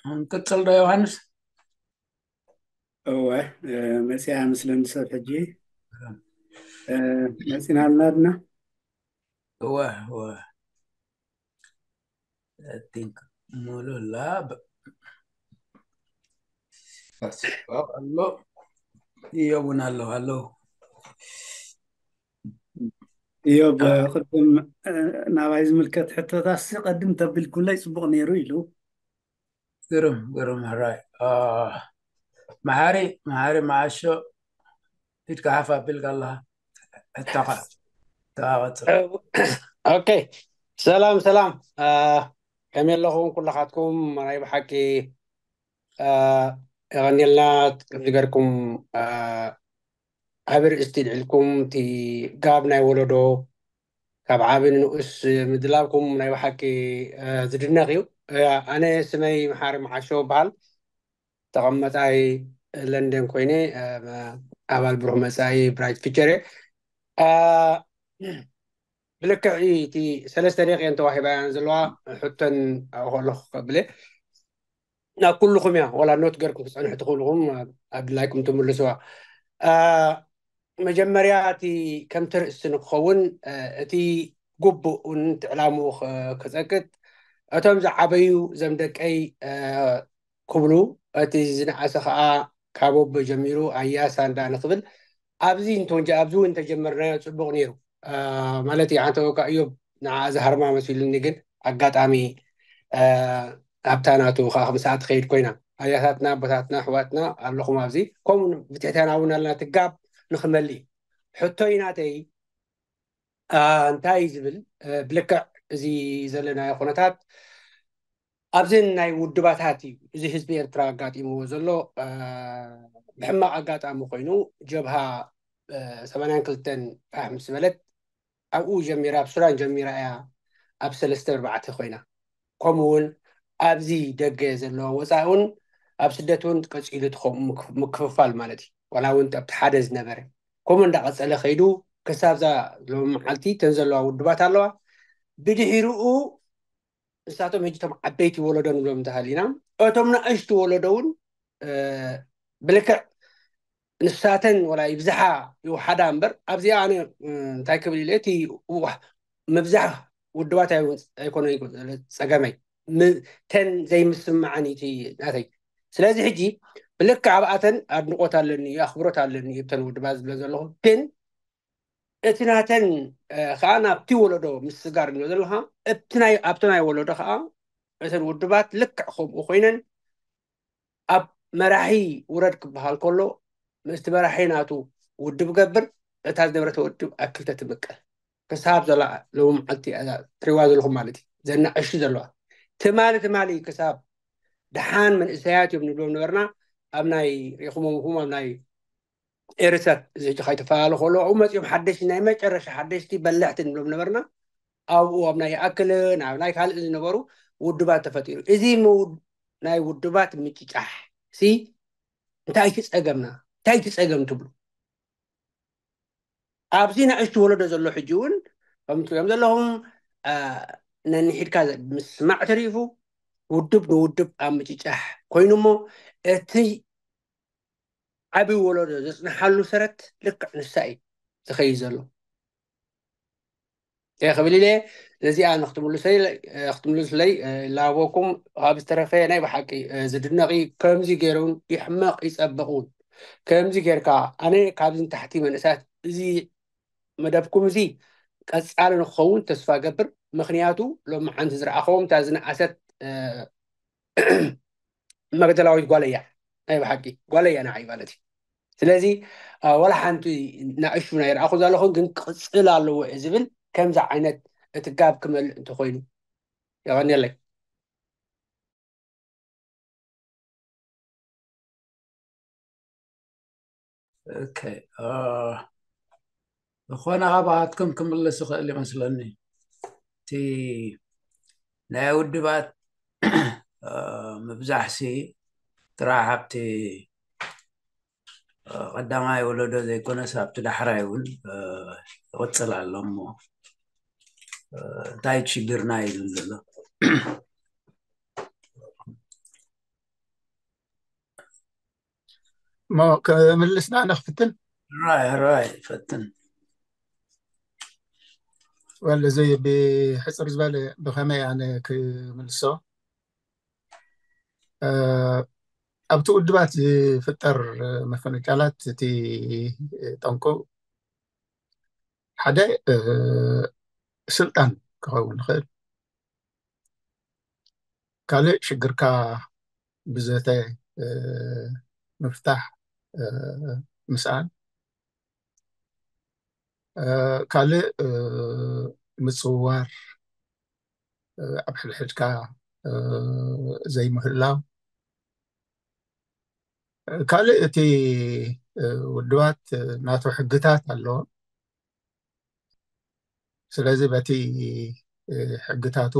ክንቅጽል ዶ ዮሃንስ? እወ፣ መፅያ ምስለን ሰብ ሕጂ መፂና ኣልና ድና? እወ እወ። I think ሙሉ ላብ ኣሎ። እዮብ እውን ኣሎ። ኣሎ። እዮብ፣ ቅድም ናባይ ዝምልከት ሕቶታሲ ቀድም ተቢልኩለይ ፅቡቅ ነይሩ ኢሉ። ግርም ግርም። ሕራይ። መሓሪ መሓሪ መዓሾ፣ ኢድካ ሓፍ ኣቢልካ ኣለኻ። ሕቶኻ ተቐጽል። ኦኬ። ሰላም ሰላም። ከመይ ኣለኹም ኩላኻትኩም? ናይ ብሓቂ የቐንየልና። ከምዚ ገርኩም ዓቢ ርእስቲ ልዕልኩም፣ እቲ ጋብ ናይ ወለዶ ካብ ዓቢ ንንኡስ ምድላብኩም ናይ ብሓቂ ዝድነቕ እዩ። ኣነ ስመይ መሓሪ መዓሾ በሃል። ተቐመጣይ ለንደን ኮይነ ኣባል ብሩህ መጻኢ ብራይት ፊቸር እየ። ብልክዕ እቲ ሰለስተ ደቂቀን ተዋሂባያን ዘለዋ ሕቶን ኣብኡ ከለኹ ከብለ ናብ ኩልኹም እያ፣ ዋላ ኖት ገርኩም ክጸንሑ ትኽእልኹም ኣድላይኩም ትምልስዋ። መጀመርያ እቲ ከምቲ ርእሲ ንክኸውን እቲ ግቡእ እውን እቲ ዕላምኡ ክጸቅጥ እቶም ዝዓበዩ ዘም ደቀይ ክብሉ፣ እቲ ዝነኣሰ ከዓ ካብ ኣቦ ጀሚሩ ኣያ ሳንዳ ንክብል ኣብዚ እንተወንጀ ኣብዚ እውን እንተጀመርናዮ ፅቡቅ ነይሩ ማለት እዩ። ሓንተ ወካ እዮብ ንዓ ዝሃርማ መሲሉኒ፣ ግን ኣጋጣሚ ኣብታ ናቱ ከዓ ክምስኣ ትኸይድ ኮይና ኣያታትና ኣቦታትና ኣሕዋትና ኣለኹም ኣብዚ ከምኡ ብትሕትና እውን ኣለና ትጋብ ንክመልእ እዩ። ሕቶይ ናተይ እንታይ ዝብል ብልክዕ እዚ ዘለናዮ ኩነታት ኣብዘን ናይ ውድባታት እዩ እዚ ህዝቢ ኤርትራ ኣጋጢምዎ ዘሎ። ብሕማቕ ኣጋጣሚ ኮይኑ ጀብሃ ሰማንያን ክልተን ፋሕ ምስ በለት ኣብኡ ጀሚራ ኣብ ሱዳን ጀሚራ እያ ኣብ ሰለስተ ኣርባዕተ ኮይና። ከምኡ እውን ኣብዚ ደገ ዘለዋ ወፃኢ እውን ኣብ ስደት እውን ቀፂሉ እቲ ከምኡ ምክፍፋል ማለት እዩ። ዋላ እውን ኣብቲ ሓደ ዝነበረ ከምኡ እንዳቐፀለ ከይዱ ክሳብ ዛ ሎሚ መዓልቲ እተን ዘለዋ ውድባት ኣለዋ። ብድሕሪኡ ንሳቶም ሕጂ እቶም ዓበይቲ ወለዶ ንብሎም እንተሃሊና እቶም ንእሽቱ ወለዶ እውን ብልክዕ ንሳተን ወላ ይብዝሓ ይውሓዳ እምበር ኣብዚኣ ኣነ እንታይ ክብል ኢለ እቲ ምብዛሕ ውድባት ኣይኮነ ፀገመይ ተን ዘይምስማዓን እቲ ናተይ። ስለዚ ሕጂ ብልክዕ ኣብኣተን ኣድንቆት ኣለኒ ኣኽብሮት ኣለኒ እተን ውድባት ዝብለ ዘለኹ ግን እቲ ናተን ከዓ ናብቲ ወለዶ ምስጋር ንብሎ ዘለካ ኣብቲ ናይ ወለዶ ከዓ እተን ውድባት ልክዕ ከምኡ ኮይነን ኣብ መራሒ ውረድ ክበሃል ከሎ ምስቲ መራሒ ናቱ ውድብ ገብር እታ ዝነበረት ውድብ ኣብ ክልተ ትምቀል ክሳብ ዘላ ሎሚ መዓልቲ ትሪዋ ዘለኹም ማለት እዩ። ዘናእሹ ዘለዋ ትማሊ ትማሊ ክሳብ ደሓን መንእሰያት እዮም ንብሎም ነበርና ኣብ ናይ ሪኹሞም ኹም ኣብ ናይ ኤርትራ እዚ ሕጂ ካይተፈላለ ከሎ ኣብኡ መፂኦም ሓደሽቲ ናይ መጨረሻ ሓደሽቲ በለሕቲ ንብሎም ነበርና። ኣብኡ ኣብ ናይ ይኣክልን ኣብ ናይ ካልእ ዝነበሩ ውድባት ተፈጢሩ። እዚ ናይ ውድባት ምጭጫሕ ሲ እንታይ እቲ ፀገምና? እንታይ እቲ ፀገም ትብሉ? ኣብዚ ንእሽቱ ወለዶ ዘሎ ሕጂ እውን ከም ትሪኦም ዘለኹም ነንሒድካ ምስማዕ ተሪፉ ውድብ ንውድብ ኣብ ምጭጫሕ ኮይኑ እሞ እቲ ዓብዪ ወለዶ ዘፅንሓሉ ሰረት ልክዕ ንሳ እዩ ዝኸይድ ዘሎ። እንታይ ክብል ኢለ ነዚኣ ንክትምልሰይ ክትምልስለይ ላቦኩም ካብ ዝተረፈ ናይ ብሓቂ ዝድነቂ ከምዚ ገይሩን ይሕመቕ ይፀብቕ እውን ከምዚ ጌርካ ኣነ ካብዚ ንታሕቲ መንእሳት እዚ መደብኩም እዚ ቀፃሊ ንክኸውን ተስፋ ገብር። ምክንያቱ ሎሚ ሓንቲ ዝረኣኸዎም እታ ዝነኣሰት መግደላዊት ጓል እያ ናይ ብሓቂ ጓል እያ ንዓይ ማለት እዩ። ስለዚ ወላ ሓንቲ ናእሹ ናይ ረኣኹ ዘለኹ ግን ክቅፅል ኣለዎ እየ ዝብል ከምዚ ዓይነት እቲ ጋብ ክመልእ እንተኮይኑ የቐንየለይ። ኦኬ ዝኾነ ካባትኩም ክምልስ ይኽእል ይመስለኒ። እቲ ናይ ውድባት ምብዛሕሲ ጥራሕ ኣብቲ ቀዳማይ ወለዶ ዘይኮነስ ኣብቲ ዳሕራይ እውን ይቕፅል ኣሎ እሞ እንታይ ሽግርና እዩ ዝብል ዘሎ? እሞ ክምልስና ነክፍትን ራይ ራይ ፈትን ወለ እዚ ብሕፅር ዝበለ ብኸመይ ኣነ ክምልሶ ኣብቲ ውድባት ዝፍጠር መፈነጫላት እቲ ጠንቁ ሓደ ስልጣን ክኸውን ይኽእል። ካልእ ሽግርካ ብዘተ ምፍታሕ ምስኣን፣ ካልእ ምፅውዋር፣ ኣብ ሕድሕድካ ዘይምህላው፣ ካልእ እቲ ውድባት ናቱ ሕግታት ኣለዎ። ስለዚ በቲ ሕግታቱ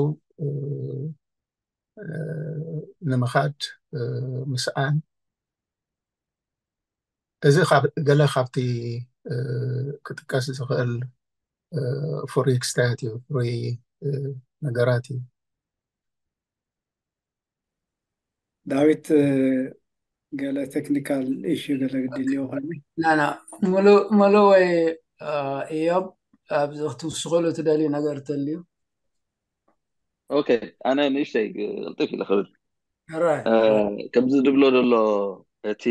ንምኻድ ምስኣን፣ እዚ ገለ ካብቲ ክጥቀስ ዝኽእል ፍሩይ ክስተያት እዩ፣ ፍሩይ ነገራት እዩ። ዳዊት፣ ገለ ቴክኒካል ኢሹ ገለ ግድልዮ ኮይኑ ናና ሙሉ ሙሉ ወይ እዮም ኣብዚ ክትውስኸሉ ትደልዩ ነገር ተልዩ ኦኬ፣ ኣነ ንእሽተይ ቅልጥፍ ኢለ ክብል። ራይ ከምዚ ዝብሎ ዘሎ እቲ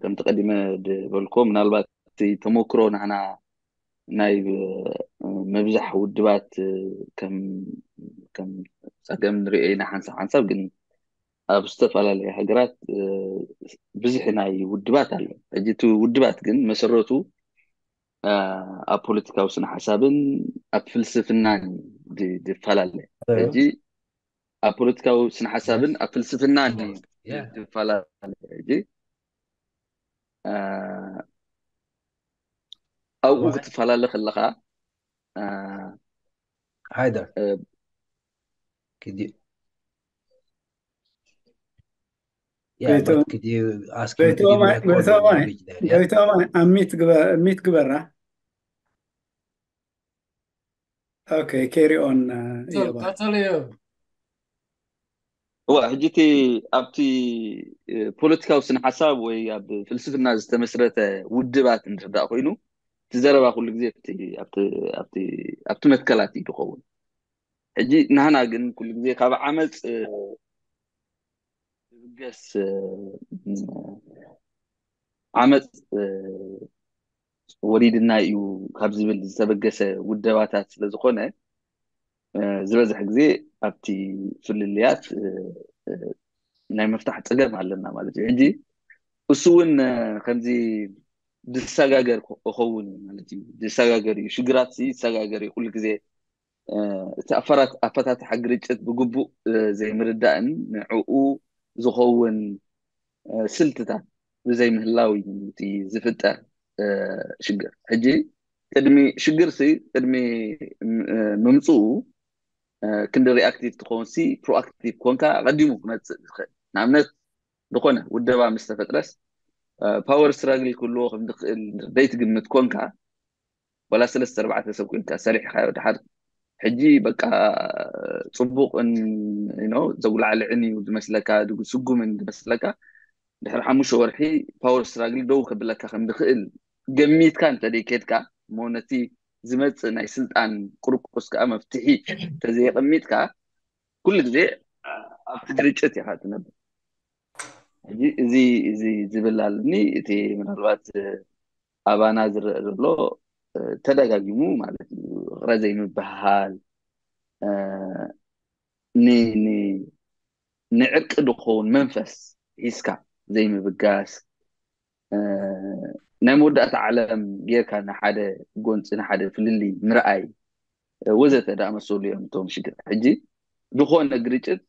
ከምቲ ቀዲመ ዝበልኮ ምናልባት እቲ ተመክሮ ንሕና ናይ ምብዛሕ ውድባት ከም ከም ፀገም ንሪኦ ኢና ሓንሳብ ሓንሳብ ግን ኣብ ዝተፈላለዩ ሃገራት ብዙሕ ናይ ውድባት ኣሎ። ሕጂ እቲ ውድባት ግን መሰረቱ ኣብ ፖለቲካዊ ስነ ሓሳብን ኣብ ፍልስፍናን ዝፈላለ ሕጂ ኣብ ፖለቲካዊ ስነ ሓሳብን ኣብ ፍልስፍናን ዝፈላለ ሕጂ ኣብኡ ክትፈላለ ከለካ ሃይደር ጎይቶማይ ኣሚት ግበራ። ኦኬ፣ carry on። ቀጸሉ። እዋ ሕጂ እቲ ኣብቲ ፖለቲካዊ ስነ ሓሳብ ወይ ኣብ ፍልስፍና ዝተመስረተ ውድባት እንድሕር ደኣ ኮይኑ እቲ ዘረባ ኩሉ ግዜ ኣብቲ መትከላት እዩ ዝኸውን። ሕጂ ናህና ግን ኩሉ ግዜ ካብ ዓመፅ ዝብገስ ዓመፅ ወሪድና እዩ ካብ ዝብል ዝተበገሰ ውደባታት ስለዝኾነ ዝበዝሕ ግዜ ኣብቲ ፍልልያት ናይ ምፍታሕ ፀገም ኣለና ማለት እዩ። ሕጂ እሱ እውን ከምዚ ዝሰጋገር እኸውን እዩ ማለት እዩ። ዝሰጋገር እዩ፣ ሽግራት ይሰጋገር እዩ ኩሉ ግዜ። እቲ ኣፈታትሓ ግርጭት ብግቡእ ዘይምርዳእን ንዕኡ ዝኸውን ስልትታት ብዘይምህላው እዩ እቲ ዝፍጠር ሽግር። ሕጂ ቅድሚ ሽግር ሲ ቅድሚ ምምፅኡ ክንዲ ሪኣክቲቭ ትኸውን ሲ ፕሮኣክቲቭ ኮንካ ኣቐዲሙ ክመፅእ ዝኽእል ንኣብነት ዝኾነ ውደባ ምስ ተፈጥረስ ፓወር ስትራግል ክህልዎ ከም ዝኽእል ዘይትግምት ኮንካ ዋላ ሰለስተ ኣርባዕተ ሰብ ኮንካ ሰሪሕካዮ ድሓር ሕጂ በቃ ፅቡቕን ዘጉላዕልዕን እዩ ዝመስለካ ስጉምን ዝመስለካ ድሕሪ ሓሙሽተ ወርሒ ፓወር ስትራግል ደው ከብለካ ከም ዝኽእል ገሚትካ እንተደይ ከድካ እሞ ነቲ ዝመፅእ ናይ ስልጣን ቁርቁስ ከዓ መፍትሒ ተዘየቀሚጥካ ኩሉ ግዜ ኣብቲ ግርጭት ኢኻ ትነብር። ሕጂ እዚ እዚ ዝብል ኣለኒ እቲ ምናልባት ኣባና ዝረአ ዘሎ ተደጋጊሙ ማለት እዩ። ቅረ ዘይምብህሃል ንዕርቂ ዝኸውን መንፈስ ሒዝካ ዘይምብጋስ ናይ መወዳእታ ዓለም ጌርካ ንሓደ ጎንፂ ንሓደ ፍልልይ ምርኣይ ወዘተ ዝኣመሰሉ እዮም እቶም ሽግር። ሕጂ ዝኾነ ግርጭት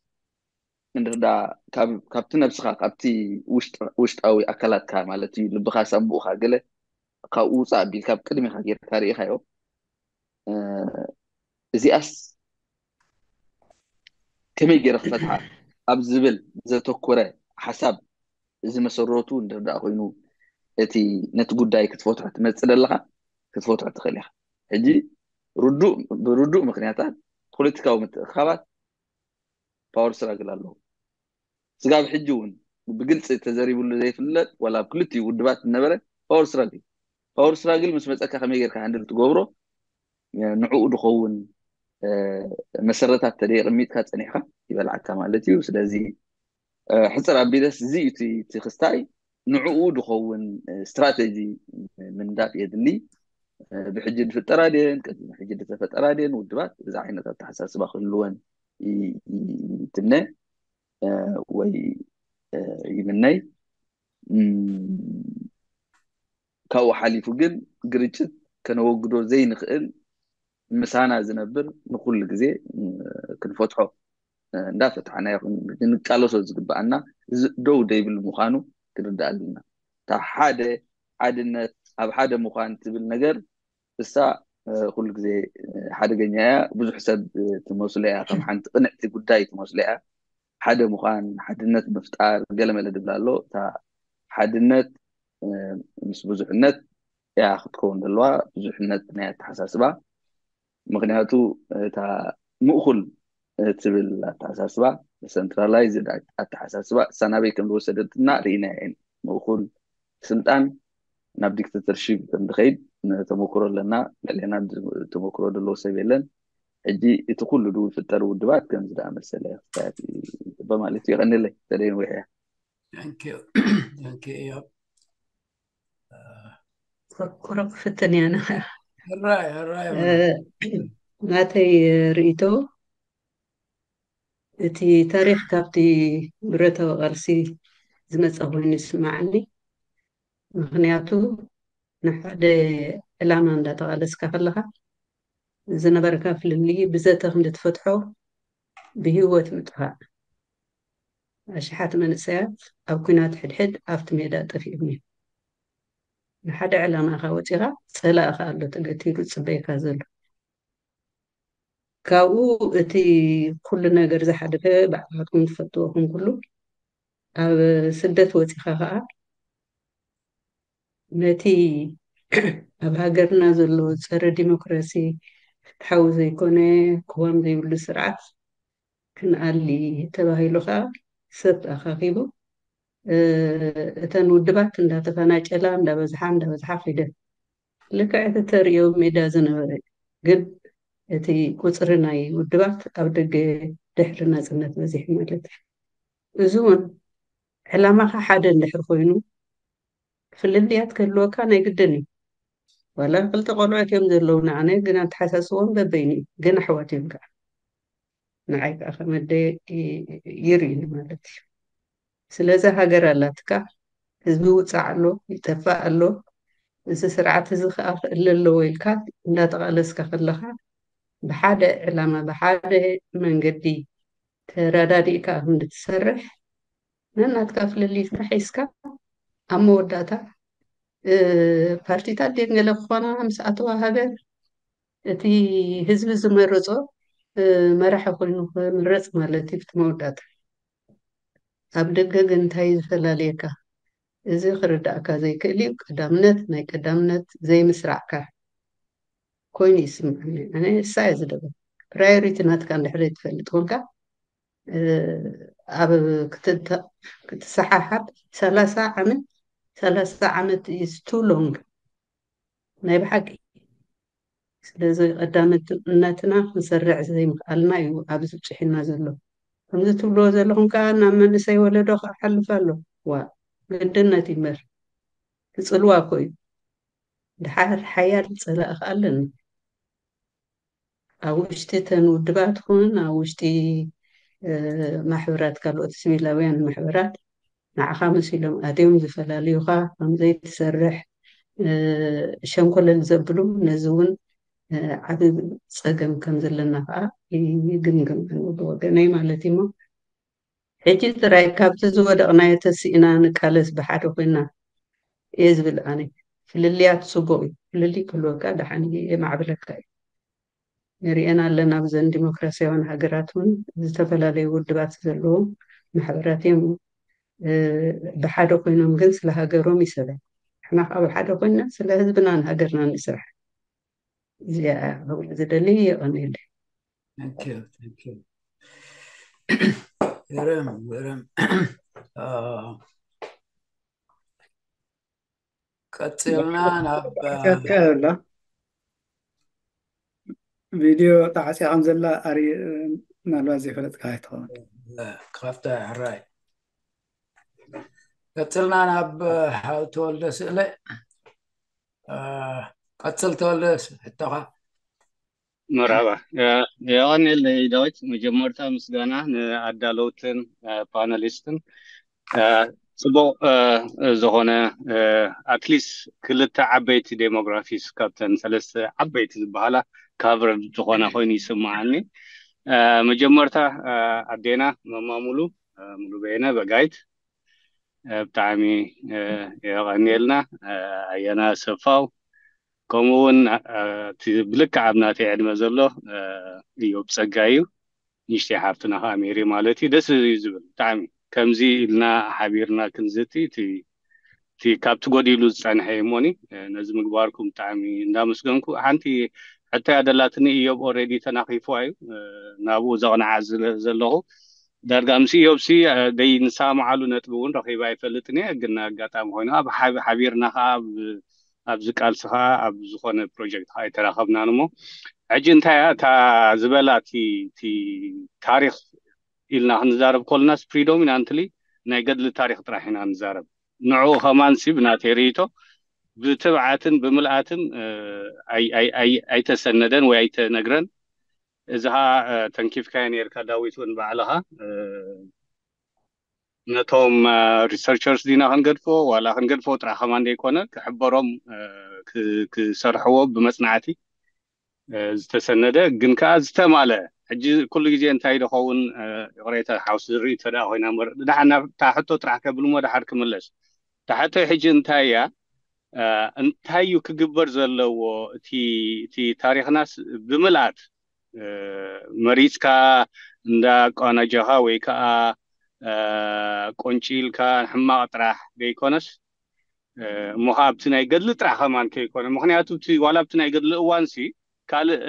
እንድሕር ካብቲ ነብስኻ ካብቲ ውሽጣዊ ኣካላትካ ማለት እዩ ልብኻ ሳንቡእኻ ገለ ካብኡ ውፃእ ኣቢልካ ኣብ ቅድሚኻ ጌርካ ርኢኻዮ እዚኣስ ከመይ ገይረ ክፈትሓ ኣብ ዝብል ዘተኮረ ሓሳብ እዚ መሰረቱ እንድሕር ኮይኑ እቲ ነቲ ጉዳይ ክትፈትሖ ትመፅእ ዘለኻ ክትፈትሖ ትኽእል ኢኻ። ሕጂ ርዱእ ብርዱእ ምክንያታት ፖለቲካዊ ምትእኻባት ፓወር ስትራግል ኣለዎ። ስጋብ ሕጂ እውን ብግልፂ ተዘሪብሉ ዘይፍለጥ ዋላ ኣብ ክልቲኡ ውድባት ዝነበረ ፓወር ስትራግል ፓወር ስትራግል ምስ መፀካ ከመይ ጌርካ ሃንድል ትገብሮ ንዕኡ ድኸውን መሰረታት ተደየቅሚጥካ ፀኒሕካ ይበልዓካ ማለት እዩ። ስለዚ ሕፅር ኣቢለስ እዚ እቲ ክስታይ ንዕኡ ድኸውን ስትራቴጂ ምንዳፍ የድሊ። ብሕጂ ዝፍጠራ ድን ቅድሚ ሕጂ ዝተፈጠራ ድን ውድባት እዚ ዓይነት ኣተሓሳስባ ክህልወን ይትነ ወይ ይምነይ። ካብኡ ሓሊፉ ግን ግርጭት ከነወግዶ ዘይንኽእል ምሳና ዝነብር ንኩሉ ግዜ ክንፈትሖ እንዳፈትሓና ይኹን ክንቃለሶ ዝግበኣና ደው ደይብል ምዃኑ ክንርዳእ ኣለና። እታ ሓደ ሓድነት ኣብ ሓደ ምዃን ትብል ነገር እሳ ኩሉ ግዜ ሓደገኛ እያ። ብዙሕ ሰብ ትመስሎ እያ፣ ከም ሓንቲ ቅንዕቲ ጉዳይ ትመስሎ እያ። ሓደ ምዃን፣ ሓድነት ምፍጣር ገለመለ ድብል ኣሎ። እታ ሓድነት ምስ ብዙሕነት እያ ክትከውን ዘለዋ፣ ብዙሕነት ናይ ኣተሓሳስባ። ምክንያቱ እታ ምእኩል ትብል ኣተሓሳስባ፣ ሰንትራላይዝ ኣተሓሳስባ እሳ ናበይ ከም ዝወሰደትና ርኢና እየን። ምእኩል ስልጣን ናብ ዲክተተርሺፕ ከም ዝኸይድ ተመክሮ ኣለና። ልዕሌና ተመክሮ ዘለዎ ሰብ የለን። ሕጂ እቲ ኩሉ ድው ዝፍጠር ውድባት ከምዚ ደኣ መሰለ ክስታያት ይፅበ ማለት እዩ። የቐንለይ ተደይን ወይሕያ ቁረቕ ፍትን እያ። ናተይ ርእይቶ እቲ ታሪኽ ካብቲ ብረታዊ ቃልሲ ዝመፀ ኮይኑ ይስማዓኒ። ምክንያቱ ንሓደ ዕላማ እንዳተቓለስካ ከለኻ ዝነበረካ ፍልልይ ብዘተ ክንዲ ትፈትሖ ብህይወት ምጥፋእ ኣሽሓት መንእሰያት ኣብ ኲናት ሕድሕድ ኣብቲ ሜዳ ጠፊኦም እዮም። ንሓደ ዕላማኻ ወፂኻ ፀላእኻ ኣሎ ተገቲሩ ፅበይካ ዘሎ። ካብኡ እቲ ኩሉ ነገር ዝሓለፈ ባዕልኻትኩም ትፈልጥዎ ከም ኩሉ ኣብ ስደት ወፂኻ ከዓ ነቲ ኣብ ሃገርና ዘሎ ፀረ ዲሞክራሲ ፍትሓዊ ዘይኮነ ቅዋም ዘይብሉ ስርዓት ክንኣሊ ተባሂሉ ከዓ ሰብ ኣኻኺቡ እተን ውድባት እንዳተፈናጨላ እንዳበዝሓ እንዳበዝሓ ከይደን ልክዕ እቲ ተርእዮ ሜዳ ዝነበረ ግን እቲ ቁፅሪ ናይ ውድባት ኣብ ደገ ድሕሪ ናፅነት በዚሑ ማለት እዩ። እዚ እውን ዕላማኻ ሓደ እንድሕር ኮይኑ ፍልልያት ክህልወካ ናይ ግድን እዩ። ዋላ ክልተ ቆልዑት እዮም ዘለውና ኣነ ግን ኣተሓሳስቦም በበይኑ እዩ ግን ኣሕዋት እዮም ከዓ ንዓይ ከዓ ከመደ ይርእኒ ማለት እዩ። ስለዚ ሃገር ኣላትካ ህዝቢ ውፃዕ ኣሎ ይጠፋእ ኣሎ እዚ ስርዓት እዚ ከዓ ክእለ ኣለዎ ኢልካ እንዳተቃለስካ ከለካ ብሓደ ዕላማ ብሓደ መንገዲ ተረዳዲእካ ክንዲ ትሰርሕ ነናትካ ፍልልይካ ሒዝካ ኣብ መወዳእታ ፓርቲታት ድየን ገለ ክኾና ምስ ኣተዋ ሃገር እቲ ህዝቢ ዝመረፆ መራሒ ኮይኑ ክምረፅ ማለት እዩ። ብቲ መወዳእታ ኣብ ደገ ግን እንታይ እዩ ዝፈላልየካ? እዚ ክርዳእካ ዘይክእል እዩ። ቀዳምነት ናይ ቀዳምነት ዘይምስራዕካ ኮይኑ ይስምዓኒ። ኣነ እሳ እየ ዝደበ ፕራዮሪቲ ናትካ እንድሕር ትፈልጥ ኮንካ ኣብ ክትሰሓሓብ ሰላሳ ዓመት ሰላሳ ዓመት is too long ናይ ብሓቂ ስለዚ ቀዳምነትና ክንሰርዕ ዘይምክኣልና እዩ ኣብዚ ብፅሒና ዘሎ ከምዚ ትብልዎ ዘለኹም ከዓ ናብ መንእሰይ ወለዶ ክሓልፍ ኣሎ ዋ ግድነት ይመር ክፅልዋ እኮ እዩ ድሓር ሓያል ፀላእ ከዓ ኣለኒ ኣብ ውሽጢ እተን ውድባት ኩን ኣብ ውሽጢ ማሕበራት ካልኦት ሲቪላውያን ማሕበራት ንዓኻ መሲሎም ኣትዮም ዝፈላልዩኻ ከምዘይትሰርሕ ሸንኮለል ዘብሉ ነዚ እውን ዓብ ፀገም ከም ዘለና ከዓ ይግምግም ኣነ ብወገነይ ማለት እሞ ሕጂ ጥራይ ካብቲ ዝወደቕናዮ ተስኢና ንቃለስ ብሓደ ኮይና እየ ዝብል ኣነ ፍልልያት ፅቡቅ እዩ ፍልልይ ክህልወካ ደሓን የማዕብለካ እዩ ንሪኤን ኣለና ብዘን ዲሞክራሲያውያን ሃገራት እውን ዝተፈላለዩ ውድባት ዘለዎም ማሕበራት እዮም ብሓደ ኮይኖም ግን ስለ ሃገሮም ይሰብዕ ንሕና ከዓ ብሓደ ኮይንና ስለ ህዝብናን ሃገርናን ንስራሕ። እዚኣ ክብል ዝደሊ። የቐንየለይ። Thank you, thank you። ግርም ግርም። ቀጽልና ናብ ካ ኣሎ ቪድዮ ተዓፅያ ከም ዘላ ኣሪ ምናልባት ዘይፈለጥካ ኣይትኸውን። ካብታ ሕራይ ቀጽልና ናብ ሓው ተወልደ ስእለ። ቀጽል ተወልደ ሕቶኻ። መርሓባ። የቐንየለይ ዳዊት። መጀመርታ ምስጋና ንኣዳለውትን ፓነሊስትን። ጽቡቕ ዝኾነ ኣትሊስት ክልተ ዓበይቲ ዴሞግራፊስ ካብተን ሰለስተ ዓበይቲ ዝበሃላ ካቨርድ ዝኾና ኮይኑ ይስምዓኒ። መጀመርታ ኣዴና መማሙሉ ሙሉ በየነ በጋይት ብጣዕሚ የቐንየልና። ኣያና ሰፋው ከምኡ እውን እቲ ብልክዕ ኣብ ናተይ ዕድመ ዘሎ እዮብ ጸጋ እዩ። ንእሽተይ ሓፍትና ከዓ ሜሪ ማለት እዩ። ደስ እዩ ዝብል ብጣዕሚ። ከምዚ ኢልና ሓቢርና ክንዝቲ እቲ እቲ ካብቲ ጎዲሉ ዝጸንሐ እዩ እሞኒ ነዚ ምግባርኩም ብጣዕሚ እንዳመስገንኩ። ሓንቲ ሕቶ እያ ደላትኒ። እዮብ ኦልሬዲ ተናኺፍዋ እዩ ናብኡ ዘቕንዓ ዘለኹ። ዳርጋ ምስ እዮብሲ ደይ ንሰማማዓሉ ነጥቢ እውን ረኺበ ኣይፈልጥን እየ፣ ግን ኣጋጣሚ ኮይኑ ኣብ ሓቢርና ከዓ ኣብዚ ቃልሲ ከዓ ኣብ ዝኾነ ፕሮጀክት ከዓ ኣይተራኸብናን እሞ ሕጂ እንታይ እያ እታ ዝበላ እቲ ታሪክ ኢልና ክንዛረብ ከለናስ ፕሪዶሚናንትሊ ናይ ገድሊ ታሪክ ጥራሕ ኢና ንዛረብ። ንዕኡ ከማንሲ ብናተይ ርእይቶ ብትብዓትን ብምልኣትን ኣይተሰነደን ወይ ኣይተነግረን። እዚ ከዓ ተንኪፍካዮ ነርካ ዳዊት እውን ባዕልኻ ነቶም ሪሰርቸርስ ዲና ክንገድፎ ዋላ ክንገድፎ ጥራሕ ከማን ዘይኮነ ክሕበሮም ክሰርሕዎ ብመፅናዕቲ ዝተሰነደ ግን ከዓ ዝተማለ ሕጂ ኩሉ ግዜ እንታይ ዝኸውን ይቕሬታ ሓውስ ዝርኢ እንተ ኮይና እምበር ድሓር ናብታ ሕቶ ጥራሕ ከብል ሞ ድሓር ክምለስ። እታ ሕቶይ ሕጂ እንታይ እያ? እንታይ እዩ ክግበር ዘለዎ? እቲ ታሪኽናስ ብምልኣት መሪፅካ እንዳቋናጀኻ ወይ ከዓ ቆንጪልካ ሕማቕ ጥራሕ ዘይኮነስ እሞ ከዓ ኣብቲ ናይ ገድሊ ጥራሕ ከማን ከይኮነ ምክንያቱ ዋላ ኣብቲ ናይ ገድሊ እዋንሲ ካልእ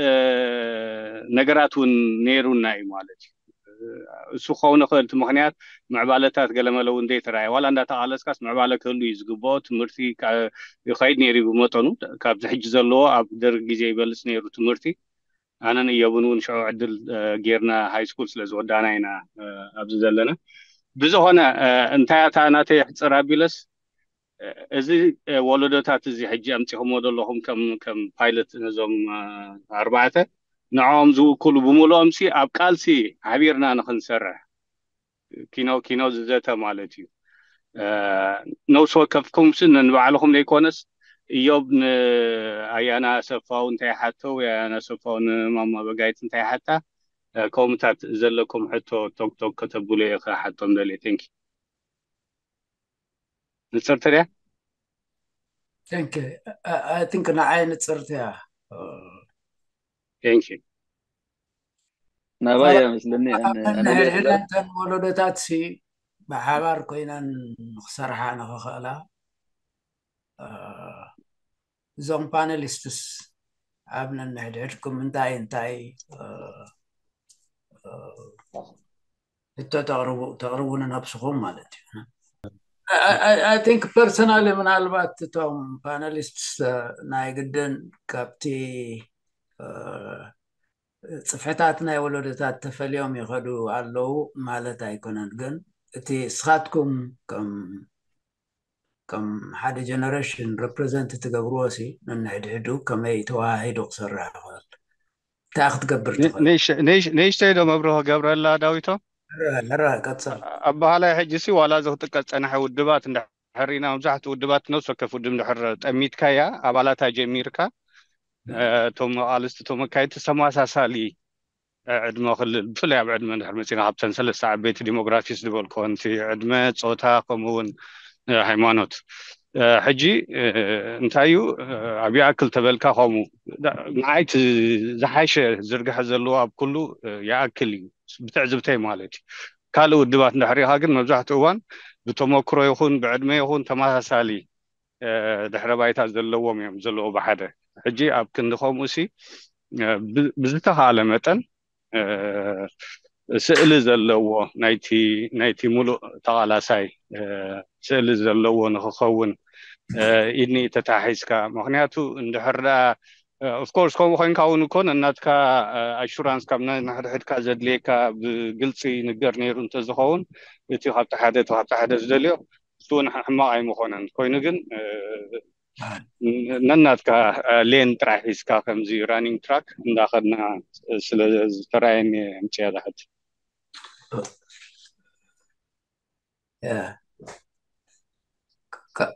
ነገራት እውን ነይሩና እዩ ማለት እዩ። እሱ ክኸውን ይኽእል እቲ ምክንያት ምዕባለታት ገለመለ እውን ዘይተረኣየ ዋላ እንዳተቃለስካስ ምዕባለ ክህሉ እዩ ዝግብኦ። ትምህርቲ ይኸይድ ነይሩ እዩ ብመጠኑ ካብዚ ሕጂ ዘለዎ ኣብ ደርግ ግዜ ይበልፅ ነይሩ ትምህርቲ። ኣነን እዮብን እውን ሽዑ ዕድል ጌርና ሃይ ስኩል ስለ ዝወዳእና ኢና ኣብዚ ዘለና። ብዝኾነ እንታይ እታ ናተይ ሕፅር ኣቢለስ እዚ ወለዶታት እዚ ሕጂ ኣምፂኹምዎ ዘለኹም ከም ከም ፓይለት ነዞም ኣርባዕተ ንዕኦም ዝውክሉ ብምልኦም ሲ ኣብ ቃልሲ ሓቢርና ንክንሰርሕ ኪኖ ኪኖ ዝዘተ ማለት እዩ። ነብሲ ወከፍኩም ሲ ንባዕልኹም ዘይኮነስ እዮብ ንኣያና ኣሰፋው እንታይ ሓቶ ወይ ኣያና ኣሰፋው ንማማ በጋይት እንታይ ሓታ ከምኡታት ዘለኩም ሕቶ ቶክቶክ ከተብሉ እየ ክሓቶም ደልየ። ቴንኪ ንጽርቲ ድያ? Thank you. I think ንዓይ ንጽርቲ እያ። Thank you. ናባይ እያ መስለኒ። ንሕድሕደን ወለዶታት ሲ ብሓባር ኮይነን ንክሰርሓ ንክኽእላ እዞም ፓነሊስትስ ኣብ ነንሕድሕድኩም እንታይ እንታይ ሕቶ ተቕርቡ ተቕርቡ ንነብስኹም ማለት እዩ። I think personally ምናልባት እቶም ፓነሊስትስ ናይ ግድን ካብቲ ጽፍሕታት ናይ ወለዶታት ተፈልዮም ይኸዱ ኣለዉ ማለት ኣይኮነን፣ ግን እቲ ስኻትኩም ከም ከም ሓደ ጀነሬሽን ሬፕሬዘንት ትገብርዎ ሲ ነንሕድሕዱ ከመይ ተዋሃሂዱ ክሰርሕ ይኽእል እንታይ ክትገብር ትኽእል? ንእሽተይ ዶ መብርህ ክገብረላ ዳዊቶ? ሕራ ቀፅል። ኣባሃላይ ሕጂ ሲ ዋላ እዚ ክጥቀስ ፀናሐ ውድባት እንድሕር ሪኢና መብዛሕትኡ ውድባት ነብሲ ወከፍ ውድብ እንድሕር ጠሚትካያ ኣባላታ ጀሚርካ እቶም ኣቃልስቲ እቶም መካየድቲ ተመሳሳሊ ዕድመ ክልል ብፍላይ ኣብ ዕድመ እንድሕር መፂና ካብተን ሰለስተ ዓበይቲ ዲሞግራፊስ ዝበልክወን እቲ ዕድመ ፆታ ከምኡ እውን ሃይማኖት ሕጂ እንታይ እዩ ኣብ ይኣክል ተበልካ ከምኡ ንዓይ እቲ ዝሓሸ ዝርግሐ ዘለዎ ኣብ ኩሉ ይኣክል እዩ ብትዕዝብተይ ማለት እዩ ካልእ ውድባት እንድሕር ኢኻ ግን መብዛሕትኡ እዋን ብተመክሮ ይኹን ብዕድመ ይኹን ተመሳሳሊ ድሕረ ባይታ ዘለዎም እዮም ዘለዉ ብሓደ። ሕጂ ኣብ ክንዲ ከምኡ ሲ ብዝተኻለ መጠን ስእሊ ዘለዎ ናይቲ ሙሉእ ተቓላሳይ ስእሊ ዘለዎ ንክኸውን ኢድኒ ተታሒዝካ። ምክንያቱ እንድሕር ደኣ ኦፍኮርስ ከምኡ ኮይንካ እውን እኮ ነናትካ ኣሹራንስ ካብ ነንሕድሕድካ ዘድልየካ ብግልፂ ይንገር ነይሩ እንተዝኸውን እቲ ካብቲ ሓደ እቲ ካብቲ ሓደ ዝደልዮ እሱ እውን ሕማቕ ኣይምኾነን። ኮይኑ ግን ነናትካ ሌን ጥራሕ ሒዝካ ከምዚ ራኒንግ ትራክ እንዳኸድና ስለ ዝተረኣየኒ ምፅያ ዛሕት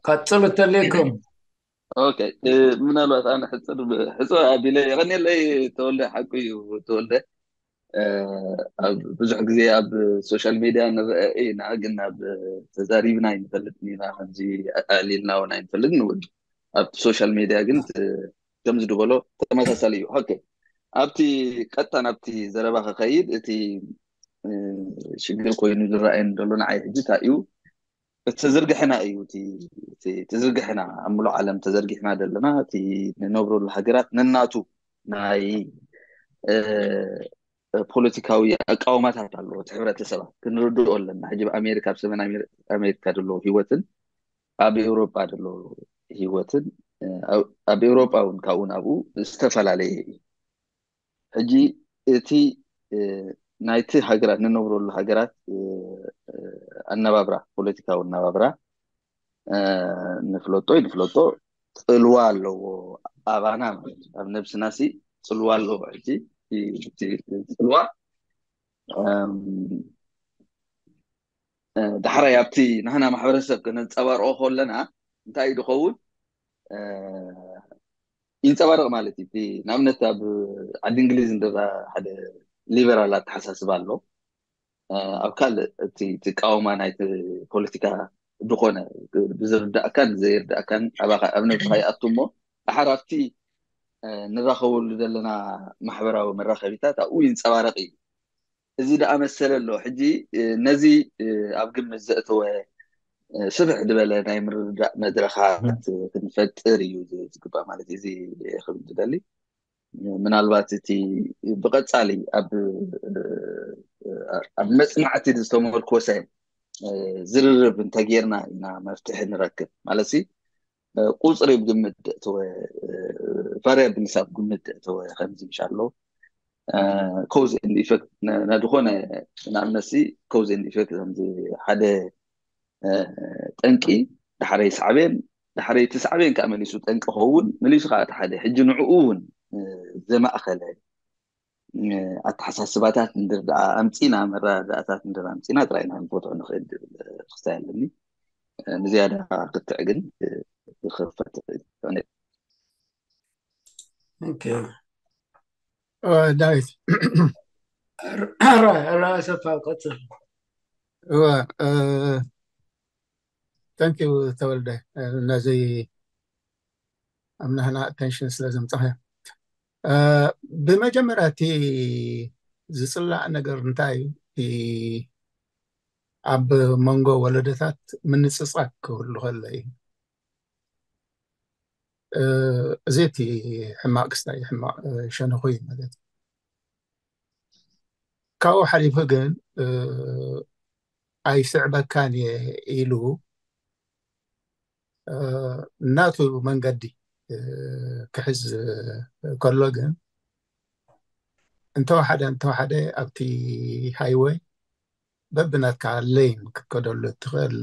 ቀፅሉ ተለይኩም። ኦኬ፣ ምናልባት ኣነ ሕፅር ሕፅር ኣቢለ የቐንየለይ። ተወልደ ሓቁ እዩ። ተወልደ ኣብ ብዙሕ ግዜ ኣብ ሶሻል ሚድያ ንረአ ኢና፣ ግን ኣብ ተዛሪብና ኣይንፈልጥን ኢና፣ ከምዚ ኣዕሊልና እውን ኣይንፈልጥን እውን ኣብ ሶሻል ሚድያ ግን ከምዚ ዝበሎ ተመሳሳሊ እዩ። ኦኬ፣ ኣብቲ ቀጥታ ናብቲ ዘረባ ክኸይድ፣ እቲ ሽግር ኮይኑ ዝረኣየኒ ዘሎ ንዓይ ሕጂ እንታይ እዩ፣ እቲ ዝርግሕና እዩ። እቲ ዝርግሕና ኣብ ምሉእ ዓለም ተዘርጊሕና ዘለና፣ እቲ ንነብረሉ ሃገራት ነናቱ ናይ ፖለቲካዊ ኣቃውማታት ኣለዎ። እቲ ሕብረተሰባት ክንርድኦ ኣለና። ሕጂ ኣብ ኣሜሪካ፣ ኣብ ሰሜን ኣሜሪካ ዘሎ ህይወትን ኣብ ኤውሮጳ ዘሎ ህይወትን ኣብ ኤውሮጳ እውን ካብኡ ናብኡ ዝተፈላለየ እዩ። ሕጂ እቲ ናይቲ ሃገራት ንነብረሉ ሃገራት ኣነባብራ፣ ፖለቲካዊ ኣነባብራ ንፍለጦ ይንፍለጦ፣ ፅልዋ ኣለዎ ኣባና ማለት እዩ። ኣብ ነብስና ሲ ፅልዋ ኣለዎ። ሕጂ ፅልዋ ዳሕራይ ኣብቲ ንሕና ማሕበረሰብ ከነንፀባርቆ ከለና እንታይ እዩ ዝኸውን? ይንፀባረቕ ማለት እዩ። ንኣብነት ኣብ ዓዲ እንግሊዝ እንደ ሓደ ሊበራል ኣተሓሳስባ ኣሎ። ኣብ ካልእ እቲ ትቃወማ ናይ ፖለቲካ ዝኾነ ብዝርዳእካን ዘይርዳእካን ኣባኻ ኣብ ነብስኻ ይኣቱ እሞ ድሓር ኣብቲ ንራኸበሉ ዘለና ማሕበራዊ መራኸቢታት ኣብኡ ይንፀባረቕ እዩ። እዚ ደኣ መሰለ ኣሎ። ሕጂ ነዚ ኣብ ግምት ዘእተወ ስፍሕ ዝበለ ናይ ምርድዳእ መድረኻት ክንፈጥር እዩ ዝግባእ ማለት እዩ። እዚ ክብል ዝደሊ ምናልባት እቲ ብቐጻሊ ኣብ ኣብ መጽናዕቲ ዝተመርኮሰ ዝርርብ እንተጌርና ኢና መፍትሒ ንረክብ ማለት ሲ ቁፅሪ ብግምት ደእተወ ቫሪያብልስ ኣብ ግምት ደእተወ ከምዚ ምሻ ኣሎ ኮዝ ኤንድ ኢፌክት ነድኾነ ንኣብነት ሲ ኮዝ ኤንድ ኢፌክት ከምዚ ሓደ ጠንቂ ዳሕረይ ሳዕቤን ዳሕረይ እቲ ሳዕቤን ከዓ መሊሱ ጠንቂ ኸውን መሊሱ ከዓ እቲ ሓደ ሕጂ ንዕኡ እውን ዘማእኸለ ኣተሓሳስባታት እንድር ደኣ ኣምፂና መረዳእታት እንድር ኣምፂና ጥራይ ኢና ክንፈትሖ ንኽእል ዝብል ክስታይ ኣለኒ። ንዝያዳ ክትዕ ግን ክፈትሕ ዳዊት ሰፋ ቀፅል። እወ፣ thank you ተወልደ፣ ነዚ ኣብ ናህና ኣቴንሽን ስለ ዘምፃኸ። ብመጀመርያ እቲ ዝፅላእ ነገር እንታይ እዩ? ኣብ መንጎ ወለደታት ምንፅፃግ ክህሉ ከሎ እዩ። እዚ እቲ ሕማቅ ክስታይ ሕማቅ ሸነኹ እዩ ማለት እዩ። ካብኡ ሓሊፉ ግን ኣይስዕበካን እየ ኢሉ ናቱ መንገዲ ክሕዝ ከሎ ግን እንተወሓደ እንተወሓደ ኣብቲ ሃይወይ በብናትካ ሌን ክትከደሉ እትኽእል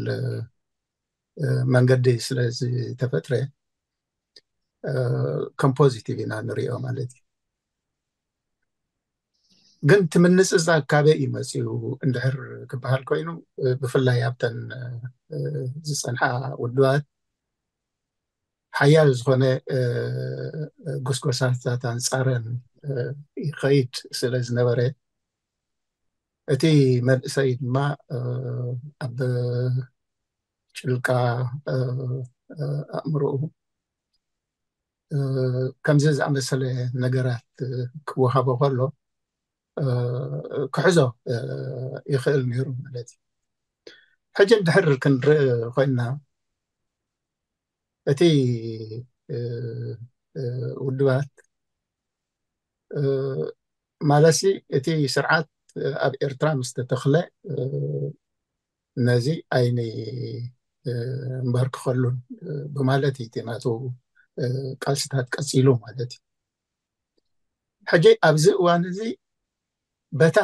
መንገዲ ስለ ዝተፈጥረ ከም ፖዚቲቭ ኢና ንሪኦ ማለት እዩ። ግን እቲ ምንፅፃግ ካበይ እዩ መፂኡ እንድሕር ክበሃል ኮይኑ ብፍላይ ኣብተን ዝፀንሓ ውድባት ሓያል ዝኾነ ጎስጎሳታት ኣንፃረን ይኸይድ ስለ ዝነበረ እቲ መንእሰይ ድማ ኣብ ጭልቃ ኣእምሮኡ ከምዚ ዝኣመሰለ ነገራት ክወሃቦ ከሎ ክሕዞ ይኽእል ነይሩ ማለት እዩ። ሕጂ እንድሕር ክንርኢ ኮይንና እቲ ውድባት ማለትሲ እቲ ስርዓት ኣብ ኤርትራ ምስ ተተኽለ ነዚ ኣይንንበርክኸሉን ብማለት እዩ እቲ ናቱ ቃልስታት ቀፂሉ ማለት እዩ። ሕጂ ኣብዚ እዋን እዚ በታ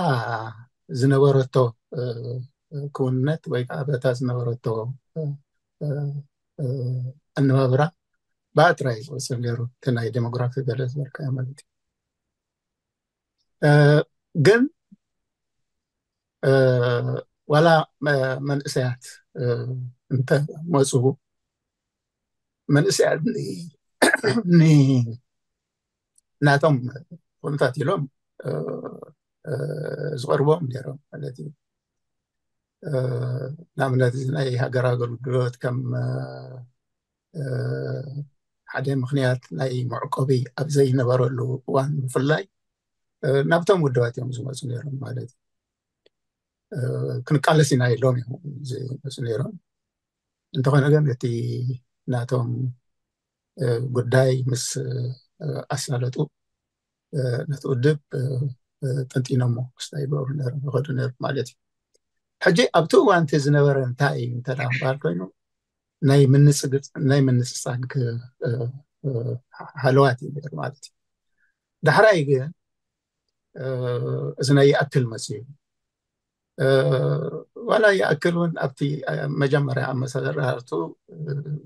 ዝነበረቶ ክውንነት ወይ ከዓ በታ ዝነበረቶ ኣነባብራ ብኣጥራይ ዝወሰን ነይሩ፣ እቲ ናይ ዴሞግራፊ ገለ ዝበልካዮ ማለት እዩ። ግን ዋላ መንእሰያት እንተ መፁ መንእሰያት ናቶም ኮንታት ኢሎም ዝቐርቦም ነይሮም ማለት እዩ። ንኣብነት ናይ ሃገር ኣገልግሎት ከም ሓደ ምክንያት ናይ መዕቆቢ ኣብ ዘይነበረሉ እዋን ብፍላይ ናብቶም ውድባት እዮም ዝመፁ ነይሮም ማለት እዩ። ክንቃለስ ኢና ኢሎም እዮም ዝመፁ ነይሮም። እንተኾነ ግን እቲ ናቶም ጉዳይ ምስ ኣሳለጡ ነቲ ውድብ ጠንጢኖሞ ክስታይ ይገብሩ ነይሮም ይኸዱ ነይሮም ማለት እዩ። ሕጂ ኣብቲ እዋን እቲ ዝነበረ እንታይ እዩ እንተ ደኣ ምባል ኮይኑ ናይ ምንጽጻግ ሃለዋት እዩ ነይሩ ማለት እዩ። ዳሕራይ ግን እዚ ናይ ይኣክል መጽዩ ዋላ ይኣክል እውን ኣብቲ መጀመርያ ኣመሰራርቱ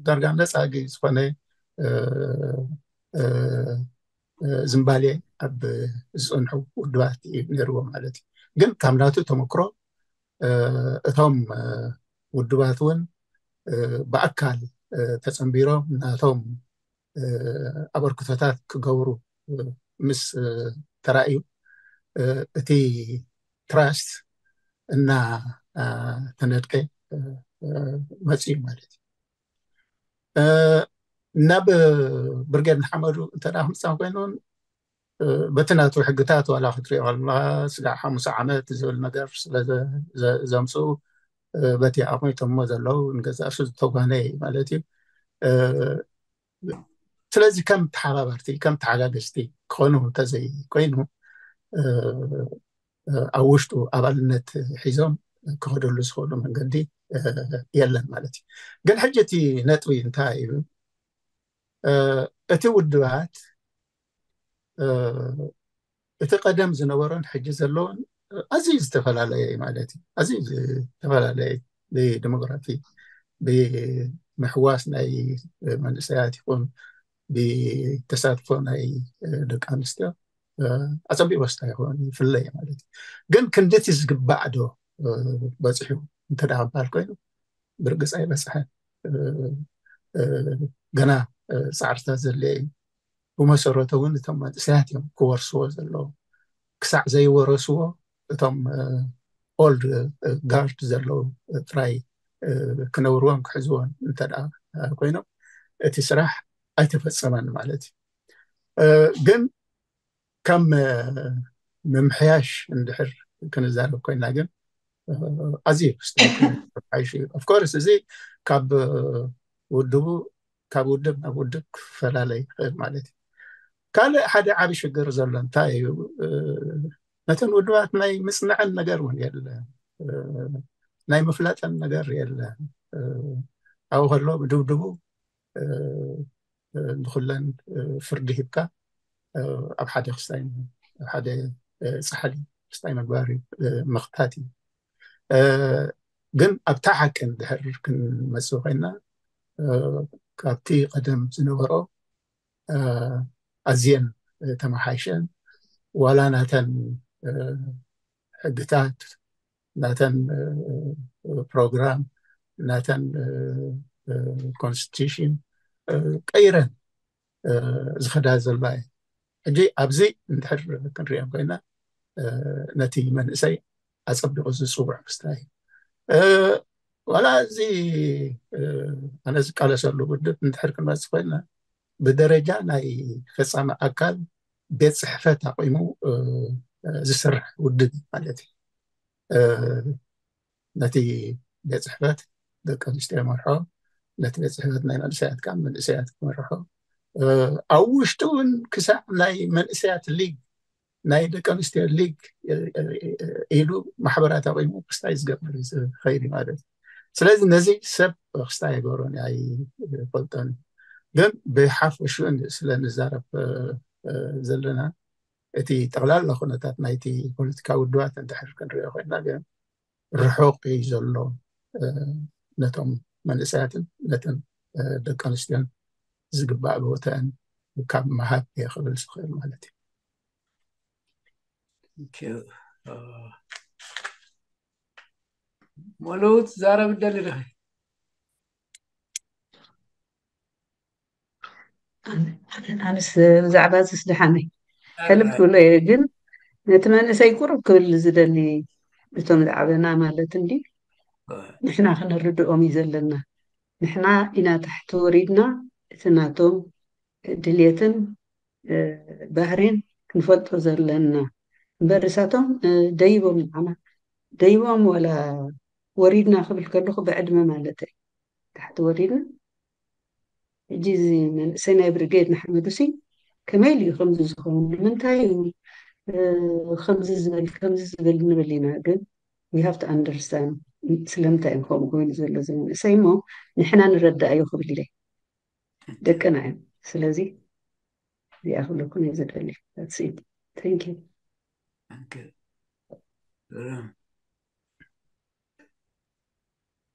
ዳርጋ ነፃጊ ዝኾነ ዝምባሌ ኣብ ዝፅንሑ ውድባት እዩ ነይርዎ ማለት እዩ። ግን ካብ ናቱ ተመክሮ እቶም ውድባት እውን ብኣካል ተፀንቢሮም ናቶም ኣበርክቶታት ክገብሩ ምስ ተራእዩ እቲ ትራስት እና ተነድቀ መፅዩ ማለት እዩ። ናብ ብርጌድ ንሓመዱ እንተ ክምፃ ኮይኑ በቲ ናቱ ሕግታት ዋላ ክትሪኦ ከለካ ስጋዕ ሓሙሳ ዓመት ዝብል ነገር ስለ ዘምፅኡ በቲ ኣቕሚጦሞ ዘለዉ ንገዛእ ርእሱ ዝተጓነ ማለት እዩ። ስለዚ ከም ተሓባበርቲ ከም ተሓጋገዝቲ ክኾኑ እንተዘይ ኮይኑ ኣብ ውሽጡ ኣባልነት ሒዞም ክኸደሉ ዝኽእሉ መንገዲ የለን ማለት እዩ። ግን ሕጂ እቲ ነጥቢ እንታይ እዩ? እቲ ውድባት እቲ ቀደም ዝነበሮን ሕጂ ዘለውን ኣዝዩ ዝተፈላለየ ማለት እዩ። ኣዝዩ ዝተፈላለየ ብዲሞግራፊ፣ ብምሕዋስ ናይ መንእሰያት ይኹን ብተሳትፎ ናይ ደቂ ኣንስትዮ ኣጸቢቑ ስታይ ይኸውን ይፍለየ ማለት እዩ። ግን ክንድቲ ዝግባዕ ዶ በፂሑ እንተ ደኣ ክበሃል ኮይኑ ብርግፅ ኣይበፅሐን። ገና ፃዕርታት ዘድልየ እዩ። ብመሰረቱ እውን እቶም መንእሰያት እዮም ክወርስዎ ዘለዎም። ክሳዕ ዘይወረስዎ እቶም ኦልድ ጋርድ ዘለዉ ጥራይ ክነብርዎን ክሕዝዎን እንተ ደኣ ኮይኖም እቲ ስራሕ ኣይተፈጸመን ማለት እዩ። ግን ከም ምምሕያሽ እንድሕር ክንዛረብ ኮይና ግን ኣዝዩ ክስተካከል ሓይሽ እዩ። ኦፍኮርስ እዚ ካብ ውድቡ ካብ ውድብ ናብ ውድብ ክፈላለ ይኽእል ማለት እዩ። ካልእ ሓደ ዓቢ ሽግር ዘሎ እንታይ እዩ? ነተን ውድባት ናይ ምጽንዐን ነገር እውን የለን፣ ናይ ምፍላጠን ነገር የለን። ኣብኡ ከሎ ብድብድቡ ንኩለን ፍርዲ ሂብካ ኣብ ሓደ ክስታይ ኣብ ሓደ ፃሕሊ ክስታይ ምግባር እዩ፣ ምኽታት እዩ። ግን ኣብታ ሓቂ እንድሕር ክንመፅእ ኮይና ካብቲ ቀደም ዝነበሮ ኣዝየን ተመሓይሸን ዋላ ናተን ሕግታት ናተን ፕሮግራም ናተን ኮንስቲቱሽን ቀይረን ዝኸዳ ዘለዋ እየ። ሕጂ ኣብዚ እንድሕር ክንሪኦ ኮይና ነቲ መንእሰይ ኣፀቢቑ ዝፅውዕ ክስታይ እዩ። ዋላ እዚ ኣነ ዝቃለሰሉ ውድብ እንድሕር ክንመፅእ ኮይና ብደረጃ ናይ ፈፃሚ ኣካል ቤት ፅሕፈት ኣቑሙ ዝስርሕ ውድብ እዩ ማለት እዩ። ነቲ ቤት ፅሕፈት ደቂ ኣንስትዮ መርሖ ነቲ ቤት ጽሕፈት ናይ መንእሰያት ካብ መንእሰያት ክመርሖ፣ ኣብ ውሽጡ እውን ክሳዕ ናይ መንእሰያት ሊግ፣ ናይ ደቂ ኣንስትዮ ሊግ ኢሉ ማሕበራት ኣቑሙ ክስታይ ዝገብር ዝኸይድ ማለት እዩ። ስለዚ ነዚ ሰብ ክስታይ ኣይገብሮን ኣይፈልጦን። ግን ብሓፈሽኡ ስለ ንዛረብ ዘለና፣ እቲ ጠቕላላ ኩነታት ናይቲ ፖለቲካዊ ውድባት እንድሕር ክንሪኦ ኮይና፣ ግን ርሑቕ እዩ ዘሎ። ነቶም መንእሰያትን ነተን ደቂ ኣንስትዮን ዝግባእ ቦታን ካብ ምሃብ እየ ክብል ዝኽእል ማለት እዩ። ሙሉእ ትዛረብ ደሊ ዲኺ? ኣንስ ብዛዕባ ዝስ ደሓነይ ሕልፍ ክብሎ እየ። ግን ነቲ መንእሰይ ቁርብ ክብል ዝደሊ፣ እቶም ዝዓበና ማለት እንዲ ንሕና ክንርድኦም እዩ ዘለና። ንሕና ኢና ታሕቲ ወሪድና እቲ ናቶም ድልየትን ባህሪን ክንፈልጦ ዘለና እምበር፣ እሳቶም ደይቦም ንዓና ደይቦም ዋላ ወሪድና ክብል ከለኹ ብዕድመ ማለት እዩ። ታሕቲ ወሪድና ሕጂ እዚ መንእሰይ ናይ ብርጌድ ንሓመዱ ሲ ከመይ ኢሉ ከምዚ ዝኸውን? ንምንታይ እዩ ከምዚ ዝብል ከምዚ ዝብል ንብል ኢና። ግን we have to understand ስለምንታይ እዮም ከምኡ ኮይኑ ዘሎ እዚ መንእሰይ እሞ ንሕና ንረዳእዮ ክብል ኢለ ደቅና እዮም። ስለዚ እዚኣ ክብለኩም እየ ዝደሊ። That's it. Thank you.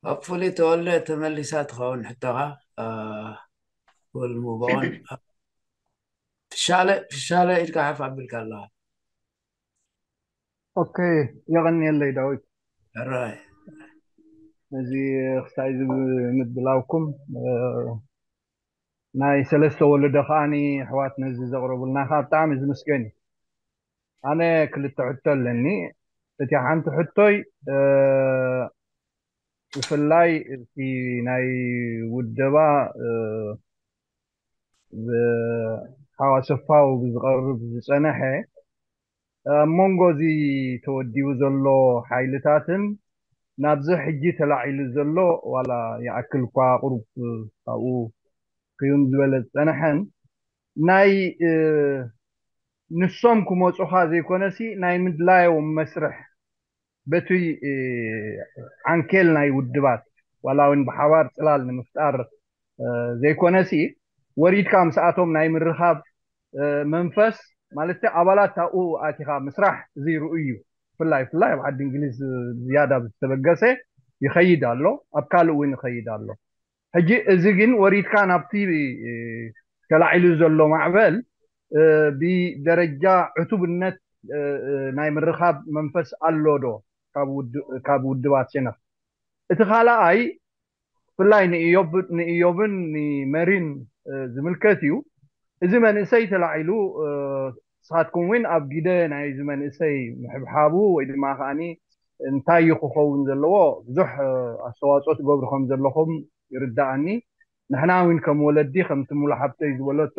Hopefully ተወልደ ተመሊሳ ትኸውን ሕቶኻ። We'll move on. ፍሻለ ፍሻለ ኢድካ ሓፍ ኣቢልካ ኣለኻ። ኦኬ፣ የቐንየለይ ዳዊት። ሕራይ ነዚ ክሳይ እዚ ምድላውኩም፣ ናይ ሰለስተ ወለዶ ከዓኒ ኣሕዋት ነዚ ዘቕረቡልና ከዓ ብጣዕሚ ዝምስገን እዩ። ኣነ ክልተ ሕቶ ኣለኒ። እቲ ሓንቲ ሕቶይ ብፍላይ እቲ ናይ ውደባ ሓዋሰፋዊ ብዝቐርብ ዝፀነሐ ኣብ መንጎ እዚ ተወዲቡ ዘሎ ሓይልታትን ናብዚ ሕጂ ተላዒሉ ዘሎ ዋላ ይኣክል እኳ ቁሩብ ካብኡ ክዩን ዝበለ ዝፀነሐን ናይ ንሶም ክመፁኻ ዘይኮነሲ ናይ ምድላዮም መስርሕ በቲ ዓንኬል ናይ ውድባት ዋላ እውን ብሓባር ፅላል ንምፍጣር ዘይኮነሲ ወሪድካ ምስኣቶም ናይ ምርኻብ መንፈስ ማለት ኣባላት ኣብኡ ኣቲኻ ምስራሕ እዚ ርኡይ እዩ። ብፍላይ ብፍላይ ኣብ ዓዲ እንግሊዝ ዝያዳ ዝተበገሰ ይኸይድ ኣሎ፣ ኣብ ካልእ እውን ይኸይድ ኣሎ። ሕጂ እዚ ግን ወሪድካ ናብቲ ተላዒሉ ዘሎ ማዕበል ብደረጃ ዕቱብነት ናይ ምርኻብ መንፈስ ኣሎ ዶ ካብ ውድባት ሸነኽ? እቲ ካልኣይ ብፍላይ ንእዮብን ንመሪን ዝምልከት እዩ። እዚ መንእሰይ ተላዒሉ ንስኻትኩም እውን ኣብ ግደ ናይዚ መንእሰይ ምሕብሓቡ ወይ ድማ ከዓኒ እንታይ እዩ ክኸውን ዘለዎ ብዙሕ ኣስተዋፅኦ ትገብሩ ከም ዘለኹም ይርዳኣኒ። ንሕና እውን ከም ወለዲ ከምቲ ሙሉ ሓብተይ ዝበለቶ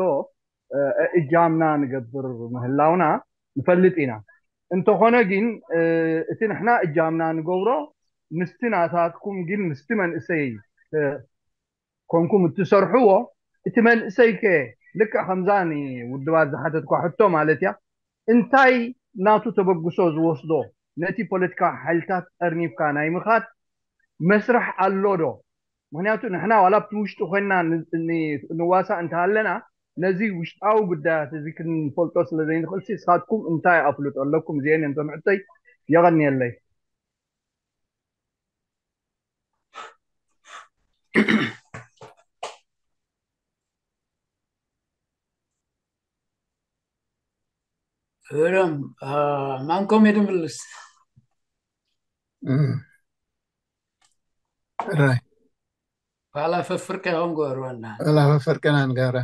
እጃምና ንገብር ምህላውና ንፈልጥ ኢና። እንተኾነ ግን እቲ ንሕና እጃምና ንገብሮ ምስቲ ናታትኩም ግን ምስቲ መንእሰይ ኮንኩም እትሰርሕዎ እቲ መንእሰይ ከ ልክዕ ከምዛ ንውድባት ዝሓተትኳ ሕቶ ማለት እያ እንታይ ናቱ ተበግሶ ዝወስዶ ነቲ ፖለቲካዊ ሓይልታት ጠርኒፍካ ናይ ምኻድ መስርሕ ኣሎ ዶ? ምክንያቱ ንሕና ዋላ ኣብቲ ውሽጢ ኮይንና ንዋሳእ እንተሃለና ነዚ ውሽጣዊ ጉዳያት እዚ ክንፈልጦ ስለ ዘይንኽእል ንስኻትኩም እንታይ ኣፍልጦ ኣለኩም? እዚአን እቶም ሕቶይ። የቐንየለይ። እሮም ማንኮም የድምልስ ራይ ካላ ፈፍርቀ ሆን ጎርወና ላፈፈርቀና ንጋራ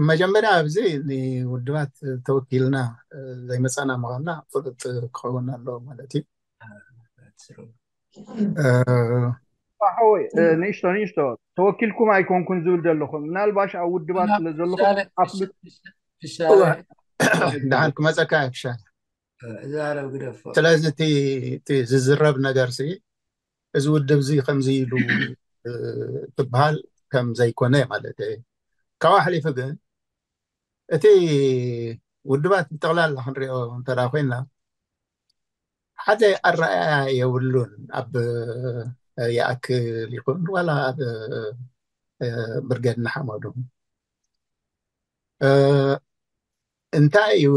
መጀመርያ ኣብዚ ንውድባት ተወኪልና ዘይመፃና ምዃንና ፍሉጥ ክኸውን ኣለዎ ማለት እዩ። ሓወይ ንእሽቶ ንእሽቶ ተወኪልኩም ኣይኮንኩን ዝብል ዘለኹም ምናልባሽ ኣብ ውድባት ስለ ዘለኹም ኣፍልጡ። ደሓን ክመፀካ ይፍሻል። ዛረብ ግደፎ። ስለዚ እቲ ዝዝረብ ነገር ሲ እዚ ውድብ እዚ ከምዚ ኢሉ ትበሃል ከም ዘይኮነ ማለት እዩ። ካብኡ ሓሊፉ ግን እቲ ውድባት ብጠቕላላ ክንሪኦ እንተ ኮይና ሓደ ኣረኣያ የብሉን። ኣብ ይኣክል ይኹን ዋላ ኣብ ብርጌድ ንሓመዱ እንታይ እዩ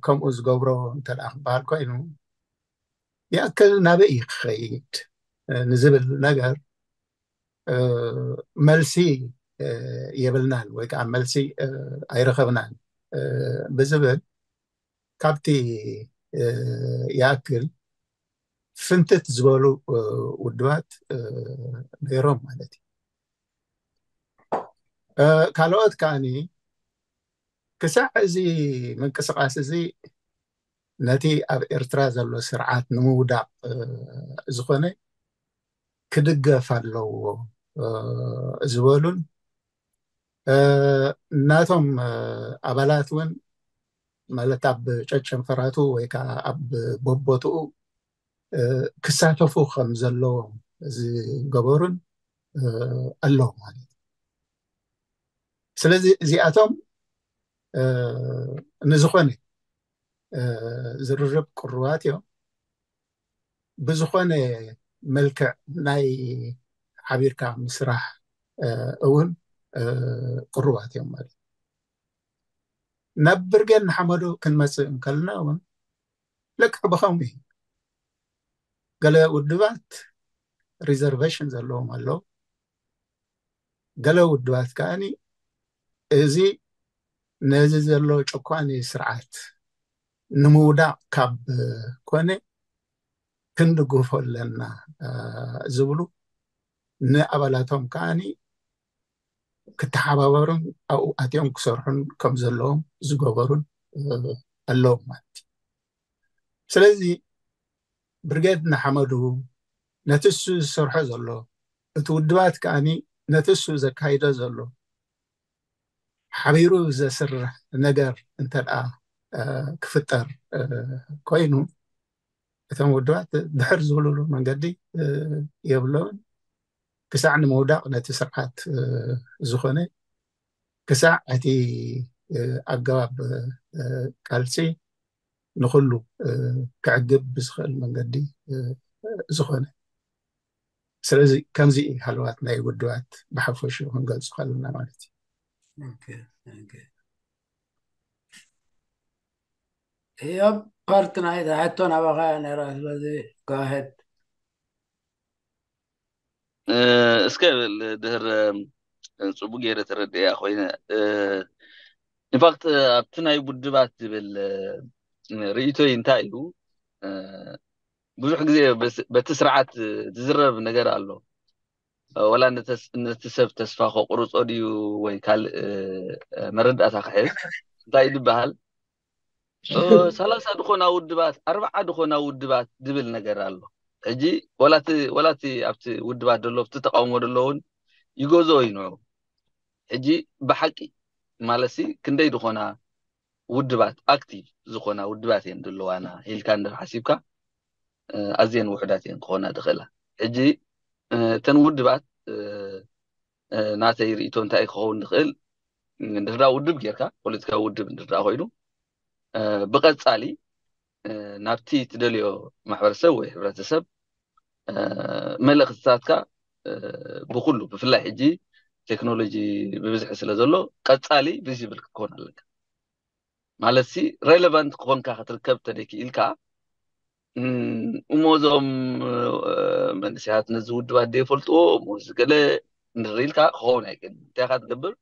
ከምኡ ዝገብሮ እንተ ክበሃል ኮይኑ ይኣክል ናበይ እዩ ክኸይድ ንዝብል ነገር መልሲ የብልናን ወይ ከዓ መልሲ ኣይረኸብናን ብዝብል ካብቲ ይኣክል ፍንትት ዝበሉ ውድባት ነይሮም ማለት እዩ። ካልኦት ከዓኒ ክሳዕ እዚ ምንቅስቃስ እዚ ነቲ ኣብ ኤርትራ ዘሎ ስርዓት ንምውዳቕ ዝኾነ ክድገፍ ኣለዎ ዝበሉን ናቶም ኣባላት እውን ማለት ኣብ ጨጨንፈራቱ ወይ ከዓ ኣብ ቦቦትኡ ክሳተፉ ከም ዘለዎም ዝገበሩን ኣለዉ ማለት እዩ። ስለዚ እዚኣቶም ንዝኾነ ዝርርብ ቅሩባት እዮም። ብዝኾነ መልክዕ ናይ ሓቢርካ ምስራሕ እውን ቅሩባት እዮም ማለት እዩ። ናብ ብርጌድ ንሓመዱ ክንመፅእ እንከልና እውን ልክዕ ብኸምኡ እዩ። ገለ ውድባት ሪዘርቬሽን ዘለዎም ኣለዉ። ገለ ውድባት ከዓኒ እዚ ነዚ ዘሎ ጨኳኒ ስርዓት ንምውዳቕ ካብ ኮነ ክንድግፎ ኣለና ዝብሉ ንኣባላቶም ከዓኒ ክተሓባበሩን ኣብኡ ኣትዮም ክሰርሑን ከም ዘለዎም ዝገበሩን ኣለዎም ማለት እዩ። ስለዚ ብርጌድ ንሓመዱ ነቲ እሱ ዝሰርሖ ዘሎ እቲ ውድባት ከዓኒ ነቲ እሱ ዘካይዶ ዘሎ ሓቢሩ ዘስርሕ ነገር እንተ ደኣ ክፍጠር ኮይኑ እቶም ውድባት ድሕር ዝብልሉ መንገዲ የብሎምን። ክሳዕ ንምውዳቕ ነቲ ስርዓት ዝኾነ ክሳዕ እቲ ኣገባብ ቃልሲ ንኹሉ ክዕግብ ብዝኽእል መንገዲ ዝኾነ። ስለዚ ከምዚ እዩ ሃለዋት ናይ ውድባት ብሓፈሽኡ ክንገልጹ ከለና ማለት እዩ። እዮብ ፓርት ናይ ሕቶ ናባኻ ነራ ስለዚ go ahead። እስከ ድህር ፅቡቅ ገይረ ተረድያ ኮይነ ኢንፋክት ኣብቲ ናይ ውድባት ዝብል ርእይቶይ እንታይ እዩ? ብዙሕ ግዜ በቲ ስርዓት ዝዝረብ ነገር ኣሎ። ወላ ነቲ ሰብ ተስፋ ከቁርፆ ድዩ ወይ ካልእ መረዳእታ ክሕዝ እንታይ ዝበሃል ሰላሳ ድኾና ውድባት ኣርባዓ ድኾና ውድባት ዝብል ነገር ኣሎ። ሕጂ ወላቲ ኣብቲ ውድባት ዘሎ ኣብቲ ተቃውሞ ዘለውን ይገዝኦ እዩ ንዑ። ሕጂ ብሓቂ ማለትሲ ክንደይ ድኾና ውድባት ኣክቲቭ ዝኾና ውድባት እየን ዘለዋና ኢልካ እንድሕር ሓሲብካ ኣዝየን ውሑዳት እየን ክኾና ዝኽእላ። ሕጂ እተን ውድባት ናተይ ርእይቶ እንታይ ክኸውን ዝኽእል እንድሕር ውድብ ጌርካ ፖለቲካዊ ውድብ እንድሕር ኮይኑ ብቐጻሊ ናብቲ ትደልዮ ማሕበረሰብ ወይ ሕብረተሰብ መልእኽትታትካ ብኩሉ ብፍላይ ሕጂ ቴክኖሎጂ ብብዝሒ ስለ ዘሎ ቀጻሊ ቪዚብል ክትኮን ኣለካ። ማለት ሲ ሬሌቫንት ክኾንካ ክትርከብ ተደኪኢልካ እሞ እዞም መንእሰያት ነዚ ውድባት ዘይፈልጥዎ እሞ እዚ ገለ እንድር ኢልካ ክኸውን ኣይክእልን። እንታይ ኢኻ ትገብር?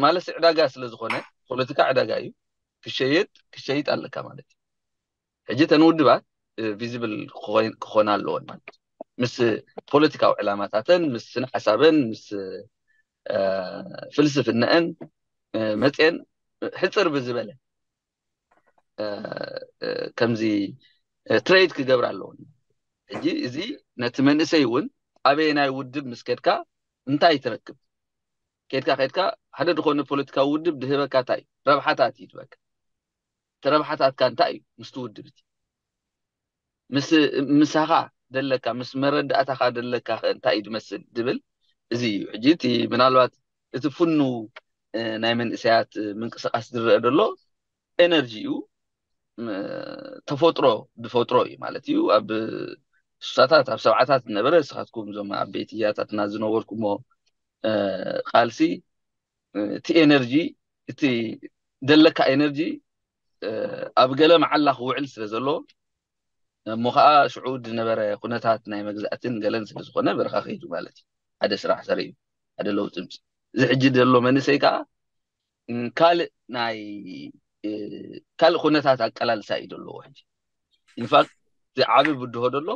ማለትሲ ዕዳጋ ስለ ዝኾነ ፖለቲካ ዕዳጋ እዩ። ክሸየጥ ክሸይጥ ኣለካ ማለት እዩ። ሕጂ እተን ውድባት ቪዚብል ክኾና ኣለወን ማለት ምስ ፖለቲካዊ ዕላማታተን ምስ ስነ ሓሳበን ምስ ፍልስፍነአን መፅየን ሕፅር ብዝበለ ከምዚ ትሬድ ክገብር ኣለወን። ሕጂ እዚ ነቲ መንእሰይ እውን ኣበየናይ ውድብ ምስ ከድካ እንታይ ትረክብ? ከድካ ከድካ ሓደ ዝኾነ ፖለቲካዊ ውድብ ድህበካ እንታይ እዩ? ረብሓታት እዩ ድበካ። እቲ ረብሓታትካ እንታይ እዩ? ምስቲ ውድብ እቲ ምሳኻ ደለካ፣ ምስ መረዳእታኻ ደለካ ከ እንታይ እዩ ዝመስል ዝብል እዚ እዩ። ሕጂ እቲ ምናልባት እቲ ፍኑ ናይ መንእሰያት ምንቅስቃስ ዝረአ ዘሎ ኤነርጂ እዩ። ተፈጥሮ ዝፈጥሮ እዩ ማለት እዩ። ኣብ ስሳታት ኣብ ሰብዓታት ዝነበረ ንስኻትኩም እዞም ዓበይቲ ያታትና ዝነበርኩሞ ቃልሲ እቲ ኤነርጂ እቲ ደለካ ኤነርጂ ኣብ ገለ መዓላ ክውዕል ስለ ዘሎ እሞ ከዓ ሽዑ ዝነበረ ኩነታት ናይ መግዛእትን ገለን ስለ ዝኾነ በረኻ ከይዱ ማለት እዩ። ሓደ ስራሕ ሰሪኡ ሓደ ለውጢ ምፅ እዚ ሕጂ ዘሎ መንእሰይ ከዓ ካልእ ናይ ካልእ ኩነታት ኣቀላልሳ እዩ ዘለዎ ሕጂ። ኢንፋክት እቲ ዓቢ ብድሆ ዘሎ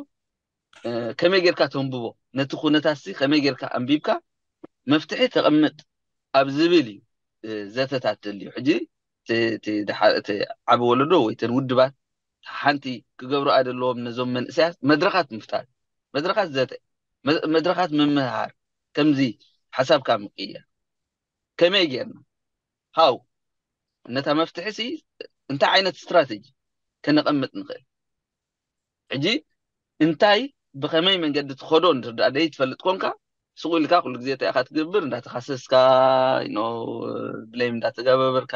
ከመይ ጌርካ ተንብቦ ነቲ ኩነታት ሲ ከመይ ጌርካ ኣንቢብካ መፍትሒ ተቐምጥ ኣብ ዝብል እዩ ዘተታት ዘልዩ። ሕጂ እቲ ዓቢ ወለዶ ወይ ተን ውድባት ሓንቲ ክገብሩ ኣደለዎም ነዞም መንእሰያት መድረኻት ምፍጣር፣ መድረኻት ዘተ፣ መድረኻት ምምህሃር፣ ከምዚ ሓሳብካ ምቅያር ከመይ ጌርና ሃው ነታ መፍትሒ ሲ እንታይ ዓይነት ስትራተጂ ከነቐምጥ ንኽእል? ሕጂ እንታይ ብኸመይ መንገዲ ትኸዶ እንድርዳእ ደይ ትፈልጥ ኮንካ ስቑ ኢልካ ኩሉ ግዜ እንታይ ኢኻ ትገብር እንዳተኻሰስካ ኖ ብሌም እንዳተጋበበርካ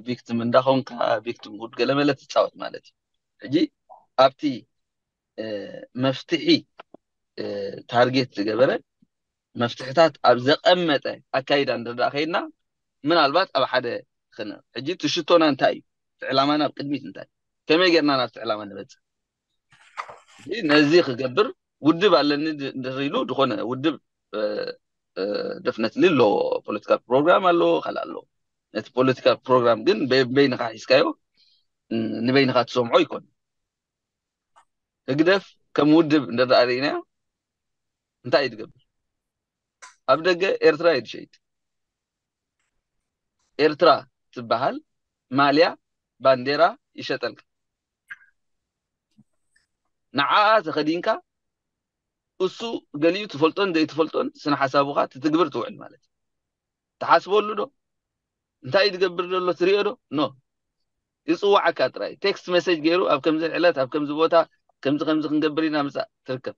ቪክቲም እንዳኾንካ ቪክቲም ሁድ ገለመለ ትፃወት ማለት እዩ። ሕጂ ኣብቲ መፍትሒ ታርጌት ዝገበረ መፍትሕታት ኣብ ዘቐመጠ ኣካይዳ እንድርዳእ ከይድና ምናልባት ኣብ ሓደ ክነ ሕጂ እቲ ሽቶና እንታይ እዩ? እቲ ዕላማና ኣብ ቅድሚት እንታይ ከመይ ጌርና ናብቲ ዕላማ ንበፅእ? ነዚ ክገብር ውድብ ኣለኒ እንድር ኢሉ ዝኾነ ውድብ ደፍነት ኣለዎ። ፖለቲካል ፕሮግራም ኣለዎ፣ ካልእ ኣለዎ። ነቲ ፖለቲካል ፕሮግራም ግን በይንኻ ሒዝካዮ ንበይንኻ ትሰምዖ ይኮን። ህግደፍ ከም ውድብ እንድርዳእ ርኢናዮ እንታይ እዩ ትገብር? ኣብ ደገ ኤርትራ እዩ ትሸይጥ። ኤርትራ ትበሃል ማልያ ባንዴራ ይሸጠልካ። ንዓኣ ተኸዲንካ እሱ ገሊኡ ትፈልጦን ዘይትፈልጦን ስነ ሓሳቡኻ ትትግብር ትውዕል ማለት እዩ። ትሓስበሉ ዶ? እንታይ እዩ ዝገብር ዘሎ ትሪኦ ዶ? ኖ። ይፅዋዓካ ጥራይ ቴክስት መሴጅ ገይሩ ኣብ ከምዚ ዕለት ኣብ ከምዚ ቦታ ከምዚ ከምዚ ክንገብር ኢና ምፃእ ትርከብ።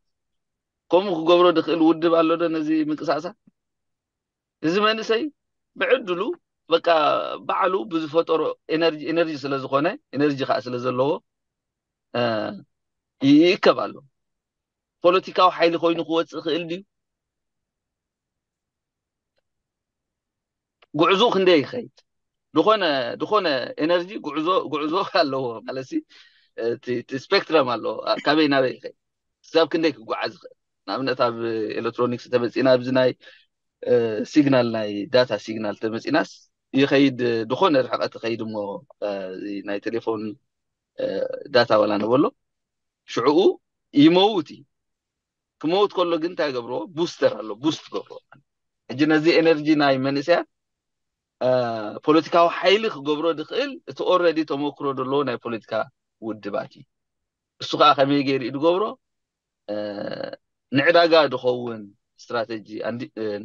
ከምኡ ክገብሮ ዝኽእል ውድብ ኣሎ ዶ ነዚ ምንቅሳቅሳ? እዚ መንእሰይ ብዕድሉ በቃ ባዕሉ ብዝፈጠሮ ኤነርጂ ኤነርጂ ስለ ዝኾነ ኤነርጂ ከዓ ስለ ዘለዎ ይእከብ ኣሎ። ፖለቲካዊ ሓይሊ ኮይኑ ክወፅእ ይኽእል ድዩ? ጉዕዞ ክንደይ ይኸይድ? ዝኾነ ዝኾነ ኤነርጂ ጉዕዞ ጉዕዞ ኣለዎ ማለት ሲ እቲ ስፔክትረም ኣለዎ። ካበይ ናበይ ይኸይድ? ክሳብ ክንደይ ክጓዓዝ ይኽእል? ንኣብነት ኣብ ኤሌክትሮኒክስ ተመፂና ኣብዚ ናይ ሲግናል ናይ ዳታ ሲግናል ተመፂናስ ይኸይድ ዝኾነ ርሕቀት ይኸይድ እሞ ናይ ቴሌፎን ዳታ ወላ ነበሎ ሽዕኡ ይመውት እዩ። ክመውት ከሎ ግን እንታይ ገብርዎ? ቡስተር ኣሎ ቡስት ገብርዎ። ሕጂ ነዚ ኤነርጂ ናይ መንእሰያት ፖለቲካዊ ሓይሊ ክገብሮ ዝኽእል እቲ ኦረዲ ተመክሮ ዘለዎ ናይ ፖለቲካ ውድባት እዩ። እሱ ከዓ ከመይ ገይሩ እዩ ዝገብሮ? ንዕዳጋ ዝኸውን ስትራተጂ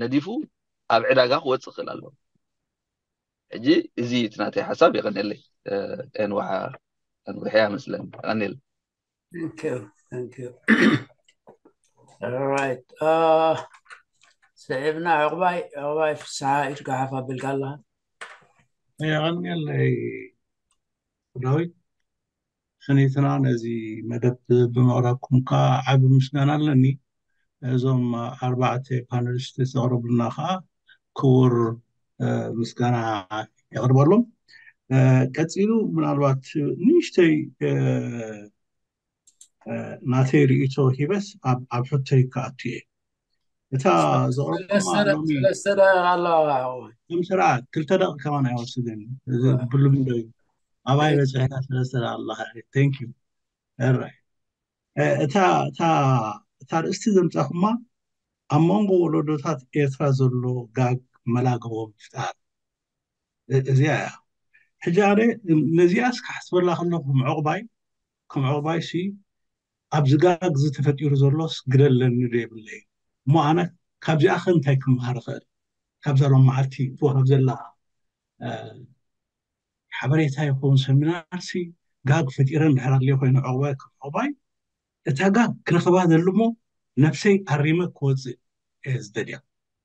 ነዲፉ ኣብ ዕዳጋ ክወፅእ ክእል ኣለዎ። ሕጂ እዚ እዩ እቲ ናተይ ሓሳብ። የቐንየለይ ንውሓ ንውሕያ መስለኒ። የቐንየለይ። Thank you, thank you. All right. ስዒብና ዕቑባይ ዕቑባይ ፍስሓ ኢድ ጋሓፍ ኣቢልካ ኣለኻ። የቐንየለይ ዳዊት። ስኒትና ነዚ መደብ ብምቕራብኩም ከዓ ዓቢ ምስጋና ኣለኒ። እዞም ኣርባዕተ ፓነሊስት ዘቕረቡልና ከዓ ክቡር ምስጋና የቕርበሎም። ቀፂሉ ምናልባት ንእሽተይ ናተይ ርእይቶ ሂበስ ኣብ ሕቶይ ክኣቱ እየ። እታ ዘቕረብኩማ ሎሚ ሰለስተ ደቂቃ ኣለዋ። ከም ስርዓት ክልተ ደቂ ከማን ኣይወስድን። ብሉም ዶ ኣባይ በፅሕና ሰለስተ ደቂቃ ኣለካ። Thank you። እራይ እታ እታ እታ ርእስቲ ዘምፃኹማ ኣብ መንጎ ወለዶታት ኤርትራ ዘሎ ጋግ መላገቦ ምፍጣር እዚኣ እያ። ሕጂ ኣነ ነዚኣስ ክሓስበላ ከለኹ ምዕቑባይ ከም ዕቑባይሲ ኣብዚ ጋግ እዚ ተፈጢሩ ዘሎስ ግደ ኣለኒ ዶ የብለይ? እሞ ኣነ ካብዚኣ ከ እንታይ ክመሃር እኽእል? ካብዛ ሎም መዓልቲ ትወሃብ ዘላ ሓበሬታ ይኸውን ሰሚናርሲ ጋግ ፈጢረ እንድሕር ኣድልዮ ኮይኑ ዕቑባይ ከም ዕቑባይ እታ ጋግ ክረኽባ ዘልሞ ነብሰይ ኣሪመ ክወፅእ እየ ዝደልያ።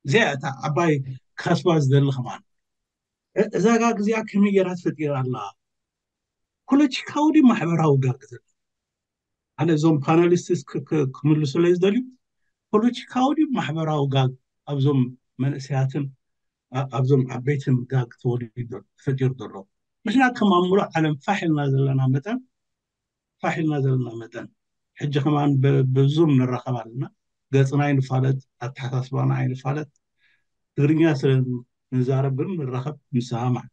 እዚኣ እታ ዓባይ ክኸስባ ዝደሊ ከማን። እ- እዛ ጋግ እዚኣ ከመይ ገይራ ተፈጢራ ኣላ? ፖለቲካዊ ድዩ ማሕበራዊ ጋግ ዘለ? ኣነ እዞም ፓናሊስትስ ክምልሱለይ ዝደልዩ፣ ፖለቲካዊ ድዩ ማሕበራዊ ጋግ ኣብዞም መንእሰያትን ኣብዞም ዓበይትን ጋግ ተወሊዱ ተፈጢሩ ዘሎ? ንሕና ከም ኣብ ሙሉእ ዓለም ፋሕ ኢልና ዘለና መጠን ፋሕ ኢልና ዘለና መጠን ሕጂ ከማን ብዙም ንራኸብ ኣለና። ገፅና ኣይንፋለጥ፣ ኣተሓሳስባና ኣይንፋለጥ። ትግርኛ ስለ ንዛረብ ግን ንራኸብ፣ ንሰማማዕ።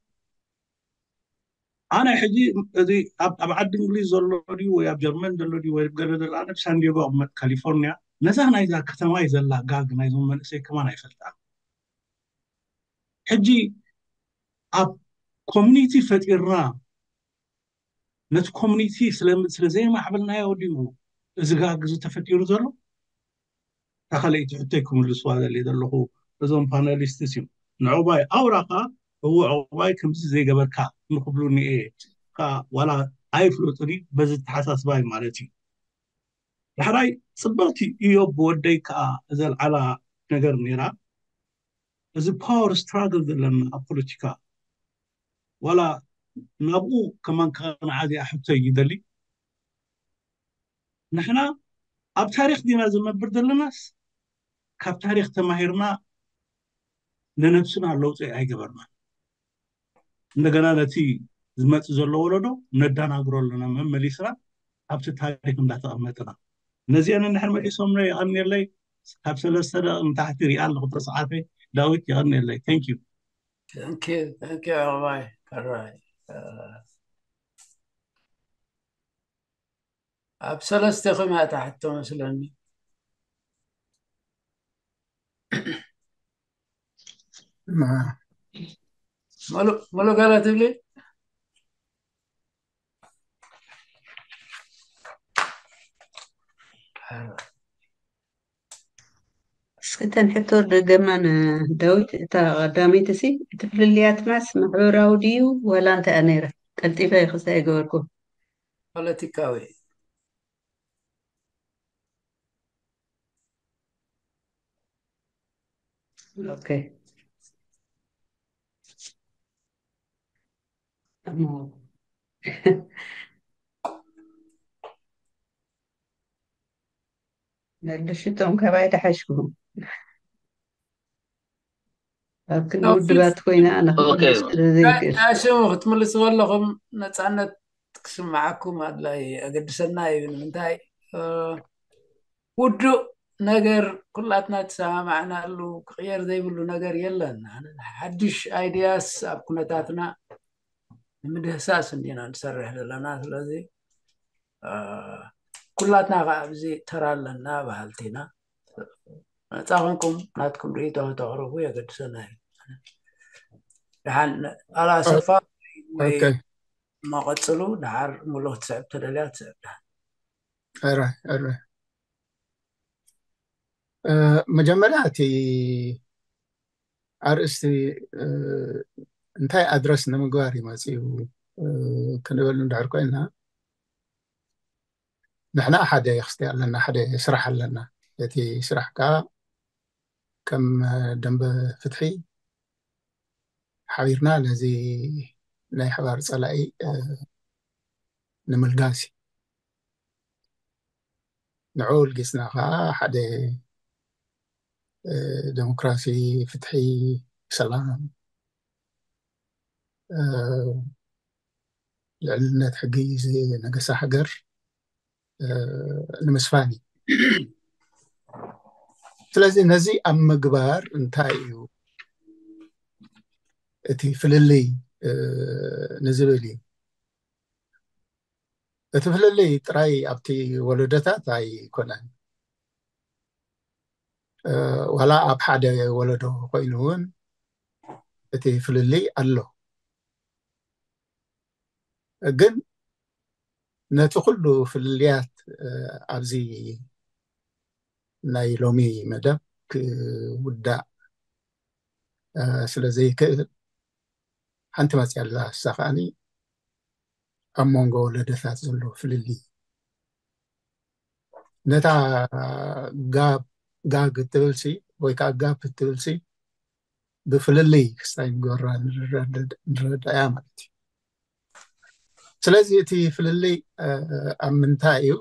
ኣነ ሕጂ እዚ ኣብ ዓዲ እንግሊዝ ዘሎ ድዩ ወይ ኣብ ጀርመን ዘሎ ድዩ ወይ ገለ ዘሎ፣ ኣነ ሳንዲጎ ኣቕመጥ ካሊፎርኒያ፣ ነዛ ናይዛ ከተማይ ዘላ ጋግ ናይዞም መንእሰይ ከማን ኣይፈልጣ። ሕጂ ኣብ ኮሚኒቲ ፈጢርና ነቲ ኮሚኒቲ ስለ ዘይማዕበልናዮ ድዩ እዚ ጋግ እዚ ተፈጢሩ ዘሎ? እታ ካልኣይቲ ሕቶይ ክምልስዋ ዘለ ዘለኹ እዞም ፓናሊስትስ እዩ። ንዕቑባይ ኣውራ ከኣ እዎ ዕቑባይ ከምዚ ዘይገበርካ ንክብሉኒ እየ ከኣ ዋላ ኣይፍለጡኒ በዚ ተሓሳስባይ ማለት እዩ። ዳሕራይ ጽብቕቲ እዮብ ወደይ ከኣ ዘልዓላ ነገር ነይራ። እዚ ፓወር ስትራግል ዘለና ኣብ ፖለቲካ ዋላ ናብኡ ከማን ከነዓ እዚኣ ሕቶይ ይደሊ። ንሕና ኣብ ታሪክ ዲና ዝነብር ዘለናስ ካብ ታሪክ ተማሂርና ንነብስና ለውጢ ኣይገበርና። እንደገና ነቲ ዝመፅእ ዘሎ ወለዶ ነዳናግሮ ኣለና መመሊስና ኣብቲ ታሪክ እንዳተቐመጥና። ነዚአን እንድሕር መሊሶም ይቐንየለይ። ካብ ሰለስተ ደቂ ንታሕቲ ሪኣ ኣለኹ ተፅሓፈ። ዳዊት ይቐንየለይ። Thank you። Thank you, thank you ኣባይ ከራይ። ኣብ ሰለስተ ክመእታ ሕቶ መስለኒ። ሙሉ ገለ ትብሊ? እስክተን ሕቶ ደገማ ንዳዊት። እታ ቀዳመይቲ ሲ እቲ ፍልልያትናስ ማሕበራዊ ድዩ ዋላ እንታይ እያ ነይራ? ቀልጢፈ ክስታይ ገበርኩ። ፖለቲካዊ። Okay. እሞ ነድሽቶም ካባይ ተሓሽኩም ኣብክን ውድባት ኮይና ኣነ ክምልስ ስለ ዘይክእል። ሽሙ ክትምልሱ ከለኹም ነፃነት ክስምዓኩም ኣድላይ ኣገድሰና እዩ። ንምንታይ ውዱእ ነገር ኩላትና ተሰማማዕናሉ ክቕየር ዘይብሉ ነገር የለን። ሓድሽ ኣይድያስ ኣብ ኩነታትና ንምድህሳስ እንዲና ንሰርሕ ዘለና። ስለዚ ኩላትና ከዓ ኣብዚ ተራ ኣለና በሃልቲ ኢና። ነፃ ኮንኩም ናትኩም ርእይቶ ከተቕርቡ የገድሰና እዩ። ደሓን ኣላሰፋ ወይ መቐፅሉ ደሓር ሙሉ ክትስዕብ ተደልያ ትስዕብ። ደሓን ረ ረ መጀመርያ እቲ ኣርእስቲ እንታይ ኣድረስ ንምግባር እዩ መፅኡ ክንብል እንድሕር ኮይና፣ ንሕና ሓደ ክስቲ ኣለና፣ ሓደ ስራሕ ኣለና። እቲ ስራሕ ከዓ ከም ደንበ ፍትሒ ሓቢርና ነዚ ናይ ሓባር ፀላኢ ንምልጋስ እዩ። ንዕኡ ልጊስና ከዓ ሓደ ዴሞክራሲ፣ ፍትሒ፣ ሰላም፣ ልዕልነት ሕጊ ዝነገሳ ሃገር ንምስፋን እዩ። ስለዚ ነዚ ኣብ ምግባር እንታይ እዩ እቲ ፍልልይ ንዝብል እዩ። እቲ ፍልልይ ጥራይ ኣብቲ ወለዶታት ኣይኮነን። ዋላ ኣብ ሓደ ወለዶ ኮይኑ እውን እቲ ፍልልይ ኣሎ። ግን ነቲ ኩሉ ፍልልያት ኣብዚ ናይ ሎሚ መደብ ክውዳእ ስለ ዘይክእል ሓንቲ መፅያ ኣላ። እሳ ከዓኒ ኣብ መንጎ ወለደታት ዘሎ ፍልልይ። ነታ ጋብ ጋግ እትብልሲ ወይ ከዓ ጋፕ እትብልሲ ብፍልልይ ክስታይ ንገራ ንረዳእያ ማለት እዩ። ስለዚ እቲ ፍልልይ ኣብ ምንታይ እዩ?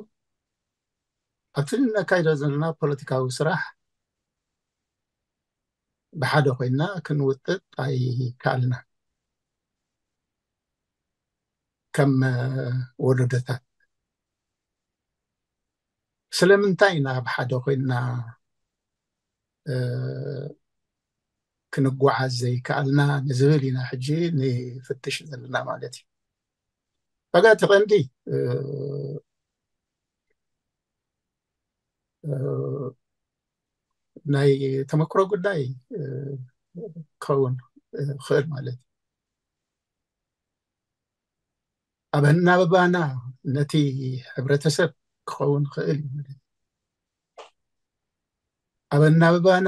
ኣብቲ ነካይዶ ዘለና ፖለቲካዊ ስራሕ ብሓደ ኮይና ክንውጥጥ ኣይከኣልና። ከም ወለዶታት ስለምንታይ ኢና ብሓደ ኮይና ክንጓዓዝ ዘይከኣልና ንዝብል ኢና ሕጂ ንፍትሽ ዘለና ማለት እዩ። ዋጋ እቲ ቀንዲ ናይ ተመክሮ ጉዳይ ክኸውን ክእል ማለት እዩ። ኣብ ኣናብባና ነቲ ሕብረተሰብ ክኸውን ክእል እዩ ማለት እዩ። ኣብ ኣናብባና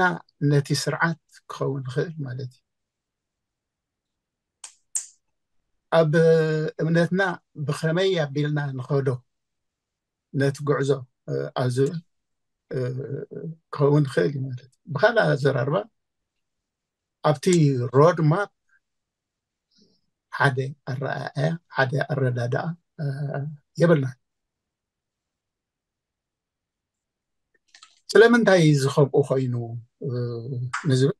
ነቲ ስርዓት ክኸውን ክእል ማለት እዩ። ኣብ እምነትና ብኸመይ ኣቢልና ንኸዶ ነቲ ጉዕዞ ኣብ ዝብል ክኸውን ክእል እዩ ማለት እዩ። ብካልእ ኣዘራርባ ኣብቲ ሮድ ማፕ ሓደ ኣረኣእያ ሓደ ኣረዳድኣ የብልናን። ስለምንታይ እዚ ከምኡ ኮይኑ ንዝብል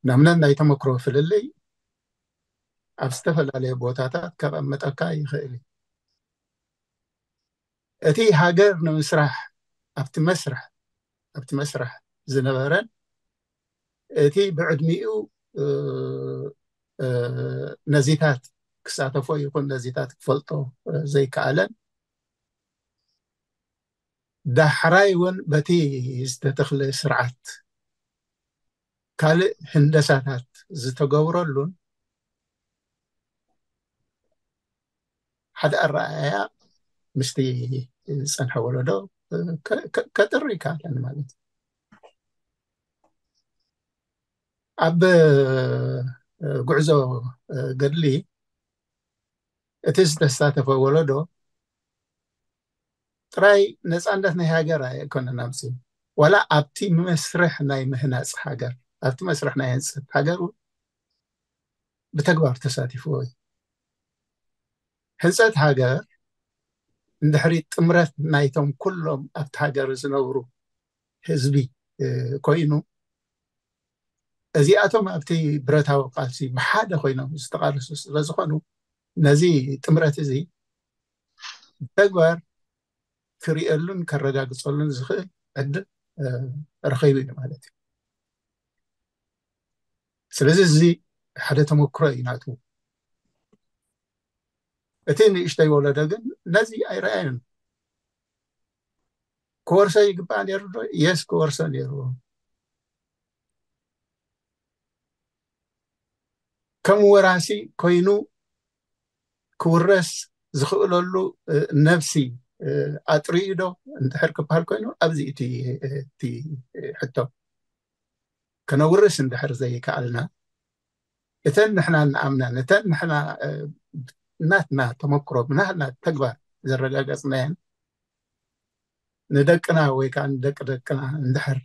ናምና ናይ ተመክሮ ፍልልይ ኣብ ዝተፈላለየ ቦታታት ከቐምጠካ ይኽእል እዩ። እቲ ሃገር ንምስራሕ ኣብቲ መስርሕ ኣብቲ መስርሕ ዝነበረን እቲ ብዕድሚኡ ነዚታት ክሳተፎ ይኹን ነዚታት ክፈልጦ ዘይከኣለን ዳሕራይ እውን በቲ ዝተተኽለ ስርዓት ካልእ ህንደሳታት ዝተገብረሉን ሓደ ኣረኣእያ ምስቲ ዝፀንሐ ወለዶ ከጥሪ ይከኣለን ማለት እዩ። ኣብ ጉዕዞ ገድሊ እቲ ዝተሳተፈ ወለዶ ጥራይ ነፃነት ናይ ሃገር ኣይኮነን ኣምፅኡ፣ ዋላ ኣብቲ መስርሕ ናይ ምህናፅ ሃገር ኣብቲ መስርሕ ናይ ህንፀት ሃገር እውን ብተግባር ተሳቲፍዎ እዩ። ህንፀት ሃገር እንድሕሪ ጥምረት ናይቶም ኩሎም ኣብቲ ሃገር ዝነብሩ ህዝቢ ኮይኑ እዚኣቶም ኣብቲ ብረታዊ ቃልሲ ብሓደ ኮይኖም ዝተቃለሱ ስለዝኾኑ ነዚ ጥምረት እዚ ብተግባር ክርእየሉን ከረጋግፀሉን ዝኽእል ዕድል ረኺቡ እዩ ማለት እዩ። ስለዚ እዚ ሓደ ተመክሮ እዩ ናቱ። እቲ ንእሽተይ ወለዶ ግን ነዚ ኣይረኣየን። ክወርሶ ይግባእ ነይሩ ዶ? የስ ክወርሶ ነይርዎ። ከም ወራሲ ኮይኑ ክውረስ ዝኽእለሉ ነብሲ ኣጥሪኡ ዶ እንድሕር ክበሃል ኮይኑ ኣብዚ እቲ ሕቶ ከነውርስ እንድሕር ዘይከኣልና እተን ንሕና ንኣምነን እተን ንሕና ናትና ተመክሮ ብናትና ተግባር ዘረጋገፅናየን ንደቅና ወይ ከዓ ንደቂ ደቅና እንድሕር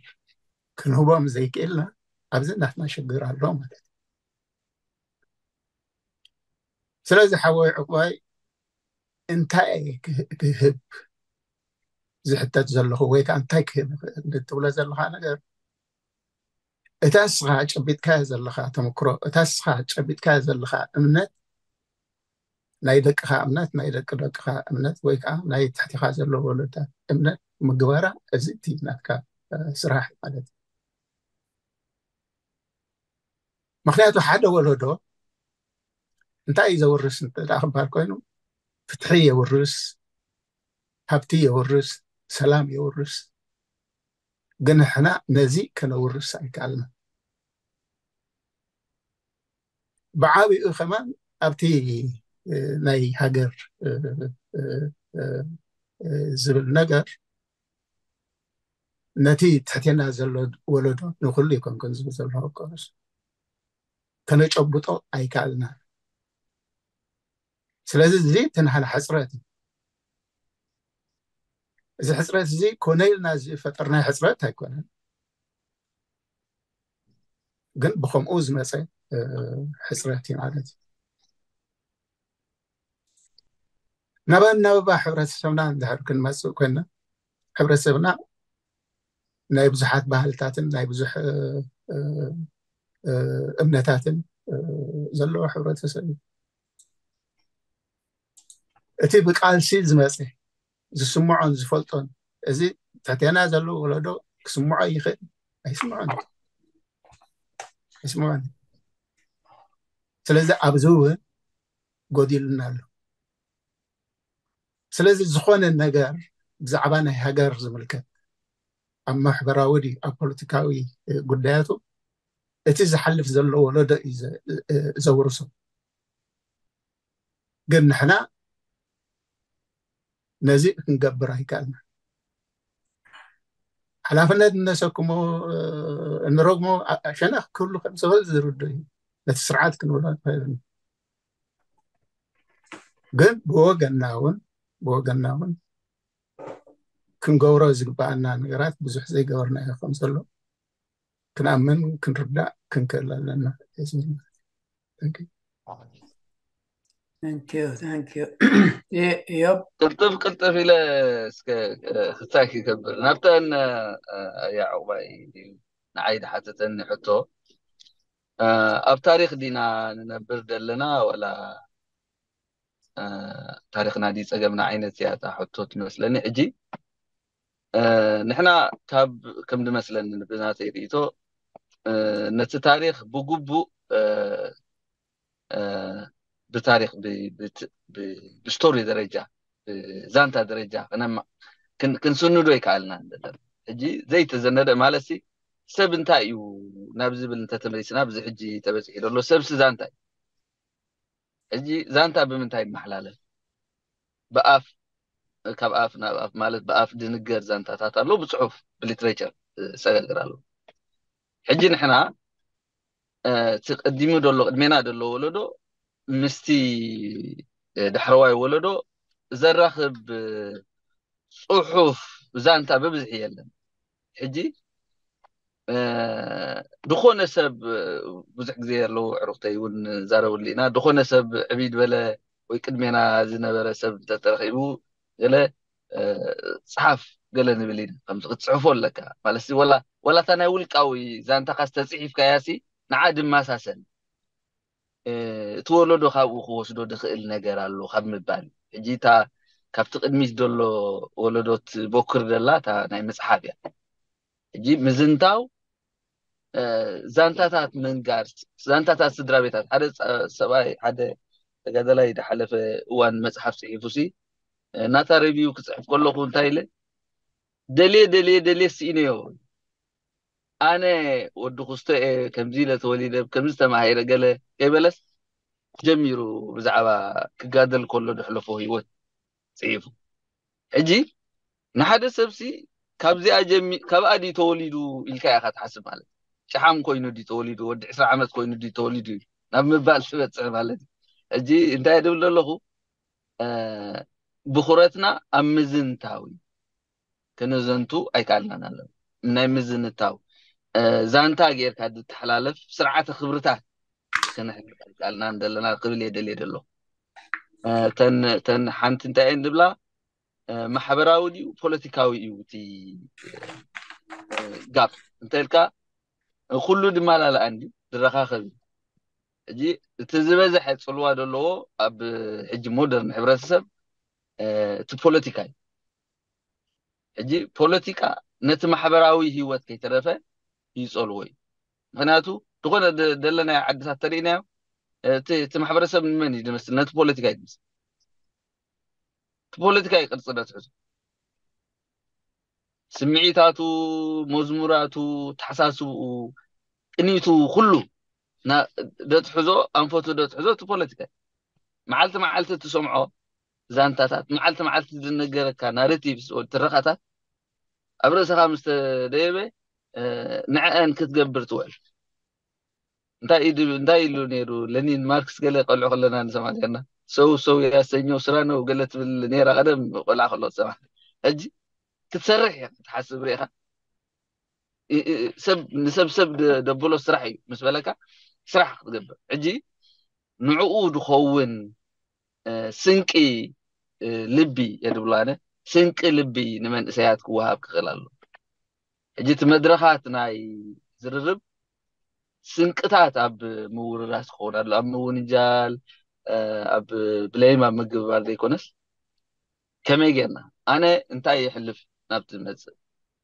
ክንህቦም ዘይክእልና ኣብዚ ናትና ሽግር ኣሎ ማለት እዩ። ስለዚ ሓወይ ዕቁባይ እንታይ ክህብ ዝሕተት ዘለኹ ወይ ከዓ እንታይ ክህብ ትብሎ ዘለካ ነገር እታ እስኻ ጨቢጥካዮ ዘለኻ ተመክሮ እታ እስኻ ጨቢጥካዮ ዘለኻ እምነት ናይ ደቅኻ እምነት ናይ ደቂ ደቅኻ እምነት ወይ ከዓ ናይ ትሕቲኻ ዘሎ ወለዶታት እምነት ምግባራ እዚ እቲ ናትካ ስራሕ ማለት እዩ። ምክንያቱ ሓደ ወለዶ እንታይ እዩ ዘውርስ እንተ ክበሃል ኮይኑ ፍትሒ የውርስ፣ ሃብቲ የውርስ፣ ሰላም የውርስ። ግን ንሕና ነዚ ከነውርስ ኣይከኣልና። ብዓቢኡ ከማን ኣብቲ ናይ ሃገር ዝብል ነገር ነቲ ትሕቴና ዘሎ ወለዶ ንኩሉ ይኮንኩን ዝብል ዘሎ ኮርስ ከነጨብጦ ኣይከኣልና። ስለዚ እዚ እቲ ናህና ሕፅረት እዩ። እዚ ሕፅረት እዚ ኮነ ኢልና ዝፈጠርናዮ ሕፅረት ኣይኮነን፣ ግን ብከምኡ ዝመፀ ሕፅረት እዩ ማለት እዩ። ናብ ኣናብባ ሕብረተሰብና እንድሕር ክንመፅእ ኮይና፣ ሕብረተሰብና ናይ ብዙሓት ባህልታትን ናይ ብዙሕ እምነታትን ዘለዎ ሕብረተሰብ እዩ። እቲ ብቃልሲ ዝመፀ ዝስምዖን ዝፈልጦን፣ እዚ ትሕቴና ዘሎ ወለዶ ክስምዖ ይኽእል ኣይስምዖን ኣይስምዖን። ስለዚ ኣብዚ እውን ጎዲሉና ኣሎ። ስለዚ ዝኾነ ነገር ብዛዕባ ናይ ሃገር ዝምልከት ኣብ ማሕበራዊ ድዩ ኣብ ፖለቲካዊ ጉዳያቱ እቲ ዝሓልፍ ዘሎ ወለዶ እዩ ዘውርሶ። ግን ንሕና ነዚ ክንገብር ኣይከኣልና። ሓላፍነት እነሰክሞ እንረግሞ ሸነኽ ክህሉ ከም ዝኽእል ዝርዶ እዩ። ነቲ ስርዓት ክንብሎ ኣይክእልን። ግን ብወገንና እውን ብወገንና እውን ክንገብሮ ዝግባኣና ነገራት ብዙሕ ዘይገበርናዮ ከም ዘሎ ክንኣምን ክንርዳእ ክንክእል ኣለና። ዮብ ቅልጥፍ ቅልጥፍ ኢለ እስከ ክሳይ ክገብር ናብተን ያዕቁባይ ንዓይ ድሓተተኒ ሕቶ ኣብ ታሪክ ዲና ንነብር ዘለና ወላ ታሪክና ዲ ፀገምና ዓይነት እያ እታ ሕቶ ትመስለኒ። ሕጂ ንሕና ካብ ከም ድመስለኒ ብናተይ ርእቶ ነቲ ታሪክ ብግቡእ ብታሪክ ብስቶሪ ደረጃ ብዛንታ ደረጃ ክንስንዶ ይከኣልና ዘለና። ሕጂ ዘይተዘነደ ማለት ሰብ እንታይ እዩ ናብ ዝብል እንተተመሊስና ኣብዚ ሕጂ ተበፂሑ ዘሎ ሰብሲ ዛንታ እዩ። ሕጂ ዛንታ ብምንታይ ይመሓላለፍ? ብኣፍ ካብ ኣፍ ናብ ኣፍ ማለት ብኣፍ ድንገር ዛንታታት ኣሎ፣ ብፅሑፍ ብሊትሬቸር ዝሰጋገር ኣሎ። ሕጂ ንሕና እቲ ቀዲሙ ዘሎ ቅድሜና ዘሎ ወለዶ ምስቲ ዳሕረዋይ ወለዶ ዘራኽብ ፅሑፍ ዛንታ ብብዝሒ የለን። ሕጂ ዝኾነ ሰብ ብዙሕ ግዜ ኣለዉ ዕሩክተይ እውን ዛረብሉ ኢና። ዝኾነ ሰብ ዕብይ ዝበለ ወይ ቅድሜና ዝነበረ ሰብ እንተተረኺቡ ገለ ፀሓፍ ገለ ንብል ኢና። ከምዚ ክትፅሕፎ ኣለካ ማለት ወላ እታ ናይ ውልቃዊ ዛንታኻ ዝተፅሒፍካያ ሲ ንዓ ድማሳሰል እቲ ወለዶ ካብኡ ክወስዶ ዝኽእል ነገር ኣሎ ካብ ምባል ሕጂ እታ ካብቲ ቅድሚት ዘሎ ወለዶ ትቦክር ዘላ እታ ናይ መፅሓፍ እያ። ሕጂ ምዝንታው ዛንታታት ምንጋር ዛንታታት ስድራ ቤታት ሓደ ሰብኣይ ሓደ ተጋዳላይ ዝሓለፈ እዋን መፅሓፍ ፅሒፉ ሲ ናታ ሬቪው ክፅሕፍ ከለኹ እንታይ ኢለ ደልየ ደልየ ደልየ ስኢነዮ ኣነ ወዲ ክስቶ እየ ከምዚ ኢለ ተወሊደ ከምዚ ተማሂረ ገለ ከይበለስ ጀሚሩ ብዛዕባ ክጋደል ከሎ ዘሕለፎ ህይወት ፅሒፉ። ሕጂ ንሓደ ሰብሲ ካብዚኣ ጀሚ ካብኣ ድዩ ተወሊዱ ኢልካ ኢኻ ትሓስብ ማለት ጨሓም ኮይኑ ድዩ ተወሊዱ ወዲ ዕስራ ዓመት ኮይኑ ድዩ ተወሊዱ ናብ ምባል ትበፅሕ ማለት እዩ። ሕጂ እንታይ ድብል ዘለኹ ብኩረትና ኣብ ምዝንታዊ ከነዘንቱ ኣይከኣልናን ኣለና። ናይ ምዝንታው ዛንታ ጌርካ ዝተሓላለፍ ስርዓተ ክብርታት ከነሕልፍ ኣይከኣልናን ዘለና ክብል እየ ደልየ ደሎ። ተን ሓንቲ እንታይ እየን ዝብላ ማሕበራዊ ድዩ ፖለቲካዊ እዩ እቲ ጋፕ እንተልካ ኩሉ ድማ ላልኣን ድዩ ዝረኻኸብ እዩ። ሕጂ እቲ ዝበዝሐ ፅልዋ ዘለዎ ኣብ ሕጂ ሞደርን ሕብረተሰብ እቲ ፖለቲካ እዩ። ሕጂ ፖለቲካ ነቲ ማሕበራዊ ህይወት ከይተረፈ ይፀልዎ እዩ። ምክንያቱ ዝኾነ ደለናዮ ዓድታት ተሪእናዮ እቲ ማሕበረሰብ ንመን እዩ ዝመስል? ነቲ ፖለቲካ እዩ ዝመስል። እቲ ፖለቲካ እዩ ቅርፂ ነትሕዙ ስምዒታቱ፣ መዝሙራቱ፣ ተሓሳስብኡ፣ ቅኒቱ ኩሉ ደትሕዞ ኣንፈቱ ደትሕዞ እቲ ፖለቲካ መዓልቲ መዓልቲ ትሰምዖ ዛንታታት መዓልቲ መዓልቲ ዝነገረካ ናሬቲቭስ ወይ ትረኻታት ኣብ ርእስኻ ምስ ተደየበ ንዕአን ክትገብር ትውዕል። እንታይ ኢሉ እንታይ ኢሉ ነይሩ ለኒን ማርክስ ገለ ቆልዑ ከለና ንሰማ ኔርና ሰው ሰው ያሰኘው ስራ ነው ገለ ትብል ነይራ ቀደም ቆልዓ ከሎ ትሰማ። ሕጂ ክትሰርሕ እያ ክትሓስብ ርኢኻ። እ- እ- ሰብ ንሰብ ሰብ ደ- ደብሎ ስራሕ እዩ ምስ በለካ፣ ስራሕ ክትገብር። ሕጂ ንዕኡ ዝኸውን እ፣ ስንቂ እ፣ ልቢ የድብሎ ኣነ፣ ስንቂ ልቢ ንመንእሰያት ክወሃብ ክኽእል ኣሎ። ሕጂ እቲ መድረኻት ናይ ዝርርብ ስንቅታት ኣብ ምውርራስ ክኸውን ኣሎ። ኣብ ምውንጃል፣ ኣብ ብሌም ኣብ ምግባር ዘይኮነስ፣ ከመይ ጌርና፣ ኣነ እንታይ ይሕልፍ ናብቲ ዝመጽእ?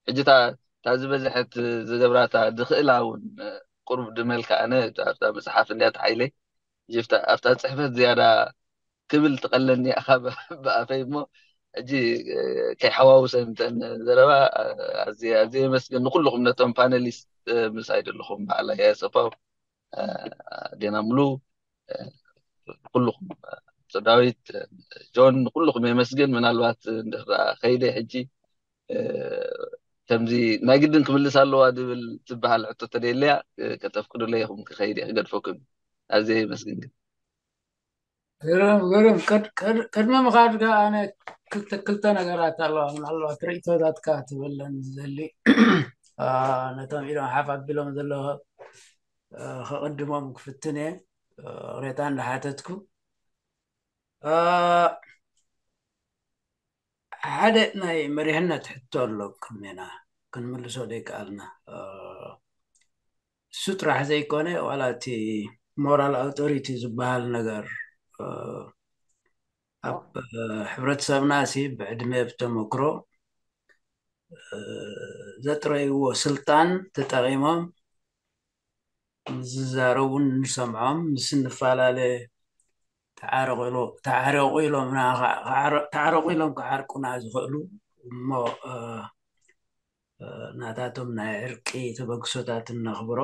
ሕጂ እታ ዝበዝሐት ዝገብራታ ዝኽእላ እውን ቁሩብ ድመልካ፣ ኣነ ኣብታ መጽሓፍ እንድያ ተሓይለይ፣ ኣብታ ጽሕፈት ዝያዳ ክብል ትቐለኒ ኢኻ ብኣፈይ። እሞ ሕጂ ከይሓዋውሰ ምተን ዘረባ፣ ኣዝየ የመስግን ንኩልኹም፣ ነቶም ፓነሊስት ምሳይ ዘለኹም፣ በዓል ኣያሰፋው፣ ዴና ሙሉ፣ ኩልኹም፣ ዳዊት፣ ጆን፣ ንኩልኹም የመስግን። ምናልባት እንድሕር ከይደ ሕጂ ከምዚ ናይ ግድን ክምልስ ኣለዋ ድብል ትበሃል ሕቶ ተደልያ ከተፍቅዱለይ ኢኹም ክኸይድ እየ ክገድፈኩም። ኣዝየ የመስግን። ግን ግርም ግርም። ቅድሚ ምኻድካ ኣነ ክልተ ክልተ ነገራት ኣለዋ፣ ምናልባት ርእቶታትካ ትብለን ዝደሊ። ነቶም ኢሎም ሓፍ ኣቢሎም ዘለዉ ከቕድሞም ክፍትን እየ፣ ሬታ እንዳሓተትኩ። ሓደ ናይ መሪሕነት ሕቶ ኣሎ ቅድሜና፣ ክንምልሶ ደይከኣልና። እሱ ጥራሕ ዘይኮነ፣ ዋላ እቲ ሞራል ኣውቶሪቲ ዝበሃል ነገር ኣብ ሕብረተሰብና ሲ ብዕድመ ብተመክሮ ዘጥረይዎ ስልጣን ተጠቒሞም ዝዛረቡን ንሰምዖም፣ ምስ እንፈላለ ተዓረቑ ኢሎምና፣ ተዓረቑ ኢሎም ክዓርቁና ዝኽእሉ እሞ ናታቶም ናይ ዕርቂ ተበግሶታት እነኽብሮ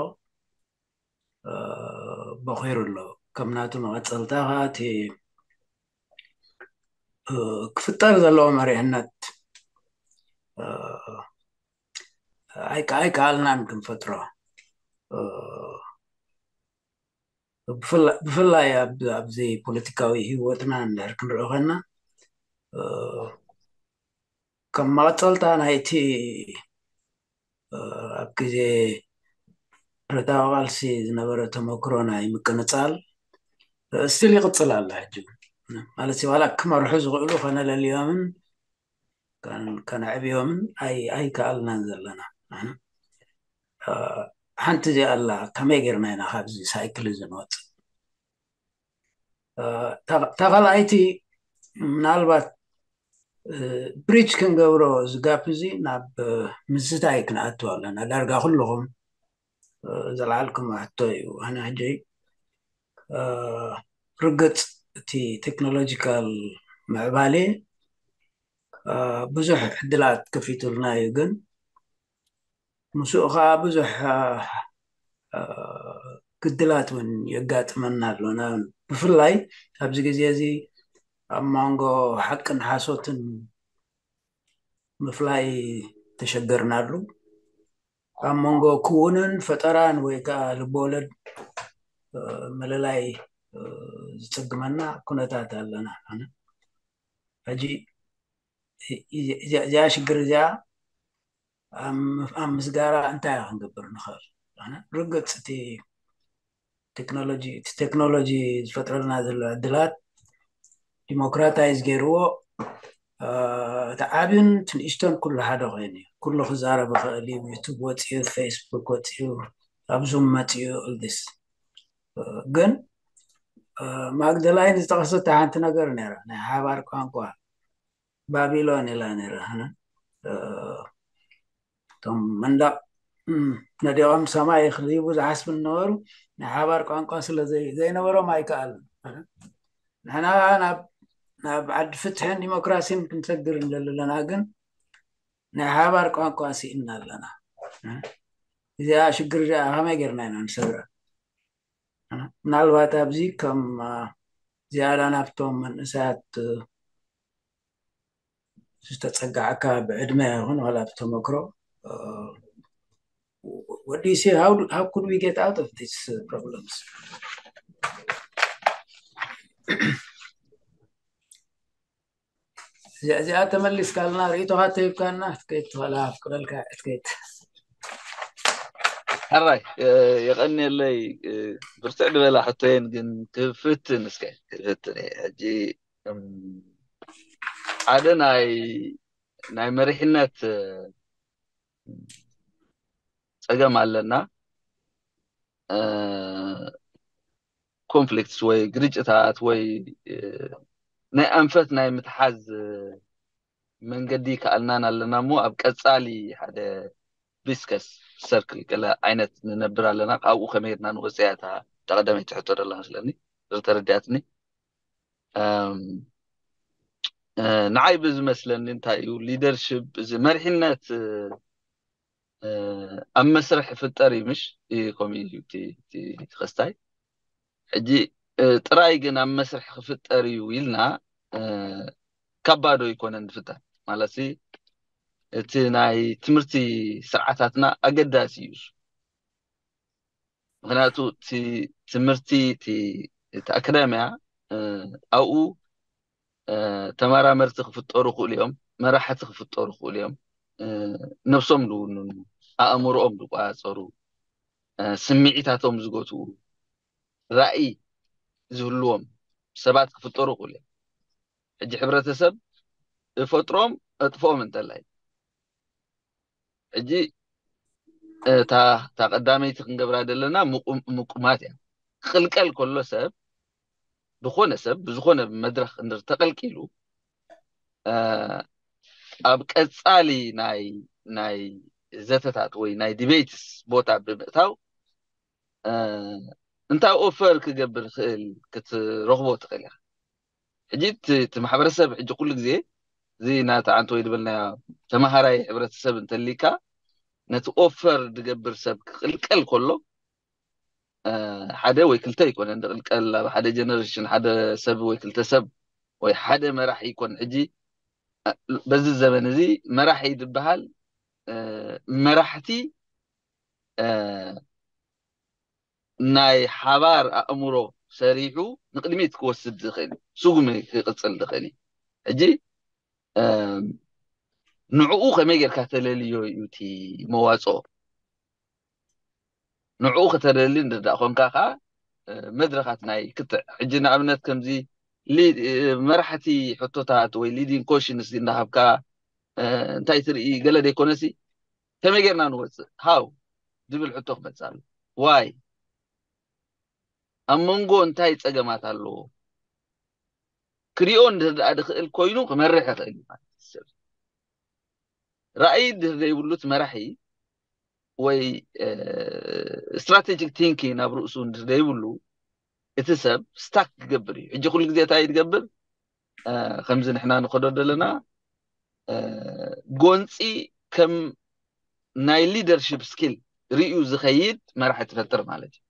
በኺሩ ኣሎ። ከም ናቱ መቐፀልታ ከዓ እቲ ክፍጠር ዘለዎ መሪሕነት ኣይከኣልናን ክንፈጥሮ። ብፍላይ ኣብዚ ፖለቲካዊ ህይወትና እንድሕር ክንርኢ ኮይና፣ ከም መቐፀልታ ናይቲ ኣብ ግዜ ብረታዊ ቃልሲ ዝነበረ ተመክሮ ናይ ምቅንፃል ስቲል ይቕፅል ኣላ። ሕጂ ማለት ዋላ ክመርሑ ዝኽእሉ ከነለልዮምን ከነዕብዮምን ኣይከኣልናን ዘለና። ሓንቲ እዚኣ ኣላ፣ ከመይ ጌርና ኢና ካብዚ ሳይክል እዚ ንወፅእ? እታ ካልኣይቲ ምናልባት ብሪጅ ክንገብሮ ዝጋፕ እዚ ናብ ምዝታይ ክንኣቱ ኣለና። ዳርጋ ኩልኹም ዘልዓልኩም ሕቶ እዩ። ኣነ ሕጂ ርግፅ እቲ ቴክኖሎጂካል ምዕባሌ ብዙሕ ዕድላት ከፊቱልና እዩ፣ ግን ምስኡ ከዓ ብዙሕ ግድላት እውን የጋጥመና ኣሎ። ብፍላይ ኣብዚ ግዜ እዚ ኣብ መንጎ ሓቅን ሓሶትን ምፍላይ ተሸገርናሉ። ኣብ መንጎ ክውንን ፈጠራን ወይ ከዓ ልበወለድ ምልላይ ዝፅግመና ኩነታት ኣለና። ሕጂ እዚኣ ሽግር እዚኣ ኣብ ምስጋራ እንታይ ክንገብር ንኽእል? ርግፅ እቲ ቴክኖሎጂ እቲ ቴክኖሎጂ ዝፈጥረልና ዘሎ ዕድላት ዲሞክራታይዝ ገይርዎ፣ እቲ ዓብን ትንእሽቶን ኩሉ ሓደ ኮይኑ እዩ። ኩሉ ክዛረብ ይኽእል እዩ። ዩቱብ ወፅኡ፣ ፌስቡክ ወፅኡ፣ ኣብ ዙም መፅኡ፣ ኦልዲስ። ግን ማግደላይን ዝጠቐሰታ ሓንቲ ነገር ነይራ፣ ናይ ሓባር ቋንቋ ባቢሎን ኢላ ነይራ። እቶም መንደቕ ነዲቖም ሰማይ ክድይቡ ዝሓስቡ ዝነበሩ ናይ ሓባር ቋንቋ ስለ ዘይነበሮም ኣይከኣልን። ንሕና ናብ ዓዲ ፍትሕን ዲሞክራሲን ክንሰግር ንደሊ ኣለና፣ ግን ናይ ሓባር ቋንቋ ስኢንና ኣለና። እዚኣ ሽግር እዚኣ ከመይ ጌርና ኢና ንሰግራ? ምናልባት ኣብዚ ከም ዝያዳ ናብቶም መንእሰያት ዝተፀጋዕካ ብዕድመ ይኹን ዋላ ብተመክሮ፣ what do you see? How, how could we get out of these uh, problems? እዚኣ ተመሊስካልና ርእይቶኻ ተሂብካና ክትከይድ ትኽእላ ኣፍቅደልካ ክትከይድ። ሕራይ የቐንየለይ። ብርትዕ ዝበላ ሕቶየን ግን ክፍትን እስከ ክፍትን እየ ሕጂ ሓደ ናይ ናይ መሪሕነት ፀገም ኣለና። ኮንፍሊክትስ ወይ ግርጭታት ወይ ናይ ኣንፈት ናይ ምትሓዝ መንገዲ ከኣልናን ኣለና እሞ ኣብ ቀፃሊ ሓደ ቢስከስ ሰርክል ገለ ዓይነት ንነብር ኣለና። ካብኡ ከመይ ጌርና ንወፅያ እታ ቀዳመይቲ ሕቶ ደላ መስለኒ ዝተረዲኣትኒ። ንዓይ ብዝመስለኒ እንታይ እዩ ሊደርሽፕ እዚ መሪሕነት ኣብ መስርሕ ይፍጠር እዩ ምሽ ከምኡ እዩ እቲ ክስታይ ሕጂ ጥራይ ግን ኣብ መስርሕ ክፍጠር እዩ ኢልና ካብ ባዶ ኣይኮነን ዝፍጠር ማለት እቲ ናይ ትምህርቲ ስርዓታትና ኣገዳሲ እዩ። ምክንያቱ እቲ ትምህርቲ እቲ ኣካዳሚያ ኣብኡ ተመራመርቲ ክፍጠሩ ክእሉ እዮም፣ መራሕቲ ክፍጠሩ ክእሉ እዮም። ነብሶም ዝውንኑ፣ ኣእምሮኦም ዝቆፃፀሩ፣ ስምዒታቶም ዝገትኡ፣ ራእይ ዝህልዎም ሰባት ክፍጠሩ ክእሉ እዮም። ሕጂ ሕብረተሰብ እፈጥሮም እጥፍኦም እንተላይ ሕጂ እታ እታ ቀዳመይቲ ክንገብራ ዘለና ምቁማት እያ። ክቕልቀል ከሎ ሰብ ብኾነ ሰብ ብዝኾነ መድረኽ እንድር ተቐልቂሉ ኣብ ቀፃሊ ናይ ናይ ዘተታት ወይ ናይ ዲቤትስ ቦታ ብምእታው እንታይ ኦፈር ክገብር ክእል ክትረኽቦ ትኽእል ኢኻ። ሕጂ እቲ ማሕበረሰብ ሕጂ ኩሉ ግዜ እዚ ናቲ ዓንተ ወይ ዝበልናዮ ተማሃራይ ሕብረተሰብ እንተሊካ ነቲ ኦፈር ዝገብር ሰብ ክቕልቀል ከሎ ሓደ ወይ ክልተ ይኮነ ዝቕልቀል ኣብ ሓደ ጀነሬሽን ሓደ ሰብ ወይ ክልተ ሰብ ወይ ሓደ መራሒ ይኮን። ሕጂ በዚ ዘመን እዚ መራሒ ዝበሃል መራሕቲ ናይ ሓባር ኣእምሮ ሰሪሑ ንቅድሚት ክወስድ ዝኽእል ስጉሚ ክቅፅል ዝኽእል እዩ። ሕጂ ንዕኡ ከመይ ጌርካ ተለልዮ እዩ እቲ መዋፅኦ። ንዕኡ ከተለሊ እንድዳ ኮንካ ከዓ መድረኻት ናይ ክትዕ ሕጂ ንኣብነት ከምዚ መራሕቲ ሕቶታት ወይ ሊዲንግ ኮሽንስ እንዳሃብካ እንታይ ትርኢ ገለ ዘይኮነሲ ከመይ ጌርና ንወፅእ ሃው ዝብል ሕቶ ክመፅእ ኣሎ። ዋይ ኣብ መንጎ እንታይ ፀገማት ኣለዎ ክሪኦ እንድርዳኣ ድኽእል ኮይኑ ክመርሕ ይኽእል እዩ ማለት ሰብ ራእይ ድር ዘይብሉ እቲ መራሒ ወይ ስትራቴጂክ ቲንኪንግ ኣብ ርእሱ እንድር ዘይብሉ እቲ ሰብ ስታክ ክገብር እዩ። ሕጂ ኩሉ ግዜ እንታይ ትገብር ከምዚ ንሕና ንኸዶ ዘለና ጎንፂ ከም ናይ ሊደርሽፕ ስኪል ርእዩ ዝኸይድ መራሒ ትፈጥር ማለት እዩ።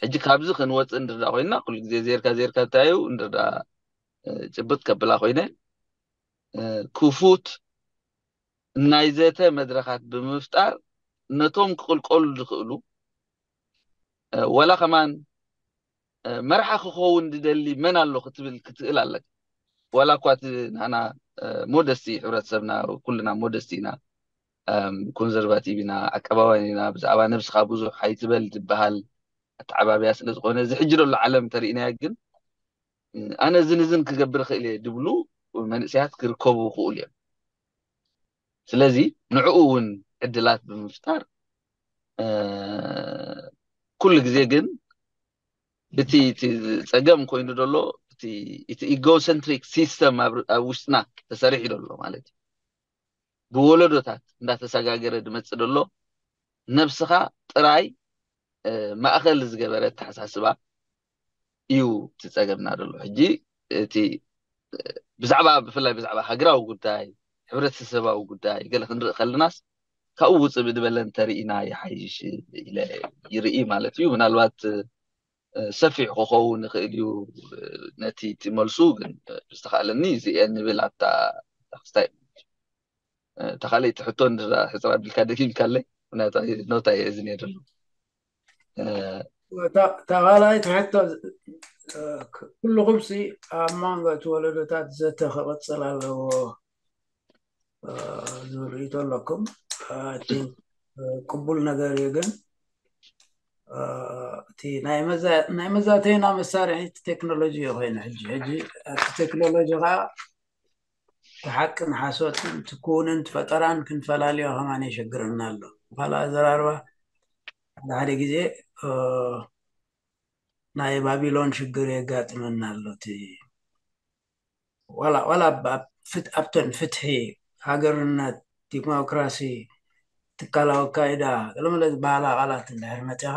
ሕጂ ካብዚ ክንወፅእ እንድርዳ ኮይና ኩሉ ግዜ ዜርካ ዜርካ እንታይ እዩ እንድርዳ ጭብጥ ከብላ ኮይነ ክፉት ናይ ዘተ መድረኻት ብምፍጣር ነቶም ክቕልቀሉ ዝኽእሉ ወላ ከማን መርሓ ክኸውን ዝደሊ መን ኣሎ ክትብል ክትእል ኣለካ። ዋላ እኳ እቲ ንሕና ሞደስቲ ሕብረተሰብና ኩልና ሞደስቲ ኢና፣ ኮንዘርቫቲቭ ኢና፣ ዓቀባውያን ኢና፣ ብዛዕባ ነብስኻ ብዙሕ ኣይትበል ዝበሃል ኣተዓባብያ ስለ ዝኾነ እዚ ሕጂ ዘሎ ዓለም እንተሪእናዮ ግን ኣነ እዝን እዝን ክገብር እኽእል እየ ዝብሉ መንእሰያት ክርከቡ ይኽእሉ እዮም። ስለዚ ንዕኡ እውን ዕድላት ብምፍጣር ኩሉ ግዜ ግን እቲ እቲ ፀገም ኮይኑ ዘሎ እቲ ኢጎሰንትሪክ ሲስተም ኣብ ውሽጥና ተሰሪሑ ዘሎ ማለት እዩ። ብወለዶታት እንዳተሰጋገረ ዝመፅእ ዘሎ ነብስኻ ጥራይ ማእኸል ዝገበረ ኣተሓሳስባ እዩ እቲ ፀገምና ዘሎ። ሕጂ እቲ ብዛዕባ ብፍላይ ብዛዕባ ሃገራዊ ጉዳይ፣ ሕብረተሰባዊ ጉዳይ ገለ ክንርኢ ከለናስ ካብኡ ውፅእ ብድበለ እንተርኢና ይሓይሽ ኢለ ይርኢ ማለት እዩ። ምናልባት ሰፊሕ ክኸውን ይኽእል እዩ ነቲ እቲ መልሱ ግን ዝተኻእለኒ እዚ እየ ንብል ኣብታ ክስታይ እታ ካልኣይቲ ሕቶ እንድሕር ሕፅር ኣቢልካ ደጊምካለይ ምክንያቱ ኖታ እየ እዚ ነይሩ ኣለኹ። እታ ካልኣይቲ ሕቶ ኩልኹም ሲ ኣብ መንጎ እቲ ወለዶታት ዘተ ክቕፅል ኣለዎ ዝብል ርእይቶ ኣለኩም። ቅቡል ነገር እዩ። ግን እቲ ናይ መዛተይና መሳርሒ እቲ ቴክኖሎጂ እዩ ኮይኑ ሕጂ ሕጂ እቲ ቴክኖሎጂ ከዓ እቲ ሓቅን ሓሶትን እቲ ክውንን ፈጠራን ክንፈላልዮ ከማን የሸግረና ኣሎ። ካልእ ኣዘራርባ ሓደ ሓደ ግዜ ናይ ባቢሎን ሽግር የጋጥመና ኣሎ። እቲ ዋላ ዋላ ኣብተን ፍትሒ፣ ሃገርነት፣ ዲሞክራሲ፣ ትካላዊ ኣካይዳ ገለመለ ዝበሃላ ቃላት እንድሕር መፂኻ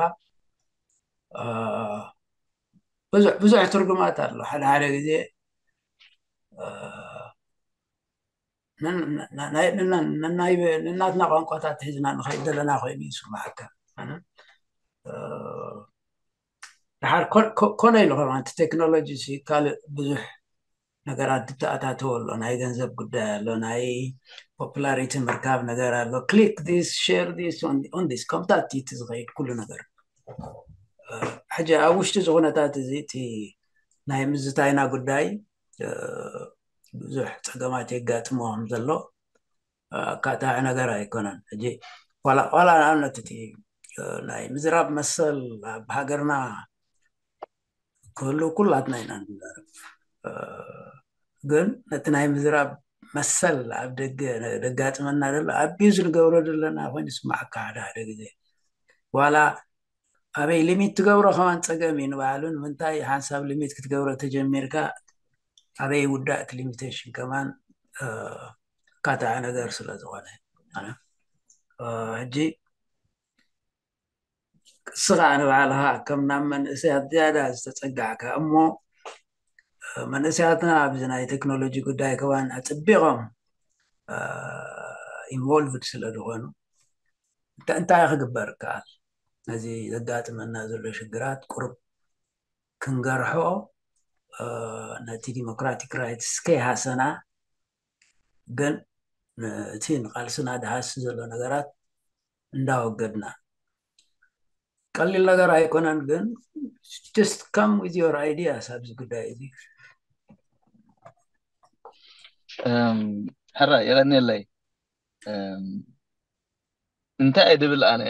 ብዙሕ ብዙሕ ትርጉማት ኣሎ። ሓደ ሓደ ግዜ ነናትና ቋንቋታት ሒዝና ንኸይድ ዘለና ኮይኑ ይስማዓካ። ድሓር ኮነ ኢሉ ከማን እቲ ቴክኖሎጂ ካልእ ብዙሕ ነገራት ዝተኣታተወ ኣሎ። ናይ ገንዘብ ጉዳይ ኣሎ፣ ናይ ፖፑላሪቲ ምርካብ ነገር ኣሎ። ክሊክ ዲስ ሸር ዲስ ኦን ዲስ ከምታት እቲ ዝኸይድ ኩሉ ነገር። ሕጂ ኣብ ውሽጢ እዚ ኩነታት እዚ እቲ ናይ ምዝታይና ጉዳይ ብዙሕ ፀገማት የጋጥሞ ከም ዘሎ ኣካታዒ ነገር ኣይኮነን። ሕጂ ዋላ ንኣብነት እቲ ናይ ምዝራብ መሰል ኣብ ሃገርና ክህሉ ኩላትና ኢና ንዛረብ። ግን ነቲ ናይ ምዝራብ መሰል ኣብ ደገ ደጋጥመና ዘሎ ኣቢዩዝ ንገብሮ ዘለና ኮይኑ ይስማዓካ ሓደ ሓደ ግዜ። ዋላ ኣበይ ሊሚት ትገብሮ ከማን ፀገም እዩ ንባዕሉ። ንምንታይ ሓንሳብ ሊሚት ክትገብሮ ተጀሚርካ ኣበይ ውዳእ እቲ ሊሚቴሽን ከማን ኣካታዒ ነገር ስለ ዝኾነ ሕጂ ንስኻ ንባዕልኻ ከም ናብ መንእሰያት ዝያዳ ዝተፀጋዕካ እሞ መንእሰያትና ኣብዚ ናይ ቴክኖሎጂ ጉዳይ ከማን ኣፅቢቖም ኢንቮልቭድ ስለ ዝኾኑ እንታይ ክግበር ይከኣል? ነዚ ዘጋጥመና ዘሎ ሽግራት ቁሩብ ክንገርሖ ነቲ ዲሞክራቲክ ራይትስ ከይሃሰና ግን እቲ ንቃልስና ድሃሲ ዘሎ ነገራት እንዳወገድና ቀሊል ነገር ኣይኮነን። ግን just come with your ideas ኣብዚ ጉዳይ እዚ። ሕራ የቐኒለይ እንታይ እየ ድብል ኣነ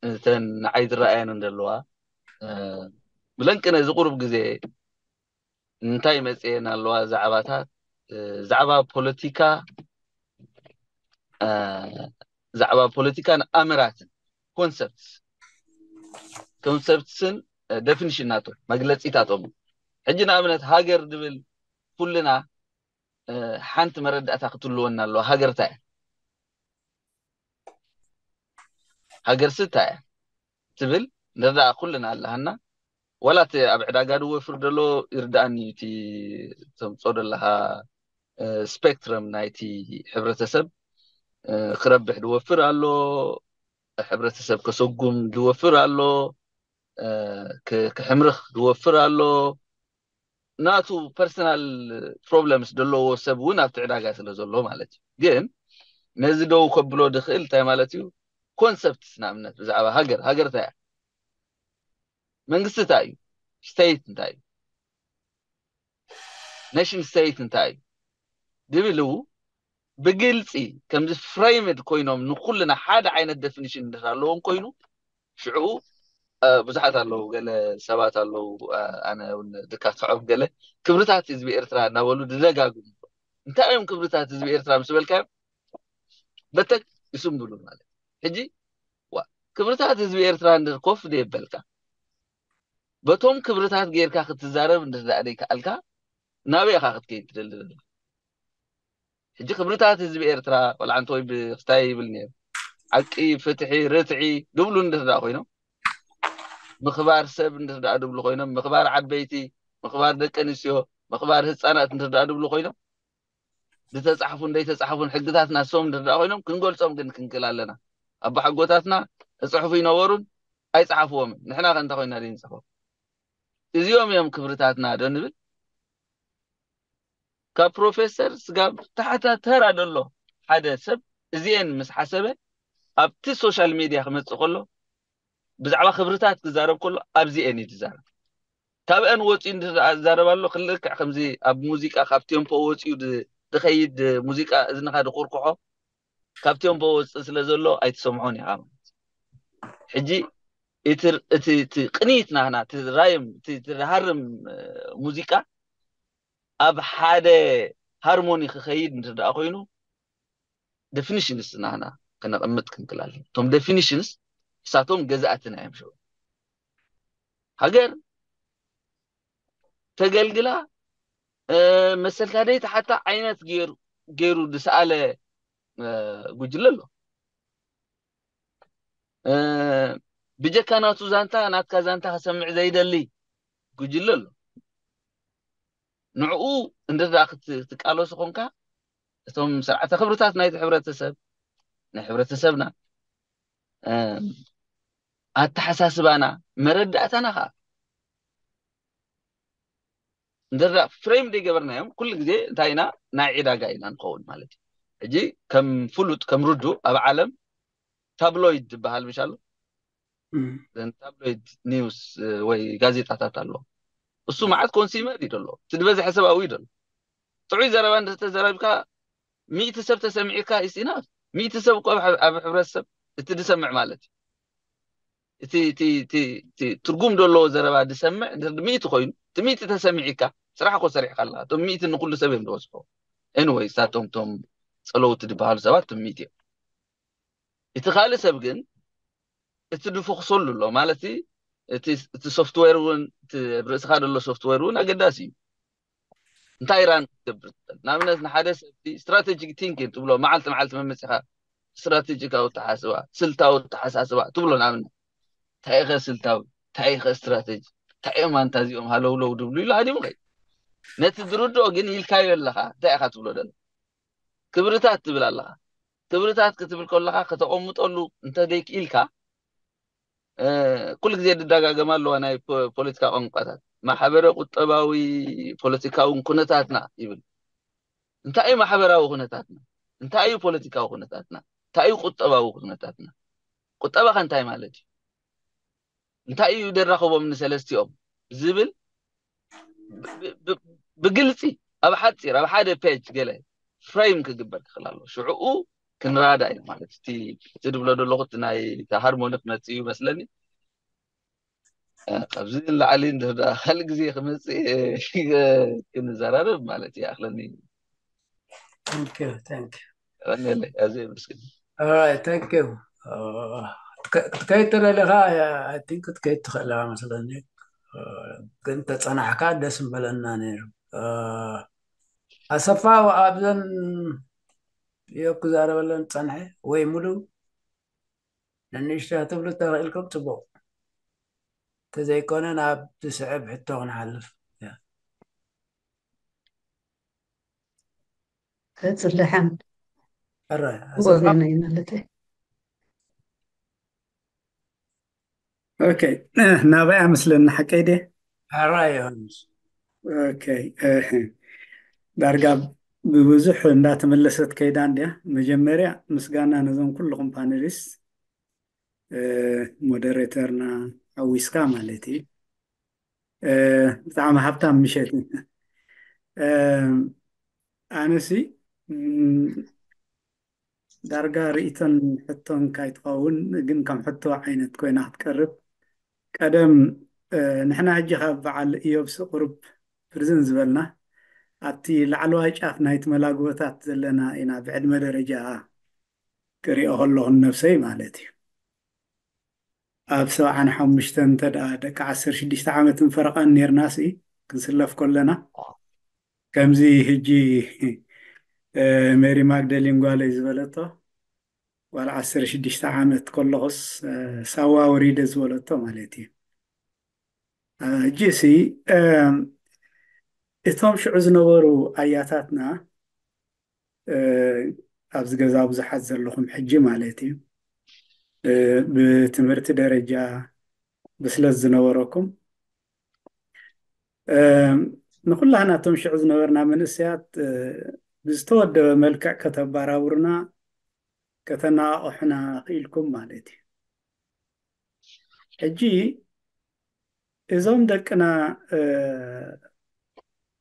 እተን ንዓይ ዝረኣየን እንደለዋ ብለንቂ ነዚ ቁሩብ ግዜ እንታይ መፅየን ኣለዋ ዛዕባታት ዛዕባ ፖለቲካ ዛዕባ ፖለቲካን ኣምራትን ኮንሰፕትስ ኮንሰፕትስን ደፊኒሽን ናቶም መግለፂታቶም ሕጂ ንኣብነት ሃገር ድብል ኩልና ሓንቲ መረዳእታ ክትልወና ኣለዋ ሃገርታ እያ ሃገር ስታ እያ ትብል ንርዳኣ ኩልና ኣለሃና ዋላ እቲ ኣብ ዕዳጋ ድወፍር ደሎ ይርዳኣኒ እቲ ተምፆ ደለካ ስፔክትረም ናይቲ ሕብረተሰብ ክረብሕ ድወፍር ኣሎ ሕብረተሰብ ከሰጉም ድወፍር ኣሎ ክሕምርኽ ድወፍር ኣሎ ናቱ ፐርሰናል ፕሮብለምስ ደለዎ ሰብ እውን ኣብቲ ዕዳጋ ስለ ዘሎ ማለት እዩ ግን ነዚ ደው ከብሎ ድኽእል እንታይ ማለት እዩ ኮንሰፕትስ ንኣብነት ብዛዕባ ሃገር ሃገር እንታይ እያ መንግስቲ እንታይ እዩ ስቴት እንታይ እዩ ኔሽን ስቴት እንታይ እዩ ድብል ብግልፂ ከምዚ ፍሬምድ ኮይኖም ንኩልና ሓደ ዓይነት ደፊኒሽን ኣለዎም ኮይኑ ሽዑ ብዙሓት ኣለዉ ገለ ሰባት ኣለዉ ኣነ እውን ድካትዖም ገለ ክብርታት ህዝቢ ኤርትራ እናበሉ ድደጋግሙ እንታይ እዮም ክብርታት ህዝቢ ኤርትራ ምስ በልካዮም በተክ ይስምብሉ ማለት ሕጂ ክብርታት ህዝቢ ኤርትራ እንድር ኮፍ ደየበልካ በቶም ክብርታት ጌርካ ክትዛረብ እንድር ደኣ ደይከኣልካ ናበይ ኢኻ ክትከይድ ትደሊ ዘለካ ሕጂ ክብርታት ህዝቢ ኤርትራ ቆልዓ እንተወይ ብክስታይ ይብል ነይሩ ሓቂ ፍትሒ ርትዒ ድብሉ እንድር ደኣ ኮይኖም ምኽባር ሰብ እንድር ደኣ ድብሉ ኮይኖም ምኽባር ዓበይቲ ምኽባር ደቂ ኣንስትዮ ምኽባር ህፃናት እንድር ደኣ ድብሉ ኮይኖም ዝተፃሕፉን ዘይተፃሕፉን ሕግታት ናሶም እንድር ደኣ ኮይኖም ክንገልፆም ግን ክንክእል ኣለና ኣቦሓጎታትና እፅሕፉ ይነበሩን ኣይፀሓፍዎምን ንሕና ከ እንታይ ኮይና ደይንፅሕፎ እዚኦም እዮም ክብርታትና ዶ ንብል ካብ ፕሮፌሰር ስጋብ ታሕታ ተራ ደሎ ሓደ ሰብ እዚኤን ምስ ሓሰበ ኣብቲ ሶሻል ሚድያ ክመፅእ ከሎ ብዛዕባ ክብርታት ክዛረብ ከሎ ኣብዚኤን እዩ ዝዛረብ ካብአን ወፂኡ እንድዛረብ ኣሎ ክልክዕ ከምዚ ኣብ ሙዚቃ ካብ ቴምፖ ወፂኡ ድ- ድኸይድ ሙዚቃ እዝንኻ ድቁርኩሖ ካብ ቴምፖ ወፅእ ስለ ዘሎ ኣይትሰምዖን ኢኻ ማለት እዩ። ሕጂ እቲ እቲ እቲ ቅኒት ናህና እቲ ራይም እቲ እቲ ዝሃርም ሙዚቃ ኣብ ሓደ ሃርሞኒ ክኸይድ እንድኣ ኮይኑ ደፊኒሽንስ ናህና ክነቐምጥ ክንክላለን እቶም ደፊኒሽንስ እሳቶም ገዛእትና እዮም ሽዑ ሃገር ተገልግላ መሰልካ ደይ ተሓታ ዓይነት ገይሩ ዝሰኣለ ጉጅለ ኣሎ። ብጀካ ናቱ ዛንታ ናትካ ዛንታ ከሰምዕ ዘይደሊ ጉጅለ ኣሎ። ንዕኡ እንድዳ ክትቃለሱ ኮንካ እቶም ስርዓተ ክብርታት ናይቲ ሕብረተሰብ ናይ ሕብረተሰብና ኣተሓሳስባና መረዳእታና ከዓ እንድዳ ፍሬም ዘይገበርናዮም ኩሉ ግዜ እንታይ ኢና ናይ ዕዳጋ ኢና ንኸውን ማለት እዩ። ሕጂ ከም ፍሉጥ ከም ርዱ ኣብ ዓለም ታብሎይድ ዝበሃል ምሽ ኣሎ ታብሎይድ ኒውስ ወይ ጋዜጣታት ኣሎ። እሱ መዓት ኮንሲመር እዩ ደሎ እቲ ዝበዝሐ ሰብኣዊ እዩ ደሎ። ጥዑይ ዘረባ እንተተዘረብካ ሚእቲ ሰብ ተሰሚዕካ ኢስና ሚእቲ ሰብ እኮ ኣብ ሕብረተሰብ እቲ ዝሰምዕ ማለት እዩ። እቲ ትርጉም ዘለዎ ዘረባ ዝሰምዕ ሚእቲ ኮይኑ እቲ ሚእቲ ተሰሚዒካ ስራሕ እኮ ሰሪሕካ ኣለካ። እቶም ሚእቲ ንኩሉ ሰብ እዮም ዝበፅሑ። ኤንወይ እሳቶም ቶም ፀለውቲ ዝበሃሉ ሰባት እቶም ሚእቲ እዮም። እቲ ካልእ ሰብ ግን እቲ ዝፎክሰሉ ኣሎ ማለት እቲ ሶፍትዌር እውን ርእስኻ ዘሎ ሶፍትዌር እውን ኣገዳሲ እዩ። እንታይ ራን ክትገብር ትኽእል ንኣብነት ንሓደ ሰብ ስትራቴጂክ ቲንኪንግ ትብሎ መዓልቲ መዓልቲ መመፂኻ ስትራቴጂካዊ ተሓስባ ስልታዊ ተሓሳስባ ትብሎ ንኣብነት እንታይ ኢኸ ስልታዊ እንታይ ኢኸ ስትራቴጂ እንታይ እዮም ኣንታ እዚኦም ሃለውለው ድብሉ ኢሉ ሃዲሙ ኸይ ነቲ ዝርድኦ ግን ኢልካዮ ኣለኻ እንታይ ኢኻ ትብሎ ደለ ክብርታት ትብል ኣለኻ ክብርታት ክትብል ከለኻ ከተቐምጠሉ እንተደይክኢልካ ኩሉ ግዜ ድዳጋገማ ኣለዋ ናይ ፖለቲካ ቋንቋታት ማሕበረ ቁጠባዊ ፖለቲካውን ኩነታትና ይብል እንታይ እዩ ማሕበራዊ ኩነታትና እንታይ እዩ ፖለቲካዊ ኩነታትና እንታይ እዩ ቁጠባዊ ኩነታትና ቁጠባኸ እንታይ ማለት እዩ እንታይ እዩ ደራኸቦም ንሰለስቲኦም ዝብል ብግልፂ ኣብ ሓፂር ኣብ ሓደ ፔጅ ገለ ፍሬም ክግበር ክኽእል ኣለዎ ሽዕኡ ክንረዳእ ኢና ማለት እቲ እቲ ድብሎ ዘለኹ እቲ ናይ ሃርሞኒ ክመፅእ እዩ መስለኒ ካብዚ ንላዕሊ እንድሕር ደኣ ካልእ ግዜ ክመፅእ ክንዘራረብ ማለት ይኣኽለኒ Thank you, thank you. ቀንየለይ ኣዝየ የመስግን All right, thank you. ክትከይድ ተደሊኻ I think ክትከይድ ትኽእል ኢኻ መስለኒ ግን ተፀናሕካ ደስ ምበለና ነይሩ ኣሰፋ ኣብዘን እዮብ ክዛረበለን ፀንሐ ወይ ሙሉ ንንእሽቶ ክትብሉ ተኽእልኩም ፅቡቕ እንተዘይኮነ ናብ ዝስዕብ ሕቶ ክንሓልፍ ከፅልሐን ሕረ ወገነይ ማለት እዩ ኦኬ ናበይ ኣመስለኒ ሓቀይ ድየ ሕራ ዮሃንስ ኦኬ ዳርጋ ብብዙሕ እንዳተመለሰት ከይዳ እንድያ መጀመርያ ምስጋና ነዞም ኩልኹም ፓነሊስት ሞደሬተርና ሓዊስካ ማለት እዩ ብጣዕሚ ሃብታም ምሸት እዩ ኣነሲ ዳርጋ ርእቶን ሕቶን ካይትኸውን ግን ከም ሕቶ ዓይነት ኮይና ክትቀርብ ቀደም ንሕና ሕጂ ካብ በዓል እዮብ ስቁርብ ፕርዝን ዝበልና ኣብቲ ላዕለዋይ ጫፍ ናይቲ መላግቦታት ዘለና ኢና ብዕድመ ደረጃ ክሪኦ ከለኹ ነብሰይ ማለት እዩ ኣብ ሰብዓን ሓሙሽተን እንተ ደኣ ደቂ ዓሰርተ ሽዱሽተ ዓመትን ፈረቓን ኔርናሲ ክንስለፍ ከለና ከምዚ ሕጂ ሜሪ ማግደሊን ጓለይ ዝበለቶ ጓል ዓሰርተ ሽዱሽተ ዓመት ከለኹስ ሳዋ ወሪደ ዝበለቶ ማለት እዩ ሕጂ ሲ እቶም ሽዑ ዝነበሩ ኣያታትና ኣብዚ ገዛ ብዙሓት ዘለኹም ሕጂ ማለት እዩ ብትምህርቲ ደረጃ ብስለት ዝነበረኩም ንኩላህና እቶም ሽዑ ዝነበርና መንእሰያት ብዝተወደበ መልክዕ ከተባራብሩና ከተናቃቕሑና ክኢልኩም ማለት እዩ ሕጂ እዞም ደቅና